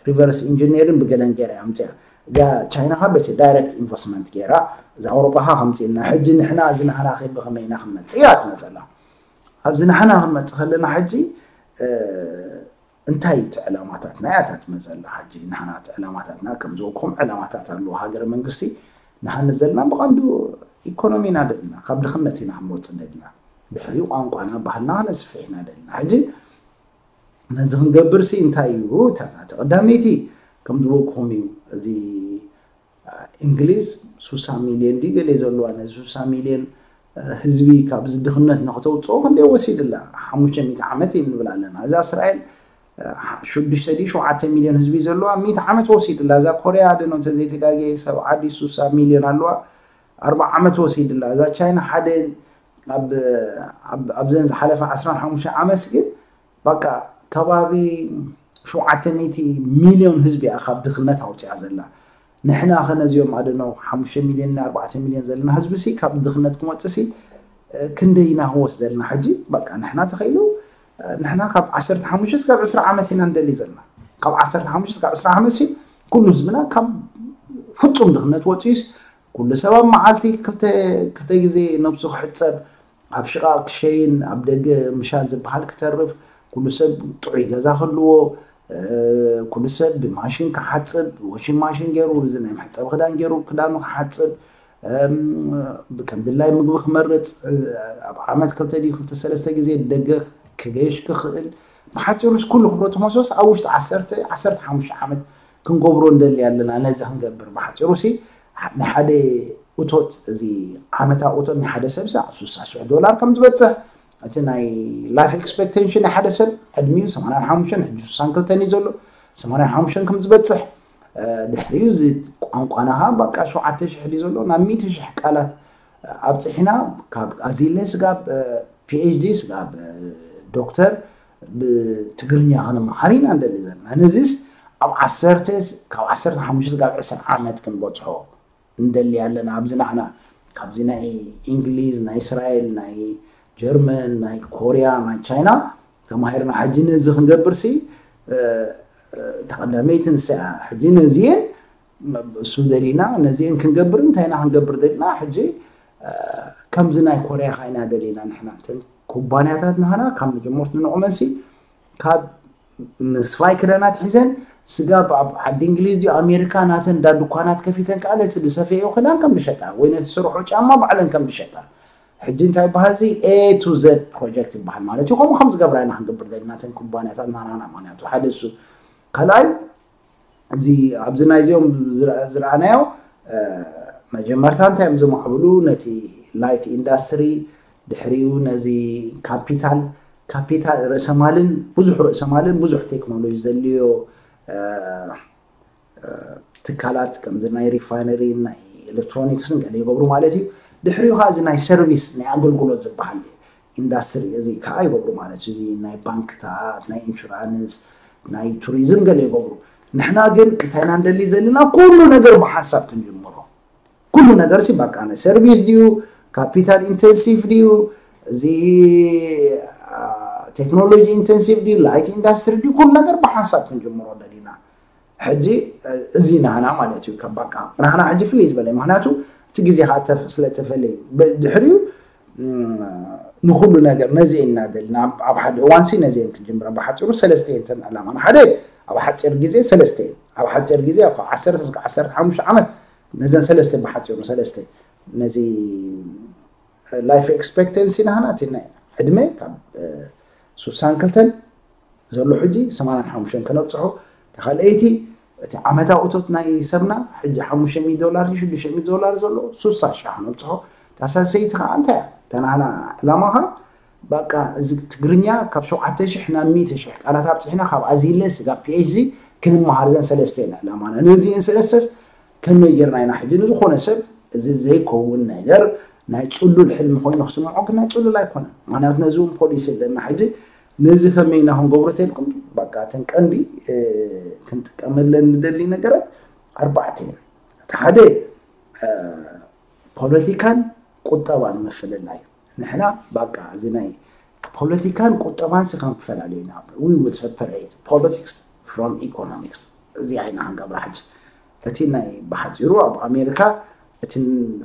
ሪቨርስ ኢንጂኒሪን ብገለን ገይራ እያ ኣምፅያ እዛ ቻይና ካ በቲ ዳይሬክት ኢንቨስትመንት ገይራ እዛ ኣውሮጳ ካ ከምፅልና ሕጂ ንሕና እዚ ናህና ከ ብከመይ ኢና ክንመፅእ እያ ትመፀላ ኣብዚ ናህና ክንመፅእ ከለና ሕጂ እንታይ እቲ ዕላማታትና እያ እታ ትመፀላ ሕጂ ናህና እቲ ዕላማታትና ከም ዝበልኩም ዕላማታት ኣለዎ ሃገረ መንግስቲ ንሃኒ ዘለና ብቐንዱ ኢኮኖሚ ኢና ደልና ካብ ድኽነት ኢና ክንወፅእ ደልና ድሕሪኡ ቋንቋና ባህልና ክነስፍሕ ኢና ደልና ሕጂ ነዚ ክንገብር ሲ እንታይ እዩ እታ ቀዳመይቲ ከም ዝበልኩኹም እዩ እዚ እንግሊዝ ሱሳ ሚልዮን ድዩ ገለ ዘለዋ ነዚ ሱሳ ሚልዮን ህዝቢ ካብዚ ድኽነት ንክተውፅኦ ክንደይ ወሲድላ ሓሙሽተ ሚእቲ ዓመት እዩ ንብል ኣለና እዛ እስራኤል ሽዱሽተ ድዩ ሸውዓተ ሚልዮን ህዝቢ ዘለዋ ሚእቲ ዓመት ወሲድላ እዛ ኮርያ ደኖ እንተዘይተጋጌ ሰብዓ ድዩ ሱሳ ሚልዮን ኣለዋ ኣርባዓ ዓመት ወሲድላ እዛ ቻይና ሓደ ኣብዘን ዝሓለፈ ዓስራን ሓሙሽተ ዓመት ግን በቃ ከባቢ ሸውዓተ ሚእቲ ሚልዮን ህዝቢ እያ ካብ ድኽነት ኣውፅያ ዘላ ንሕና ከ ነዚኦም ኣደኖ ሓሙሽተ ሚልዮን ኣርባዕተ ሚልዮን ዘለና ህዝቢ ሲ ካብ ድኽነት ክመፅእ ሲ ክንደይ ኢና ክንወስድ ዘለና ሕጂ በቃ ንሕና ተኸኢሉ ንሕና ካብ ዓሰርተ ሓሙሽተ እስካብ ዕስራ ዓመት ኢና ንደሊ ዘለና ካብ ዓሰርተ ሓሙሽተ እስካብ ዕስራ ዓመት ሲ ኩሉ ህዝብና ካብ ፍፁም ድኽነት ወፂኡስ ኩሉ ሰብ ኣብ መዓልቲ ክልተ ግዜ ነብሱ ክሕፀብ ኣብ ሽቓቕ ክሸይን ኣብ ደገ ምሻን ዝበሃል ክተርፍ ኩሉ ሰብ ጥዑይ ገዛ ክህልዎ ኩሉ ሰብ ብማሽን ክሓፅብ ወሽን ማሽን ገይሩ እዚ ናይ መሕፀቢ ክዳን ገይሩ ክዳኑ ክሓፅብ ከም ድላይ ምግቢ ክመርፅ ኣብ ዓመት ክልተ ድዩ ክልተ ሰለስተ ግዜ ደገ ክገይሽ ክኽእል ብሓፂሩስ ኩሉ ክብረቱ መሶስ ኣብ ውሽጢ ዓሰርተ ዓሰርተ ሓሙሽተ ዓመት ክንገብሮ እንደሊ ኣለና ነዚ ክንገብር ብሓፂሩ ሲ ንሓደ እቶት እዚ ዓመታዊ እቶት ናይ ሓደ ሰብ ሳ ስሳ ሽሕ ዶላር ከም ዝበፅሕ እቲ ናይ ላይፍ ኤክስፔክቴንሽን ናይ ሓደ ሰብ ዕድሚኡ ሰማንያን ሓሙሽተን ሕጂ ስሳን ክልተን እዩ ዘሎ ሰማንያን ሓሙሽተን ከም ዝበፅሕ ድሕሪኡ እዚ ቋንቋናኻ በቃ ሸውዓተ ሽሕ ድዩ ዘሎ ናብ ሚእቲ ሽሕ ቃላት ኣብፅሒና ካብ ኣዚለ ስጋብ ፒኤችዲ ስጋብ ዶክተር ብትግርኛ ክንመሃር ኢና እንደሊ ዘለና ነዚስ ኣብ ዓሰርተ ካብ ዓሰርተ ሓሙሽተ ስጋብ ዕስራ ዓመት ክንበፅሖ እንደሊ ኣለና ኣብዚ ናህና ካብዚ ናይ እንግሊዝ ናይ እስራኤል ናይ ጀርመን ናይ ኮርያ ናይ ቻይና ተማሂርና ሕጂ ነዚ ክንገብር ሲ ተቐዳመይቲ ንሳ ሕጂ ነዚኤን እሱ ደሊና ነዚኤን ክንገብር እንታይ ኢና ክንገብር ደሊና ሕጂ ከምዚ ናይ ኮርያ ካ ኢና ደሊና ንሕና እተን ኩባንያታት ናህና ካብ መጀመርቱ ንዕመንሲ ካብ ምስፋይ ክዳናት ሒዘን ስጋብ ኣብ ዓዲ እንግሊዝ ድዩ ኣሜሪካ ናተን እንዳ ድኳናት ከፊተን ከኣ ነቲ ዝሰፈየኦ ክዳን ከም ዝሸጣ ወይ ነቲ ዝሰርሖ ጫማ ባዕለን ከም ዝሸጣ። ሕጂ እንታይ ይበሃል? እዚ A to Z project ይበሃል ማለት እዩ። ከምኡ ከም ዝገብራ ኢና ክንገብር ዘለና እተን ኩባንያታት ናናና። ምክንያቱ ሓደ እሱ፣ ካልኣይ እዚ ኣብዚ ናይዚኦም ዝረ- ዝረኣናዮ፣ እ፣ መጀመርታ እንታይ እዮም ዘማዕብሉ? ነቲ light industry፣ ድሕሪኡ ነዚ ካፒታል ካፒታል ርእሰ ማልን ብዙሕ ርእሰ ማልን ብዙሕ ቴክኖሎጂ ዘድልዮ፣ እ፣ እ፣ ትካላት ከምዚ ናይ ሪፋይነሪ፣ ናይ ኤሌክትሮኒክስን ገለ ይገብሩ ማለት እዩ። ድሕሪኡ ከዓ እዚ ናይ ሰርቪስ፣ ናይ ኣገልግሎት ዝበሃል ኢንዳስትሪ እዚ ከዓ ይገብሩ ማለት እዩ። እዚ ናይ ባንክታት፣ ናይ ኢንሹራንስ፣ ናይ ቱሪዝም ገለ ይገብሩ። ንሕና ግን እንታይ ኢና ንደሊ ዘለና? ኩሉ ነገር ብሓንሳብ ክንጅምሮ። ኩሉ ነገር ሲ በቃ ናይ ሰርቪስ ድዩ፣ ካፒታል ኢንተንሲቭ ድዩ፣ እዚ፣ አ፣ ቴክኖሎጂ ኢንተንሲቭ ድዩ፣ ላይት ኢንዳስትሪ ድዩ፣ ኩሉ ነገር ብሓንሳብ ክንጅምሮ ደሊና። ሕጂ፣ እ፣ እዚ ናህና ማለት እዩ። ከም በቃ ናህና ሕጂ ፍልይ ዝበለ፣ ምክንያቱ እቲ ግዜ ከዓ ተፍ- ስለ ተፈለዩ፣ ብ- ድሕሪኡ፣ ም፣ ንኩሉ ነገር ነዚ ኢና ደልና። ኣብ- ኣብ ሓደ እዋን ሲ ነዚ እየን ክንጅምረ። ብሓፂሩ ሰለስተ እየን እተን ዕላማና። ሓደ ኣብ ሓፂር ግዜ ሰለስተ እየን። ኣብ ሓፂር ግዜ ኣብ ዓሰርተ እስከ ዓሰርተ ሓሙሽተ ዓመት ነዘን ሰለስተ ብሓፂሩ ሰለስተ ነዚ ላይፍ ኤክስፔክተንሲ ናህና እቲ ናይ ዕድመ ካብ፣ እ፣ ሱሳን ክልተን ዘሎ ሕጂ ሰማንያን ሓሙሽተን ከነብፅሖ። ተኻልአይቲ እቲ ዓመታዊ እቶት ናይ ሰብና ሕጂ ሓሙሽተ ሚእቲ ዶላር፣ ሽዱሽተ ሚእቲ ዶላር ዘሎ ሱሳ ሺሕ ከነብፅሖ። ታሳሰይቲ ከዓ እንታይ እያ? ተናህና ዕላማኻ በቃ እዚ ትግርኛ ካብ ሸውዓተ ሺሕ ናብ ሚእቲ ሺሕ ቃላት ኣብፅሕና ካብ ኣዚለ ስጋብ ፒ ኤች ዲ ክንመሃር። ዘን ሰለስተ እየን ዕላማና። ነዚአን ሰለስተስ ከመይ ጌርና ኢና ሕጂ ንዝኾነ ሰብ እዚ ዘይከውን ነገር ናይ ጽሉል ሕልሚ ኮይኑ ክስምዖ፣ ግን ናይ ጽሉል ኣይኮነን። ምክንያቱ ነዚ እውን ፖሊሲ ኣለና። ሕጂ ነዚ ከመይ ኢና ክንገብሮ ተልኩም በቃ እተን ቀንዲ፣ እ፣ ክንጥቀመለን ንደሊ ነገራት ኣርባዕተ እየን። እቲ ሓደ፣ እ፣ ፖለቲካን ቁጠባን ምፍልላይ። ንሕና በቃ እዚ ናይ ፖለቲካን ቁጠባን ሲ ከም ክፈላለዩ ኢና። We will separate politics from economics። እዚ ዓይና ክንገብራ ሕጂ። እቲ ናይ ብሓፂሩ ኣብ ኣሜሪካ እቲ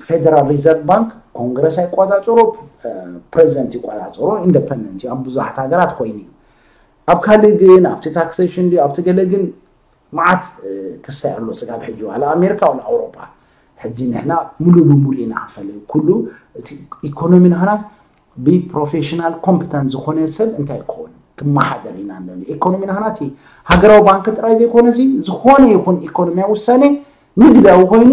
ፌደራል ሪዘርቭ ባንክ ኮንግረስ ኣይቆፃፀሮ፣ እ፣ ፕሬዚደንት ይቆፃፀሮ፣ ኢንደፐንደንት እዩ። ኣብ ብዙሓት ሃገራት ኮይኑ እዩ። ኣብ ካልእ ግን ኣብቲ ታክሴሽን ድዩ ኣብቲ ገለ ግን መዓት፣ እ፣ ክስታይ ኣሎ ስጋብ ሕጂ፣ ዋላ ኣሜሪካ ዋላ ኣውሮፓ። ሕጂ ንሕና ሙሉ ብሙሉ ኢና ክንፈለዩ። ኩሉ እቲ ኢኮኖሚ ናህና ብፕሮፌሽናል ኮምፕተንት ዝኾነ ሰብ እንታይ ክኸውን ክመሓደር ኢና ንደሊ። ኢኮኖሚ ናህና እቲ ሃገራዊ ባንክ ጥራይ ዘይኮነ ሲ ዝኾነ ይኹን ኢኮኖሚያዊ ውሳኔ ንግዳዊ ኮይኑ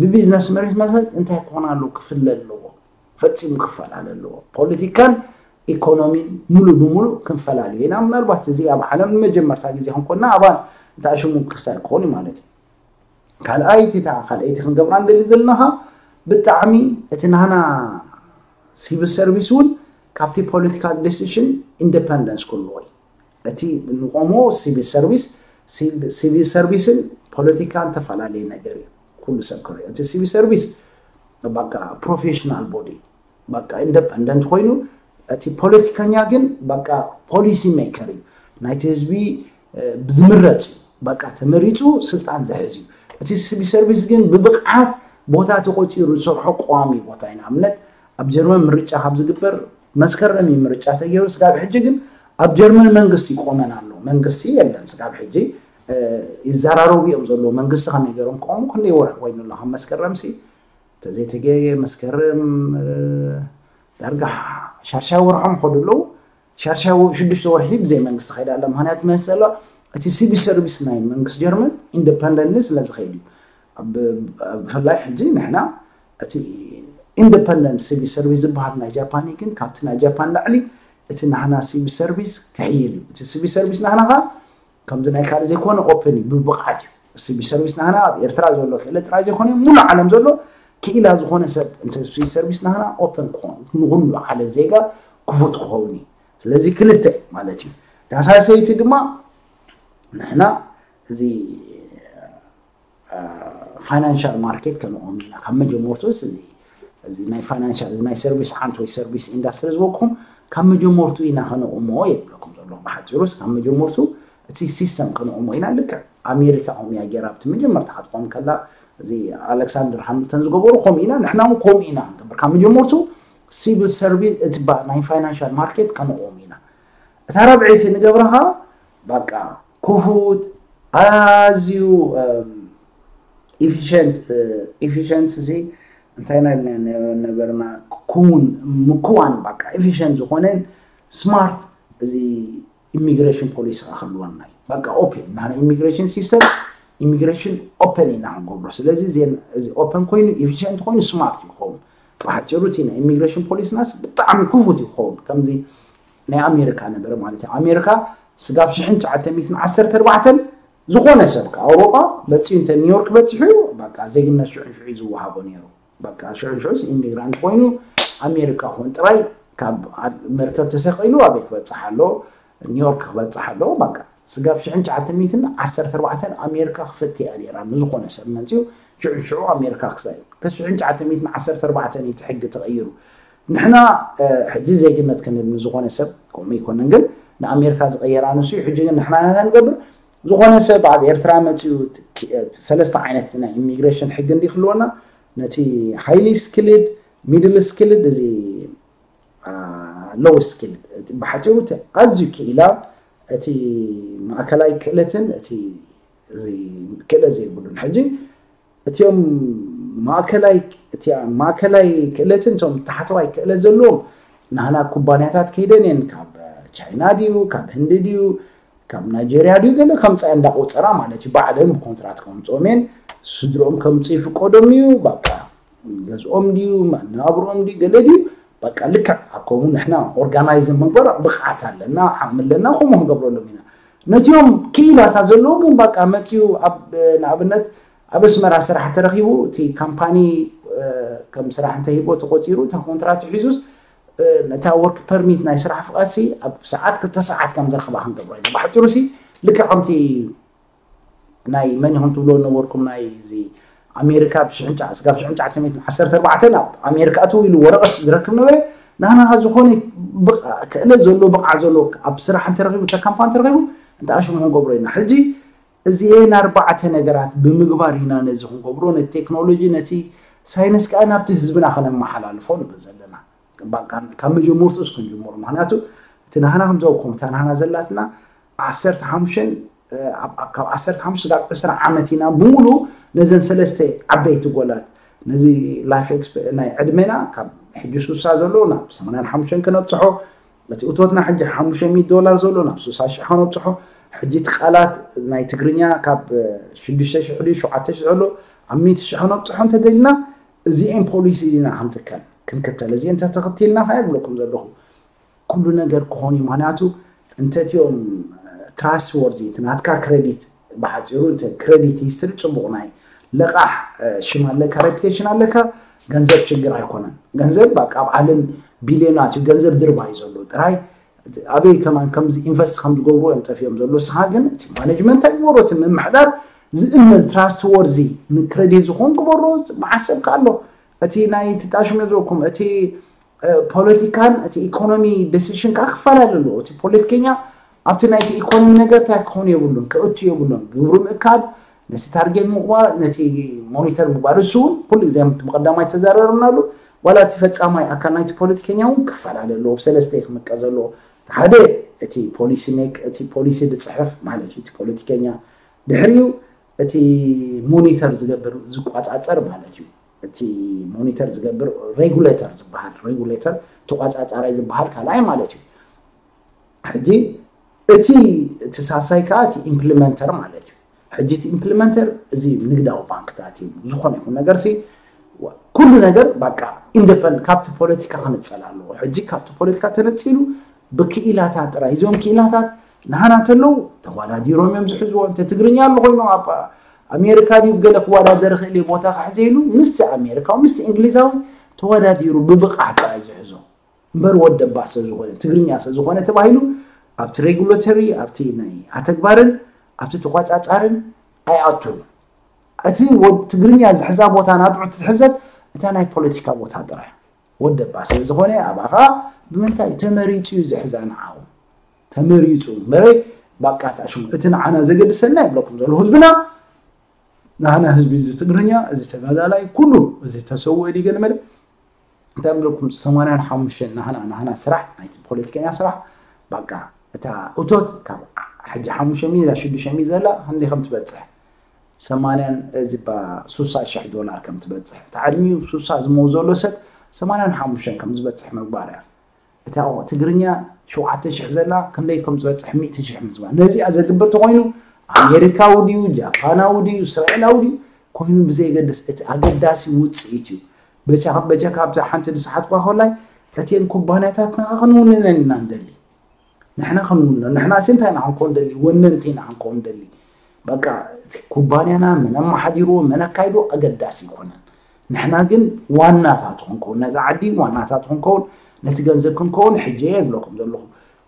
ብቢዝነስ መሪት መሰረት እንታይ ክኾን ኣለዎ ክፍለ ኣለዎ። ፈጺሙ ክፈላለ ኣለዎ። ፖለቲካን ኢኮኖሚን ሙሉ ብሙሉ ክንፈላለዩ ኢና። ምናልባት እዚ ኣብ ዓለም ንመጀመርታ ግዜ ክንኮንና ኣባል እንተኣሽሙ ክስታይ ክኾን እዩ ማለት እዩ። ካልኣይቲ እታ ካልኣይቲ ክንገብራ ንደሊ ዘለናኻ ብጣዕሚ እቲ ናህና ሲቪል ሰርቪስ እውን ካብቲ ፖለቲካል ዲሲሽን ኢንደፐንደንስ ክህልዎ እዩ። እቲ ንቆሞ ሲቪል ሰርቪስ፣ ሲቪል ሰርቪስን ፖለቲካን ተፈላለየ ነገር እዩ። ኩሉ ሰብ ክሪኦ እቲ ሲቪል ሰርቪስ በቃ ፕሮፌሽናል ቦዲ በቃ ኢንደፐንደንት ኮይኑ፣ እቲ ፖለቲከኛ ግን በቃ ፖሊሲ ሜከር እዩ። ናይቲ ህዝቢ፣ እ፣ ዝምረፅ እዩ። በቃ ተመሪፁ ስልጣን ዝሕዝ እዩ። እቲ ሲቪል ሰርቪስ ግን ብብቕዓት ቦታ ተቆፂሩ ዝሰርሖ ቀዋሚ ቦታ እዩ። ንኣብነት ኣብ ጀርመን ምርጫ ካብ ዝግበር መስከረም እዩ ምርጫ ተገይሩ። ስጋብ ሕጂ ግን ኣብ ጀርመን መንግስቲ ይቆመን ኣሎ። መንግስቲ የለን ስጋብ ሕጂ። እ፣ ይዘራረቡ እዮም ዘለዉ። መንግስቲ ከመይ ገይሮም ክቆሙ ክንደይ ወርሒ ኮይኑ ኣሎ ካብ መስከረም ሲ ተዘይተገየ መስከረም፣ እ፣ ዳርጋ ሻርሻይ ወርሖም ከዱ ኣለዉ። ሻርሻይ ወ- ሽዱሽተ ወርሒ ብዘይ መንግስቲ ከይዳ ኣላ። ምክንያቱ መስ ዘሎ እቲ ሲቪል ሰርቪስ ናይ መንግስቲ ጀርመን ኢንደፐንደንት ስለ ዝኸይድ እዩ። ኣብ- ኣብ- ብፍላይ ሕጂ ንሕና እቲ ኢንደፐንደንት ሲቪል ሰርቪስ ዝበሃል ናይ ጃፓን እዩ፣ ግን ካብቲ ናይ ጃፓን ላዕሊ እቲ ናህና ሲቪል ሰርቪስ ክሕይል እዩ። እቲ ሲቪል ሰርቪስ ናህና ኸ ከምዚ ናይ ካልእ ዘይኮነ ኦፕን እዩ፣ ብብቕዓት እዩ። ሲቪል ሰርቪስ ናህና ኣብ ኤርትራ ዘሎ ክእለት ጥራይ ዘይኮነ ሙሉ ዓለም ዘሎ ክኢላ ዝኾነ ሰብ እንተ ሲቪል ሰርቪስ ናህና ኦፕን ክኾን ንኩሉ ዓለ ዜጋ ክፉት ክኸውን እዩ። ስለዚ ክልተ ማለት እዩ። ተሳሰይቲ ድማ ንሕና እዚ ፋይናንሻል ማርኬት ከነቆም ኢና። ካብ መጀመርቱ እዚ እዚ ናይ ፋይናንሻል እዚ ናይ ሰርቪስ ዓንት ወይ ሰርቪስ ኢንዳስትሪ ዝበልኩም ካብ መጀመርቱ ኢና ከነቁሞ የብለኩም ዘሎ። ብሓፂሩስ ካብ መጀመርቱ እቲ ሲስተም ከነቁሞ ኢና። ልክዕ ኣሜሪካ ከምኡ እያ ገይራ ኣብቲ መጀመርታ ክትቆም ከላ፣ እዚ ኣሌክሳንደር ሃምልተን ዝገበሩ ከምኡ ኢና፣ ንሕና እውን ከምኡ ኢና ክንገብር። ካብ መጀመርቱ ሲቪል ሰርቪስ እቲ ባ- ናይ ፋይናንሻል ማርኬት ከነቁም ኢና። እታ ራብዐይቲ ንገብራ ኸዓ በቃ ክፉት ኣዝዩ efficient efficient እዚ እንታይ ና ነበርና ክውን ምክዋን በቃ efficient ዝኾነን smart እዚ immigration policy ክህልወና እዩ። በቃ open ናና immigration system immigration open ኢና ክንገብሮ። ስለዚ እዚ open ኮይኑ efficient ኮይኑ smart ይኸውን። ብሓፂሩ እቲ ናይ immigration policy ናስ ብጣዕሚ ክፉት ይኸውን። ከምዚ ናይ ኣሜሪካ ነበረ ማለት እዩ። ኣሜሪካ ስጋብ ሽሕን ትሽዓተ ሚእትን ዓሰርተ ኣርባዕተን ዝኾነ ሰብ ካብ ኣውሮጳ መፂኡ እንተ ኒውዮርክ በፂሑ እዩ በቃ ዜግነት ሽዑ ሽዑ ዝወሃቦ ነይሩ። በቃ ሽዑ ሽዑስ ኢሚግራንት ኮይኑ ኣሜሪካ ኮን ጥራይ ካብ መርከብ ተሰቂሉ ኣበይ ክበፅሕ ኣሎ? ኒውዮርክ ክበፅሕ ኣሎ። በቃ ስጋብ ሽሕን ትሽዓተ ሚእትን ዓሰርተ ኣርባዕተን ኣሜሪካ ክፍት እያ ነይራ ንዝኾነ ሰብ መፂኡ ሽዑ ሽዑ ኣሜሪካ ክሳይ ከሽሕን ትሽዓተ ሚእትን ዓሰርተ ኣርባዕተን እቲ ሕጊ ተቐይሩ። ንሕና ሕጂ ዜግነት ክንብል ንዝኾነ ሰብ ከምኡ ኣይኮነን፣ ግን ንኣሜሪካ ዝቐየራ ንሱ እዩ። ሕጂ ግን ንሕና እንታይ ንገብር? ዝኾነ ሰብ ኣብ ኤርትራ መፂኡ ሰለስተ ዓይነት ናይ ኢሚግሬሽን ሕጊ እንዲ ክህልወና ነቲ highly skilled፣ middle skilled፣ እዚ low skilled፣ ብሓፂሩ ኣዝዩ ክኢላ እቲ ማእከላይ ክእለትን እቲ ክእለት ዘይብሉን። ሕጂ እቲኦም ማእከላይ ክእለትን እቶም ታሕተዋይ ክእለት ዘለዎም ናህና ኩባንያታት ከይደን እየን። ካብ ቻይና ድዩ ካብ ህንዲ ድዩ ካብ ናይጀርያ ድዩ ገለ ከምፃ እንዳቆፀራ ማለት እዩ። ባዕለን ብኮንትራት ከምፅኦም እየን። ስድሮኦም ከምፁ ይፍቀዶም እዩ። በቃ ገዝኦም ድዩ መናብሮኦም ድዩ ገለ ድዩ በቃ ልክዕ ኣብ ከምኡ ንሕና ኦርጋናይዝ ምግባር ብቕዓት ኣለና ዓቕሚ ኣለና ከምኡ ክንገብረሎም ኢና። ነቲኦም ክኢላታ ዘለዎ ግን በቃ መፂኡ ኣብ ንኣብነት ኣብ ኣስመራ ስራሕ ተረኺቡ እቲ ካምፓኒ ከም ስራሕ እንተሂቦ ተቆፂሩ እታ ኮንትራት ሒዙስ ነታ ወርክ ፐርሚት ናይ ስራሕ ፍቓድ ሲ ኣብ ሰዓት ክልተ ሰዓት ከም ዝረኽባ ክንገብሮ ኢና። ብሓፂሩ ሲ ልክዕ ከምቲ ናይ መን ኢኹም ትብሎ ነበርኩም ናይ እዚ ኣሜሪካ ብ ሽሕን ትሽዓተ ሚእትን ዓሰርተ ኣርባዕተን ኣብ ኣሜሪካ ኣትው ኢሉ ወረቐት ዝረክብ ነበረ። ናህና ዝኾነ ክእለት ዘሎ ብቕዓት ዘሎ ኣብ ስራሕ እንተረኺቡ እተ ካምፓኒ ተረኺቡ እንተ ኣሽሙ ክንገብሮ ኢና። ሕጂ እዚኤን ኣርባዕተ ነገራት ብምግባር ኢና ነዚ ክንገብሮ ነቲ ቴክኖሎጂ ነቲ ሳይንስ ከዓ ናብቲ ህዝብና ከነመሓላልፎ ንብል ዘለና። ካብ መጀመርቱ እስክንጅምሩ ምክንያቱ እቲ ናህና ከምዘውኩም እታ ናህና ዘላትና ዓሰርተ ሓሙሽተ ካብ ዓሰርተ ሓሙሽተ ስጋብ ዕስራ ዓመት ኢና ብምሉ ነዘን ሰለስተ ዓበይቲ ጎላት ነዚ ላይፍ ናይ ዕድሜና ካብ ሕጂ ሱሳ ዘሎ ናብ ሰማንያን ሓሙሽተን ክነብፅሖ እቲ እቶትና ሕጂ ሓሙሽተ ሚእቲ ዶላር ዘሎ ናብ ሱሳ ሽሕ ከነብፅሖ ሕጂ እቲ ቃላት ናይ ትግርኛ ካብ ሽዱሽተ ሽሕ ድዩ ሸውዓተ ሽሕ ዘሎ ኣብ ሚእቲ ሽሕ ከነብፅሖ እንተደልና እዚኤን ፖሊሲ ኢና ክንትከል ክንክተል እዚኤን ተተኽቲልና ከ ይብለኩም ዘለኹ ኩሉ ነገር ክኾን እዩ። ምክንያቱ እንተቲኦም ትራስት ወርዚ እቲ ናትካ ክሬዲት ብሓፂሩ እንተ ክሬዲት ሂስትሪ ፅቡቕ ናይ ለቃሕ ሽም ኣለካ ሬፒቴሽን ኣለካ ገንዘብ ሽግር ኣይኮነን። ገንዘብ በቃ ኣብ ዓለም ቢልዮናት እዩ ገንዘብ ድርባ እዩ ዘሎ ጥራይ ኣበይ ከማን ከምዚ ኢንቨስት ከም ዝገብሩ እዮም ጠፊኦም ዘሎ። ንስኻ ግን እቲ ማኔጅመንት ኣይግበሮ እቲ ምምሕዳር ዝእመን ትራስት ወርዚ ንክሬዲት ዝኾን ግበሮ። መዓሰብካ ኣሎ እቲ ናይ ትጣሽሙ ዝበኩም እቲ ፖለቲካን እቲ ኢኮኖሚ ዲሲሽን ከዓ ክፈላለ ኣለዎ። እቲ ፖለቲከኛ ኣብቲ ናይቲ ኢኮኖሚ ነገር እንታይ ክኾኑ የብሉን ክእቱ የብሉን ግብሩ ምእካብ ነቲ ታርጌት ምቕባር ነቲ ሞኒተር ምግባር እሱ እውን ኩሉ ግዜ ብቀዳማይ ተዘራረብናሉ ዋላ እቲ ፈፃማይ ኣካል ናይቲ ፖለቲከኛ እውን ክፈላለ ኣለዎ ብሰለስተ ክምቀ ዘለዎ ሓደ እቲ ፖሊሲ ሜክ እቲ ፖሊሲ ዝፅሕፍ ማለት እዩ እቲ ፖለቲከኛ ድሕሪኡ እቲ ሞኒተር ዝገብር ዝቋፃፀር ማለት እዩ እቲ ሞኒተር ዝገብር ሬጉሌተር ዝበሃል ሬጉሌተር ተቋፃፃራይ ዝበሃል ካልኣይ ማለት እዩ ሕጂ እቲ እቲ ሳሳይ ከዓ እቲ ኢምፕሊመንተር ማለት እዩ ሕጂ እቲ ኢምፕሊመንተር እዚ ንግዳዊ ባንክታት እዩ ዝኾነ ይኹን ነገር ሲ ኩሉ ነገር በቃ ኢንደፐንድ ካብቲ ፖለቲካ ክንፀል ኣለዎ ሕጂ ካብቲ ፖለቲካ ተነፂሉ ብክኢላታት ጥራይ እዚኦም ክኢላታት ንሃና ተለዉ ተዋዳዲሮም እዮም ዝሕዝዎ እንተ ትግርኛ ኣሎ ኮይኑ ኣብ ኣሜሪካ ድዩ ገለ ክወዳደር ክእል እዩ ቦታ ክሕዘ ኢሉ ምስቲ ኣሜሪካዊ ምስቲ እንግሊዛዊ ተወዳዲሩ ብብቕዓት ጥራይ ዝሕዞ እምበር ወደባ ሰብ ዝኾነ ትግርኛ ሰብ ዝኾነ ተባሂሉ ኣብቲ ሬጉላተሪ ኣብቲ ናይ ኣተግባርን ኣብቲ ተቋፃፃርን ኣይኣቱን እቲ ትግርኛ ዝሕዛ ቦታ ናትዑ ትሕዘት እታ ናይ ፖለቲካ ቦታ ጥራይ ወደባ ስለ ዝኾነ ኣብኣ ከዓ ብምንታይ ተመሪፁ እዩ ዝሕዛ ንዓው ተመሪፁ እምበረ ባቃ ተኣሽሙ እቲ ንዓና ዘገድሰና ይብለኩም ዘሎ ህዝብና ናህና ህዝቢ እዚ ትግርኛ እዚ ተጋዳላይ ኩሉ እዚ ተሰውአ ዲ ገለ መለ እንታይ ብለኩም ሰማንያን ሓሙሽተን ናህና ናህና ስራሕ ናይቲ ፖለቲከኛ ስራሕ ባቃ እታ እቶት ካብ ሕጂ ሓሙሽተ ሚእቲ ሽዱሽተ ሚእቲ ዘላ ክንደይ ከም ትበፅሕ ሰማንያን እዚ ባ ሱሳ ሽሕ ዶላር ከም ትበፅሕ እቲ ዕድሚኡ ሱሳ ዝመው ዘሎ ሰብ ሰማንያን ሓሙሽተን ከም ዝበፅሕ ምግባር እያ። እታ ትግርኛ ሸውዓተ ሽሕ ዘላ ክንደይ ከም ዝበፅሕ ሚእቲ ሽሕ ምዝባር ነዚኣ ዘግብር ተኮይኑ ኣሜሪካዊ ድዩ ጃፓናዊ ድዩ እስራኤላዊ ድዩ ኮይኑ ብዘይገድስ እቲ ኣገዳሲ ውፅኢት እዩ። በጃ በጃ ካብዛ ሓንቲ ዝሰሓትኳ ኮላይ እተን ኩባንያታት ንኻ ክንውንነን ኢና ንደሊ። ንሕና ክንውንኖ ንሕና ሲ እንታይ ኢና ክንከውን ደሊ ወነንቲ ኢና ክንከውን ደሊ። በቃ እቲ ኩባንያና መን ኣመሓዲርዎ መን ኣካይድዎ ኣገዳሲ ይኮነን። ንሕና ግን ዋናታት ክንከውን ነዛ ዓዲ ዋናታት ክንከውን ነቲ ገንዘብ ክንከውን ሕጂ እየ ይብለኩም ዘለኹ።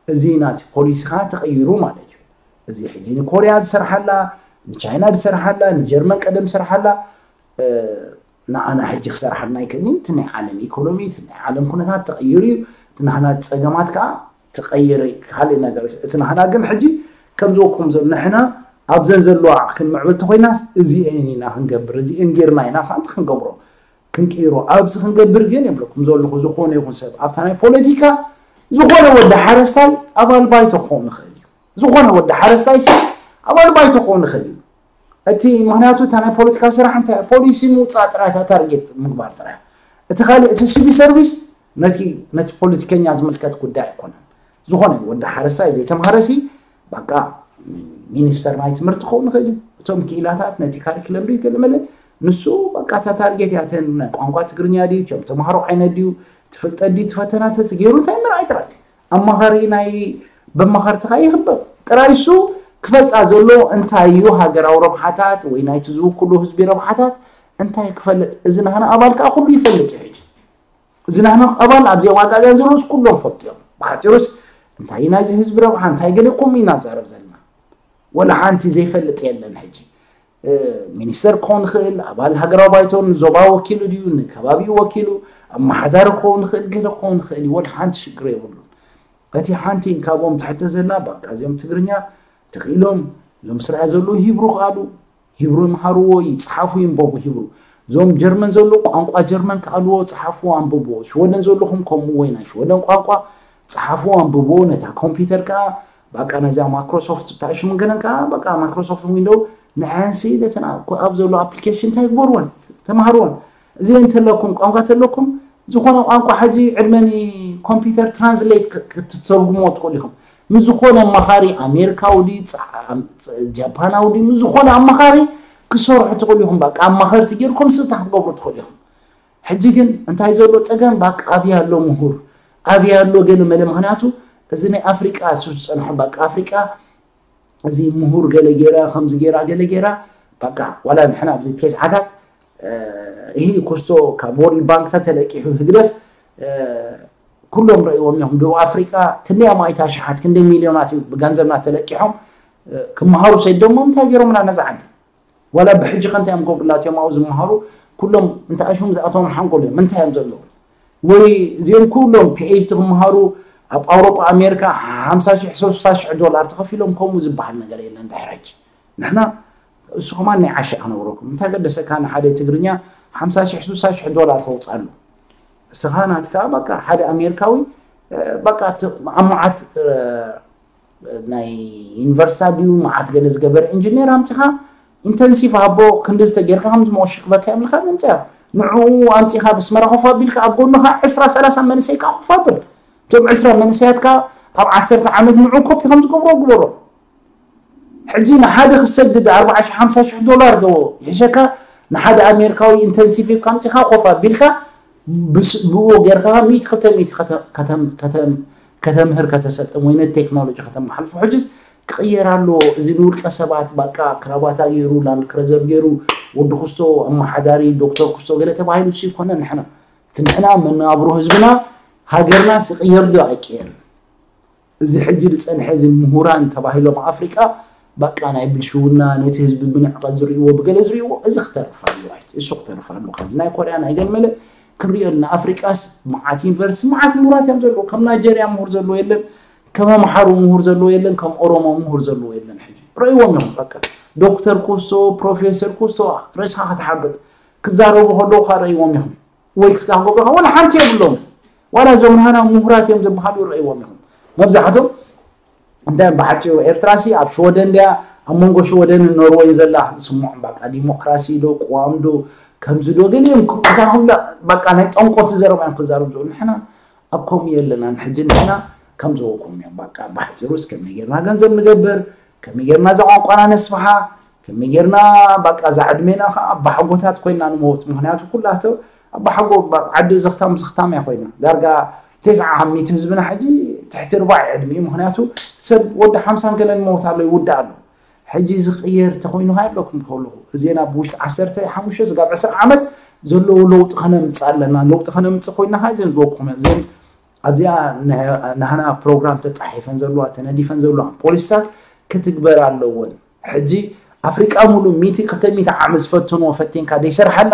እዚ ናቲ ፖሊሲ ከዓ ተቐይሩ ማለት እዩ። እዚ ሕጂ ንኮርያ ዝሰርሓላ ንቻይና ዝሰርሓላ ንጀርመን ቀደም ዝሰርሓላ ንዓና ሕጂ ክሰርሓልና ኣይክእልን እቲ ናይ ዓለም ኢኮኖሚ እቲ ናይ ዓለም ኩነታት ተቐይሩ እዩ። እቲ ናህና ፀገማት ከዓ ተቐይረ ካልእ ነገር እቲ ናህና ግን ሕጂ ከም ዝበኩም ዘሎ ንሕና ኣብዘን ዘለዋ ክንምዕብል ተኮይናስ እዚአን ኢና ክንገብር እዚአን ጌርና ኢና ከዓ ክንገብሮ ክንቅይሮ ኣብዚ ክንገብር ግን የብለኩም ዘለኹ ዝኾነ ይኹን ሰብ ኣብታ ናይ ፖለቲካ ዝኾነ ወዲ ሓረስታይ ኣባል ባይቶ ክኸውን ይኽእል እዩ። ዝኾነ ወዲ ሓረስታይ ሲ ኣባል ባይቶ ክኸውን ይኽእል እዩ። እቲ ምክንያቱ እታ ናይ ፖለቲካዊ ስራሕ እንታይ ፖሊሲ ምውፃእ ጥራይ እታ ታርጌት ምግባር ጥራይ እቲ ካልእ እቲ ሲቪል ሰርቪስ ነቲ ነቲ ፖለቲከኛ ዝምልከት ጉዳይ ኣይኮነን። ዝኾነ ወዲ ሓረስታይ ዘይተምሃረ ሲ በቃ ሚኒስተር ናይ ትምህርቲ ክኸውን ይኽእል እዩ። እቶም ክኢላታት ነቲ ካሪክለም ድዩ ገለመለ ንሱ በቃ እታ ታርጌት እያ እተን ናይ ቋንቋ ትግርኛ ድዩ እቲኦም ተምሃሮ ዓይነት ድዩ ትፍልጠት ድዩ ትፈተና ተትገይሩ እንታይ ምርኣይ ጥራይ ኣማኻሪ ናይ በማኻርትኻ ይኽበብ ጥራይ እሱ ክፈልጣ ዘሎ እንታይ እዩ ሃገራዊ ረብሓታት ወይ ናይቲ ዝውክሉ ህዝቢ ረብሓታት እንታይ ክፈልጥ እዚ ናህና ኣባል ከዓ ኩሉ ይፈልጥ እዩ ሕጂ እዚ ናህና ኣባል ኣብዚኦም ኣጋዝያን ዘለውስ ኩሎም ፈልጡ እዮም ብሓፂሩስ እንታይ ናይዚ ህዝቢ ረብሓ እንታይ ገለ ከምኡ ኢና ንዛረብ ዘለና ወላ ሓንቲ ዘይፈልጥ የለን ሕጂ ሚኒስተር ክኸውን ይኽእል ኣባል ሃገራዊ ባይቶ ንዞባ ወኪሉ ድዩ ንከባቢኡ ወኪሉ ኣመሓዳሪ ክኸውን ይኽእል ገለ ክኸውን ይኽእል እዩ ወላ ሓንቲ ሽግር የብሉን እቲ ሓንቲ ካብኦም ትሕተ ዘላ በቃ እዚኦም ትግርኛ ተኽኢሎም እዞም ስርዓ ዘለዉ ሂብሩ ክኣሉ ሂብሩ ይምሃርዎ ይፅሓፉ ይንበቡ ሂብሩ እዞም ጀርመን ዘለዉ ቋንቋ ጀርመን ክኣልዎ ፅሓፍዎ ኣንብብዎ ሽወደን ዘለኹም ከምኡ ወይ ናይ ሽወደን ቋንቋ ፅሓፍዎ ኣንብብዎ ነታ ኮምፒውተር ከዓ በቃ ነዚኣ ማይክሮሶፍት እታ ሽሙ ገለን ከዓ በቃ ማይክሮሶፍት ዊንዶው ንዐንሲ ነተን ኣብ ዘሎ ኣፕሊኬሽን እንታይ ግበርወን ተማሃርወን እዚ እንተለኩም ቋንቋ ተለኩም ዝኾነ ቋንቋ ሕጂ ዕድመኒ ኮምፒውተር ትራንስሌት ክትተርጉምዎ ትኽእሉ ኢኹም ምስ ዝኾነ ኣማኻሪ ኣሜሪካዊ ድዩ ጃፓናዊ ድዩ ምስ ዝኾነ ኣማኻሪ ክሰርሑ ትኽእሉ ኢኹም በቃ ኣማኸርቲ ጌርኩም ስልታ ክትገብሩ ትኽእሉ ኢኹም ሕጂ ግን እንታይ ዘሎ ፀገም ባቃ ኣብያ ኣሎ ምሁር ኣብያ ኣሎ ገለ መለ ምክንያቱ እዚ ናይ ኣፍሪቃ እሱ ዝፀንሖ ባቃ ኣፍሪቃ እዚ ምሁር ገለ ጌራ ከምዚ ጌራ ገለ ጌራ ባቃ ዋላ ንሕና ኣብዚ ተስዓታት ይህ ኩስቶ ካብ ወርልድ ባንክ ተተለቂሑ ህግደፍ ኩሎም ረእይዎም እዮም ደቡብ ኣፍሪቃ ክንደይ ኣማኢት ኣሽሓት ክንደይ ሚልዮናት እዩ ብገንዘብና ተለቂሖም ክመሃሩ ሰይዶሞ እንታይ ገይሮምና ነዛ ዓዲ ዋላ ብሕጂ ከ እንታይ እዮም ገብሩላ እቲኦም ኣብኡ ዝመሃሩ ኩሎም እንታይ ኣሽም ዝኣተዎም ሓንጎል እዮም እንታይ እዮም ዘለዉ ወይ እዚኦም ኩሎም ፒኤችዲ ክመሃሩ ኣብ ኣውሮጳ ኣሜሪካ ሓምሳ ሽሕ ሰስሳ ሽሕ ዶላር ተኸፊሎም ከምኡ ዝበሃል ነገር የለን ድሕረጅ ንሕና እሱ ከማን ናይ ዓሻ ክነብረኩም እንታይ ገደሰካ ንሓደ ትግርኛ ሓምሳ ሽሕ ስሳ ሽሕ ዶላር ተውፃሉ እስኻ ናትካ በቃ ሓደ ኣሜሪካዊ በቃ ኣብ መዓት ናይ ዩኒቨርሲታ ድዩ መዓት ገለ ዝገበረ ኢንጂነር ኣምፅኻ ኢንተንሲቭ ሃቦ ክንዲ ዝተጌርካ ከም ዝመወሽክበካ የምልካ ዘምፅያ ንዕኡ ኣምፂኻ ብስመራ ኮፍ ኣቢልካ ኣብ ጎንኻ ዕስራ ሰላሳ መንእሰይ ከዓ ኮፍ ኣብል እቶም ዕስራ መንእሰያት ከዓ ኣብ ዓሰርተ ዓመት ንዑ ኮፒ ከም ዝገብሮ ግበሮ ሕጂ ንሓደ ክሰድድ ኣርባዓ ሽሕ ሓምሳ ሽሕ ዶላር ዶ ይሕሸካ ንሓደ ኣሜሪካዊ ኢንተንሲቭ ሂብካ ኣምፂኻ ኮፍ ኣቢልካ ብኡ ጌርካ ሚእቲ ክልተ ሚእቲ ከተምህር ከተሰልጥን ወይ ነቲ ቴክኖሎጂ ከተመሓልፎ ሕጅስ ክቕየር ኣለዎ እዚ ንውልቀ ሰባት ባቃ ክራባታ ገይሩ ላንድ ክረዘር ገይሩ ወዲ ክስቶ ኣመሓዳሪ ዶክተር ክስቶ ገለ ተባሂሉ እሱ ይኮነ ንሕና እቲ ንሕና መነባብሮ ህዝብና ሃገርና ስቕየር ዶ ኣይቀየርን እዚ ሕጂ ዝጸንሐ እዚ ምሁራን ተባሂሎም ኣፍሪቃ በቃ ናይ ብልሽውና ነቲ ህዝቢ ብንዕቀት ዝርእይዎ ብገለ ዝርእይዎ እዚ ክተርፍ ኣለዎ ሕጂ እሱ ክተርፍ ኣለዎ ከምዚ ናይ ኮርያ ናይ ገለ መለ ክንሪኦ ኣለና ኣፍሪቃስ መዓት ዩኒቨርሲቲ መዓት ምሁራት እዮም ዘለዉ ከም ናይጀርያ ምሁር ዘለዎ የለን ከም ኣምሓሩ ምሁር ዘለዎ የለን ከም ኦሮሞ ምሁር ዘለዎ የለን ሕጂ ረእይዎም እዮም በቃ ዶክተር ኩስቶ ፕሮፌሰር ኩስቶ ርእስኻ ክትሓብጥ ክዛረቡ ከለዉ ካ ረእይዎም ኢኹም ወይ ክሳብ ገብረኻ ወላ ሓንቲ የብሎም ዋላ እዞም ናህና ምሁራት እዮም ዝበሃሉ ይረእይዎም ኢኹም መብዛሕቶም እንታይ ብሓፂሩ ኤርትራሲ ኣብ ሽወደን ድያ ኣብ መንጎ ሽወደንን ኖርወይን ዘላ ዝስምዖም በቃ ዲሞክራሲ ዶ ቅዋም ዶ ከምዚ ዶ ገሊኦም እታ ኩላ በቃ ናይ ጠንቆልቲ ዘረባ እዮም ክዛረቡ ዝብሉ ንሕና ኣብ ከምኡ የለናን ሕጂ ንሕና ከም ዝበልኩም እዮም በቃ ብሓፂሩስ ከመይ ጌርና ገንዘብ ንገብር ከመይ ጌርና እዛ ቋንቋና ነስፍሓ ከመይ ጌርና በቃ እዛ ዕድሜና ከዓ ኣባሓጎታት ኮይና ንመውት ምክንያቱ ኩላተ ኣባሓጎ ዓዲ ዘኽታም ብዘኽታም እያ ኮይና ዳርጋ ተስዓ ሚእቲ ህዝብና ሕጂ ትሕቲ ርባዕ ዕድሚኡ ምክንያቱ ሰብ ወዲ ሓምሳን ገለን መውት ኣሎ ይውዳእ ኣሎ ሕጂ ዝቕየር ተኮይኑ ሃይብለኩም ከለኹ እዜና ብውሽጢ ዓሰርተ ሓሙሽተ ስጋብ ዕስራ ዓመት ዘለዎ ለውጢ ከነምፅእ ኣለና ለውጢ ከነምፅእ ኮይና ካ እዘን ዝበልኩም እዘን ኣብዚኣ ናህና ፕሮግራም ተፃሒፈን ዘለዋ ተነዲፈን ዘለዋ ፖሊስታት ክትግበር ኣለወን ሕጂ ኣፍሪቃ ሙሉ ሚቲ ክልተ ሚቲ ዓመት ዝፈተንዎ ፈቲንካ ዘይሰርሓላ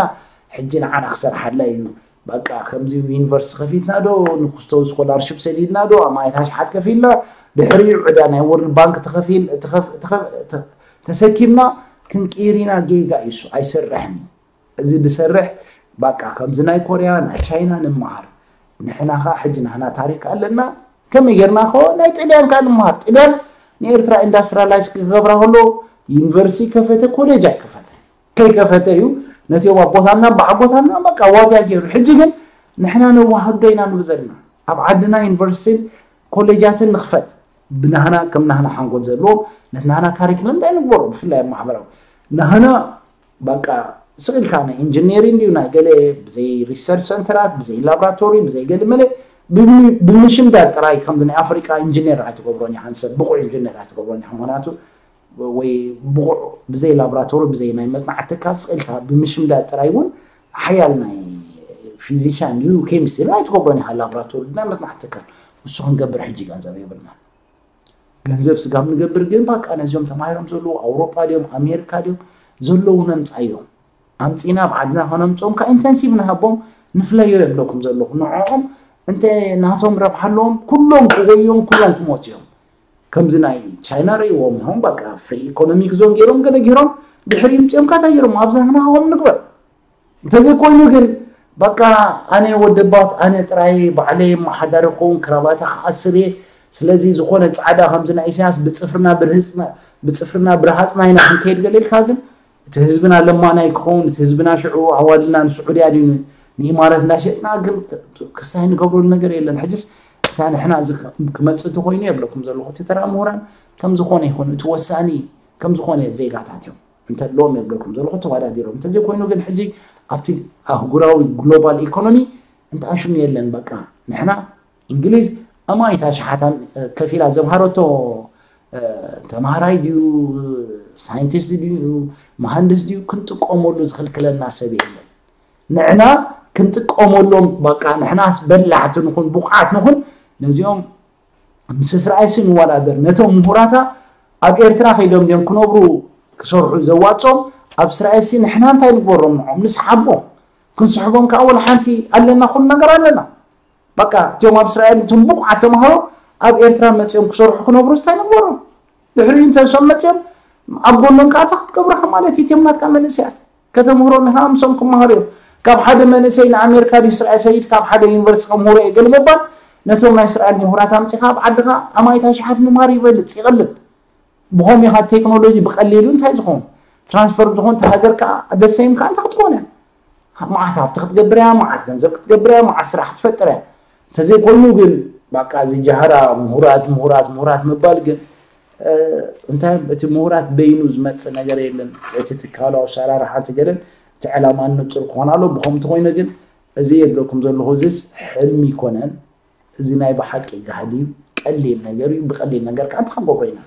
ሕጂ ንዓና ክሰርሓላ እዩ በቃ ከምዚ ዩኒቨርሲቲ ከፊትና ዶ ንኩስቶ ስኮላርሽፕ ሰዲድና ዶ ኣማየት ኣሽሓት ከፊልና ድሕሪኡ ዕዳ ናይ ወርልድ ባንክ ተኸፊል ተኸፍ- ተኸፍ- ተ- ተሰኪምና ክንቅይር ኢና ጌጋ እዩ እሱ ኣይሰርሕን እዩ እዚ ዝሰርሕ በቃ ከምዚ ናይ ኮርያ ናይ ቻይና ንምሃር ንሕና ከዓ ሕጂ ናህና ታሪክ ኣለና ከመይ ጌርና ከ ናይ ጥልያን ከዓ ንምሃር ጥልያን ንኤርትራ ኢንዳስትሪላይዝ ክገብራ ከሎ ዩኒቨርሲቲ ከፈተ ኮሌጅ ኣይከፈተ ከይከፈተ እዩ ነቲኦም ኣቦታትና በዓቦታትና በቃ ዋጋ ገይሩ ሕጂ ግን ንሕና ነዋህዶ ኢና ንብዘልና ኣብ ዓድና ዩኒቨርሲቲን ኮሌጃትን ንኽፈት ብናህና ከም ናህና ሓንጎል ዘለዎም ነቲ ናህና ካሪክለም እንታይ ንግበሮ ብፍላይ ኣብ ማሕበራዊ ናህና በቃ ስቕ ኢልካ ናይ ኢንጂነሪንግ ድዩ ናይ ገለ ብዘይ ሪሰርች ሰንተራት ብዘይ ላብራቶሪ ብዘይ ገለ መለ ብምሽምዳድ ጥራይ ከምዚ ናይ ኣፍሪቃ ኢንጂነር ኣይትገብሮን ኢኻ ንሰብ ብቑዕ ኢንጂነር ኣይትገብሮን ኢኻ ምክንያቱ ወይ ብቑዕ ብዘይ ላብራቶሪ ብዘይ ናይ መፅናዕቲ ትካል ስቕ ኢልካ ብምሽምዳድ ጥራይ እውን ሓያል ናይ ፊዚሻን እዩ ኬሚስትሪ ኣይትገብሮን ኢኻ ላብራቶሪ ናይ መፅናዕቲ ትካል እሱ ክንገብር ሕጂ ገንዘብ የብልና ገንዘብ ስጋብ ንገብር ግን በቃ ነዚኦም ተማሂሮም ዘለዉ ኣውሮጳ ድዮም ኣሜሪካ ድዮም ዘለዉ ነምፃዮም ኣምፂና ኣብ ዓድና ከነምፅኦም ካብ ኢንተንሲቭ ንሃቦም ንፍለዮ የብለኩም ዘለኹ ንዕኦም እንተ ናቶም ረብሓ ኣለዎም ኩሎም ክጎዮም ኩሎም ክሞፅዮም ከምዚ ናይ ቻይና ርእይዎም ኢኹም በቃ ፍሪ ኢኮኖሚክ ዞን ገይሮም ገለ ገይሮም ድሕሪ ምፅኦም ካታ ገይሮም ኣብዛ ንሃቦም ንግበር እንተዘይኮይኑ ግን በቃ ኣነ ወደባት ኣነ ጥራይ ባዕለይ መሓዳሪ ክኸውን ክራባታ ክኣስር እየ ስለዚ ዝኾነ ፃዕዳ ከምዚ ናይ ኢሳያስ ብፅፍርና ብርህፅና ብፅፍርና ብርሃፅና ኢና ክንከይድ ገለ ኢልካ ግን እቲ ህዝብና ለማናይ ክኸውን እቲ ህዝብና ሽዑ ኣዋልድና ንስዑድያ ድዩ ንኢማረት እንዳሸጥና ግን ክስታይ ንገብረሉ ነገር የለን ሕጅስ እታ ንሕና ክመፅእ እንተኮይኑ የብለኩም ዘለኹ እቲ ተራ ምሁራን ከምዝኾነ ይኹን እቲ ወሳኒ ከምዝኾነ ዜጋታት እዮም እንተለዎም የብለኩም ዘለኹ ተወዳዲሮም እንተዘይኮይኑ ግን ሕጂ ኣብቲ ኣህጉራዊ ግሎባል ኢኮኖሚ እንተኣሽሙ የለን በቃ ንሕና እንግሊዝ ኣማይታ ሸሓታ ከፊላ ዘምሃረቶ ተማሃራይ ድዩ ሳይንቲስት ድዩ መሃንድስ ድዩ ክንጥቀመሉ ዝኽልክለና ሰብ የለን ንዕና ክንጥቀመሎም በቃ ንሕናስ በላሕቲ ንኹን ብቑዓት ንኹን ነዚኦም ምስ እስራኤልሲ ንወዳደር ነቶም ምሁራታ ኣብ ኤርትራ ከይዶም ድዮም ክነብሩ ክሰርሑ ዘዋፅኦም ኣብ እስራኤልሲ ንሕና እንታይ ንግበሮም ንዖም ንስሓቦም ክንስሕቦም ከዓ ወላ ሓንቲ ኣለና ኩሉ ነገር ኣለና በቃ እቲኦም ኣብ እስራኤል እቶም ብቑዓት ተምሃሮ ኣብ ኤርትራ መፂኦም ክሰርሑ ክነብሩ እንታይ ንግበሮም ድሕሪኡ እንተ እሶም መፂኦም ኣብ ጎኖም ከዓ እንታይ ክትገብሩኻ ማለት እዩ እቲኦም ናትካ መንእሰያት ከተምህሮም ኢኻ ምሶም ክመሃሩ እዮም ካብ ሓደ መንእሰይ ንኣሜሪካ ድዩ እስራኤል ሰይድ ካብ ሓደ ዩኒቨርሲቲ ከምህሮ እየ ገለ ምባል ነቶም ናይ እስራኤል ምሁራት ኣምፂኻ ኣብ ዓድኻ ኣማይታ ሽሓት ምምሃር ይበልፅ ይቐልል ብኸም ኢኻ ቴክኖሎጂ ብቐሊሉ እንታይ ዝኾን ትራንስፈር ዝኾን ተሃገር ከዓ ደሰይም ከዓ እንታይ ክትኮነ መዓት ሃብቲ ክትገብር እያ መዓት ገንዘብ ክትገብር እያ መዓት ስራሕ ክትፈጥር እያ እንተዘይኮይኑ ግን በቃ እዚ ጃህራ ምሁራት ምሁራት ምሁራት ምባል ግን እንታይ እቲ ምሁራት በይኑ ዝመፅእ ነገር የለን እቲ ትካሉ ኣሰራርሓ እቲ ገለን እቲ ዕላማ ንፁር ክኾን ኣሎ ብኸም እንተኮይነ ግን እዚ የብለኩም ዘለኹ እዚስ ሕልሚ ይኮነን እዚ ናይ ብሓቂ ጋህዲ እዩ ቀሊል ነገር እዩ ብቀሊል ነገር ከዓ እንታይ ክንገብሮ ኢና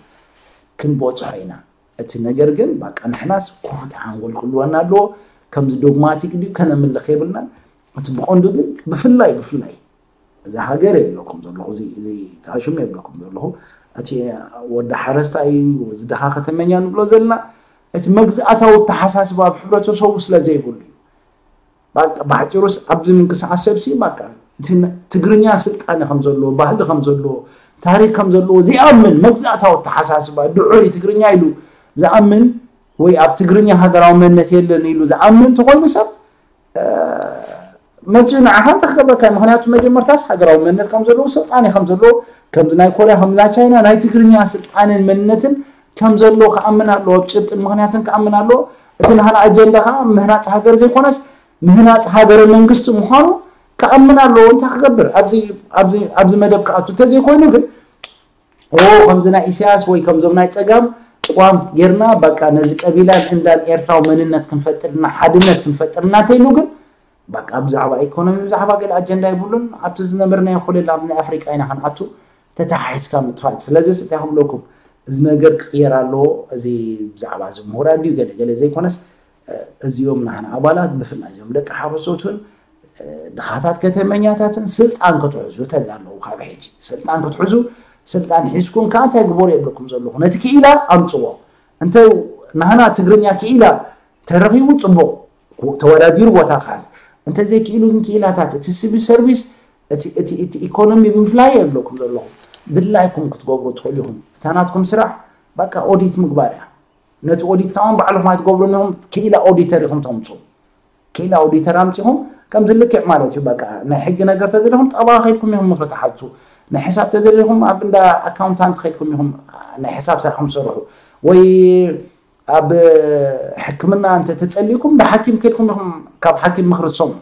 ክንበፅሖ ኢና እቲ ነገር ግን በቃ ንሕናስ ክፉት ሓንጎል ክህልወና ኣለዎ ከምዚ ዶግማቲክ ድዩ ከነምልኽ የብልናን እቲ ብቐንዱ ግን ብፍላይ ብፍላይ እዛ ሃገር የብለኩም ዘለኹ እዚ ተኣሽሙ የብለኩም ዘለኹ እቲ ወዲ ሓረስታይ እዩ እዚ ድኻ ከተመኛ ንብሎ ዘለና እቲ መግዛእታዊ ኣተሓሳስባ ኣብ ሕብረተሰቡ ስለ ዘይብሉ እዩ ባቃ ባሕፂሩስ ኣብዚ ምንቅስቃስ ሰብሲ ባቃ እቲ ትግርኛ ስልጣነ ከም ዘለዎ ባህሊ ከም ዘለዎ ታሪክ ከም ዘለዎ ዝኣምን መግዛእታዊ ኣተሓሳስባ ድዑይ ትግርኛ ኢሉ ዝኣምን ወይ ኣብ ትግርኛ ሃገራዊ መንነት የለን ኢሉ ዝኣምን ተኮይኑ ሰብ መፅኡ ንዓኻ እንታይ ክገብረካ እዩ? ምክንያቱ መጀመርታስ ሃገራዊ መንነት ከም ዘለዎ፣ ስልጣነ ከም ዘለዎ፣ ከምዚ ናይ ኮርያ፣ ከምዚ ናይ ቻይና፣ ናይ ትግርኛ ስልጣነን መንነትን ከም ዘለዎ ክኣምን ኣለዎ፣ ኣብ ጭብጥን ምክንያትን ክኣምን ኣለዎ። እቲ ናህና ኣጀንዳ ከዓ ምህናፅ ሃገር ዘይኮነስ ምህናፅ ሃገረ መንግስቲ ምዃኑ ክኣምን ኣለዎ። እንታይ ክገብር ኣብዚ ኣብዚ ኣብዚ መደብ ክኣቱ እንተዘይኮይኑ ግን ኦ ከምዚ ናይ ኢሳያስ ወይ ከምዞም ናይ ፀጋም ቅዋም ጌርና በቃ ነዚ ቀቢላን እንዳን ኤርትራዊ መንነት ክንፈጥርና ሓድነት ክንፈጥርና እንተኢሉ ግን በቃ ብዛዕባ ኢኮኖሚ ብዛዕባ ገለ ኣጀንዳ ይብሉን ኣብቲ ዝነበርናዮ ኮለል ኣብ ናይ ኣፍሪቃ ኢና ክንኣቱ ተተሓሒዝካ ምጥፋእ። ስለዚ እንታይ ክብለኩም እዚ ነገር ክቕየር ኣለዎ። እዚ ብዛዕባ እዚ ምሁራት ድዩ ገለ ገለ ዘይኮነስ እዚኦም ናህና ኣባላት ብፍላይ እዚኦም ደቂ ሓረስቶትን ድኻታት ከተመኛታትን ስልጣን ክትሕዙ ተዳለዉ ካብ ሕጂ ስልጣን ክትሕዙ ስልጣን ሒዝኩም ከዓ እንታይ ግበሩ የብለኩም ዘለኹ ነቲ ክኢላ ኣምፅዎ እንተ ናህና ትግርኛ ክኢላ ተረኺቡ ፅቡቕ ተወዳዲሩ ቦታ ክሓዝ እንተዘይክኢሉ ግን ክኢላታት እቲ ሲቪል ሰርቪስ እቲ ኢኮኖሚ ብምፍላይ የብለኩም ዘለኹ ድላይኩም ክትገብሩ ትኽእሉ ኢኹም እታ ናትኩም ስራሕ በቃ ኦዲት ምግባር እያ ነቲ ኦዲት ከማን ባዕልኹም ኣይትገብሩን ኢኹም ክኢላ ኦዲተር ኢኹም ተምፁ ክኢላ ኦዲተር ኣምፂኹም ከምዚ ልክዕ ማለት እዩ በቃ ናይ ሕጊ ነገር ተደሊኹም ጠበቓ ከይድኩም ኢኹም ምኽሪ ትሓቱ ናይ ሕሳብ ተደሊኹም ኣብ እንዳ ኣካውንታንት ከይድኩም ኢኹም ናይ ሕሳብ ስራሕኩም ትሰርሑ ወይ ኣብ ሕክምና እንተ ተፀሊእኩም ብሓኪም ከይድኩም ኢኹም ካብ ሓኪም ምኽሪ ትሰምዑ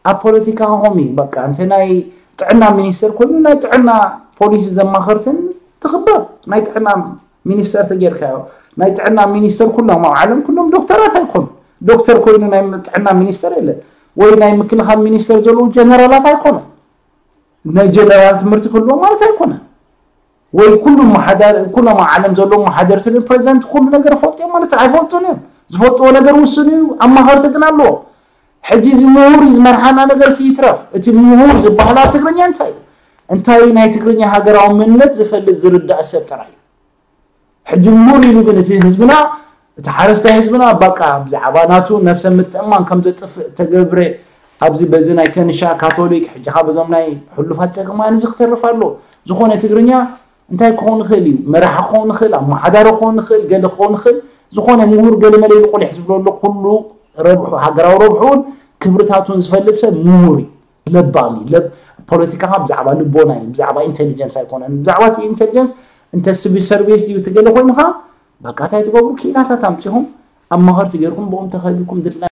ኣብ ፖለቲካ ከኸም እዩ በቃ እንተ ናይ ጥዕና ሚኒስተር ኮይኑ ናይ ጥዕና ፖሊሲ ዘማኸርትን ትኽበር ናይ ጥዕና ሚኒስተር ተጌርካዮ ናይ ጥዕና ሚኒስተር ኩሎም ኣብ ዓለም ኩሎም ዶክተራት ኣይኮኑ ዶክተር ኮይኑ ናይ ጥዕና ሚኒስተር የለን ወይ ናይ ምክልኻል ሚኒስተር ዘለዉ ጀነራላት ኣይኮኑ ናይ ጀነራል ትምህርቲ ክህልዎ ማለት ኣይኮነ ወይ ኩሉ መሓዳር ኩሎም ዓለም ዘለዉ መሓደርቲ ፕሬዚደንት ኩሉ ነገር ፈልጥዮም ማለት ኣይፈልጡን እዮም ዝፈልጥዎ ነገር ውስን እዩ ኣማኸርቲ ግን ኣለዎ ሕጂ እዚ ምሁር ዝመርሓና ነገር ይትረፍ እቲ ምሁር ዝበሃል ኣብ ትግርኛ እንታይ እዩ እንታይ ናይ ትግርኛ ሃገራዊ መንነት ዝፈልጥ ዝርዳእ ሰብ ጥራይ እዩ ሕጂ ምሁር ኢሉ ግን እቲ ህዝብና እቲ ሓረስታይ ህዝብና በቃ ብዛዕባ ናቱ ነብሰ ምትእማን ከም ዘጥፍእ ተገብረ ኣብዚ በዚ ናይ ከንሻ ካቶሊክ ሕጂ ካብ እዞም ናይ ሕሉፋት ፀገማን እዚ ክተርፍ ኣሎ ዝኾነ ትግርኛ እንታይ ክኸውን ይኽእል እዩ መራሒ ክኸውን ይኽእል ኣመሓዳሪ ክኸውን ይኽእል ገለ ክኸውን ይኽእል ዝኾነ ምሁር ገለ መለ ኢሉ ቁሊሕ ዝብሎ ኣሎ ኩሉ ረብሑ ሃገራዊ ረብሑን ክብርታቱን ዝፈልጥ ሰብ ምሁር እዩ ለባም እዩ ፖለቲካ ብዛዕባ ልቦና እዩ ብዛዕባ ኢንቴሊጀንስ ኣይኮነን ብዛዕባ ኢንቴሊጀንስ እንተ ስቢ ሰርቪስ ድዩ ትገለ ኮይንካ በቃ እንታይ ትገብሩ ክኢላታት ኣምፂኹም ኣማኸርቲ ገይርኩም ብኦም ተኸቢኩም ድላ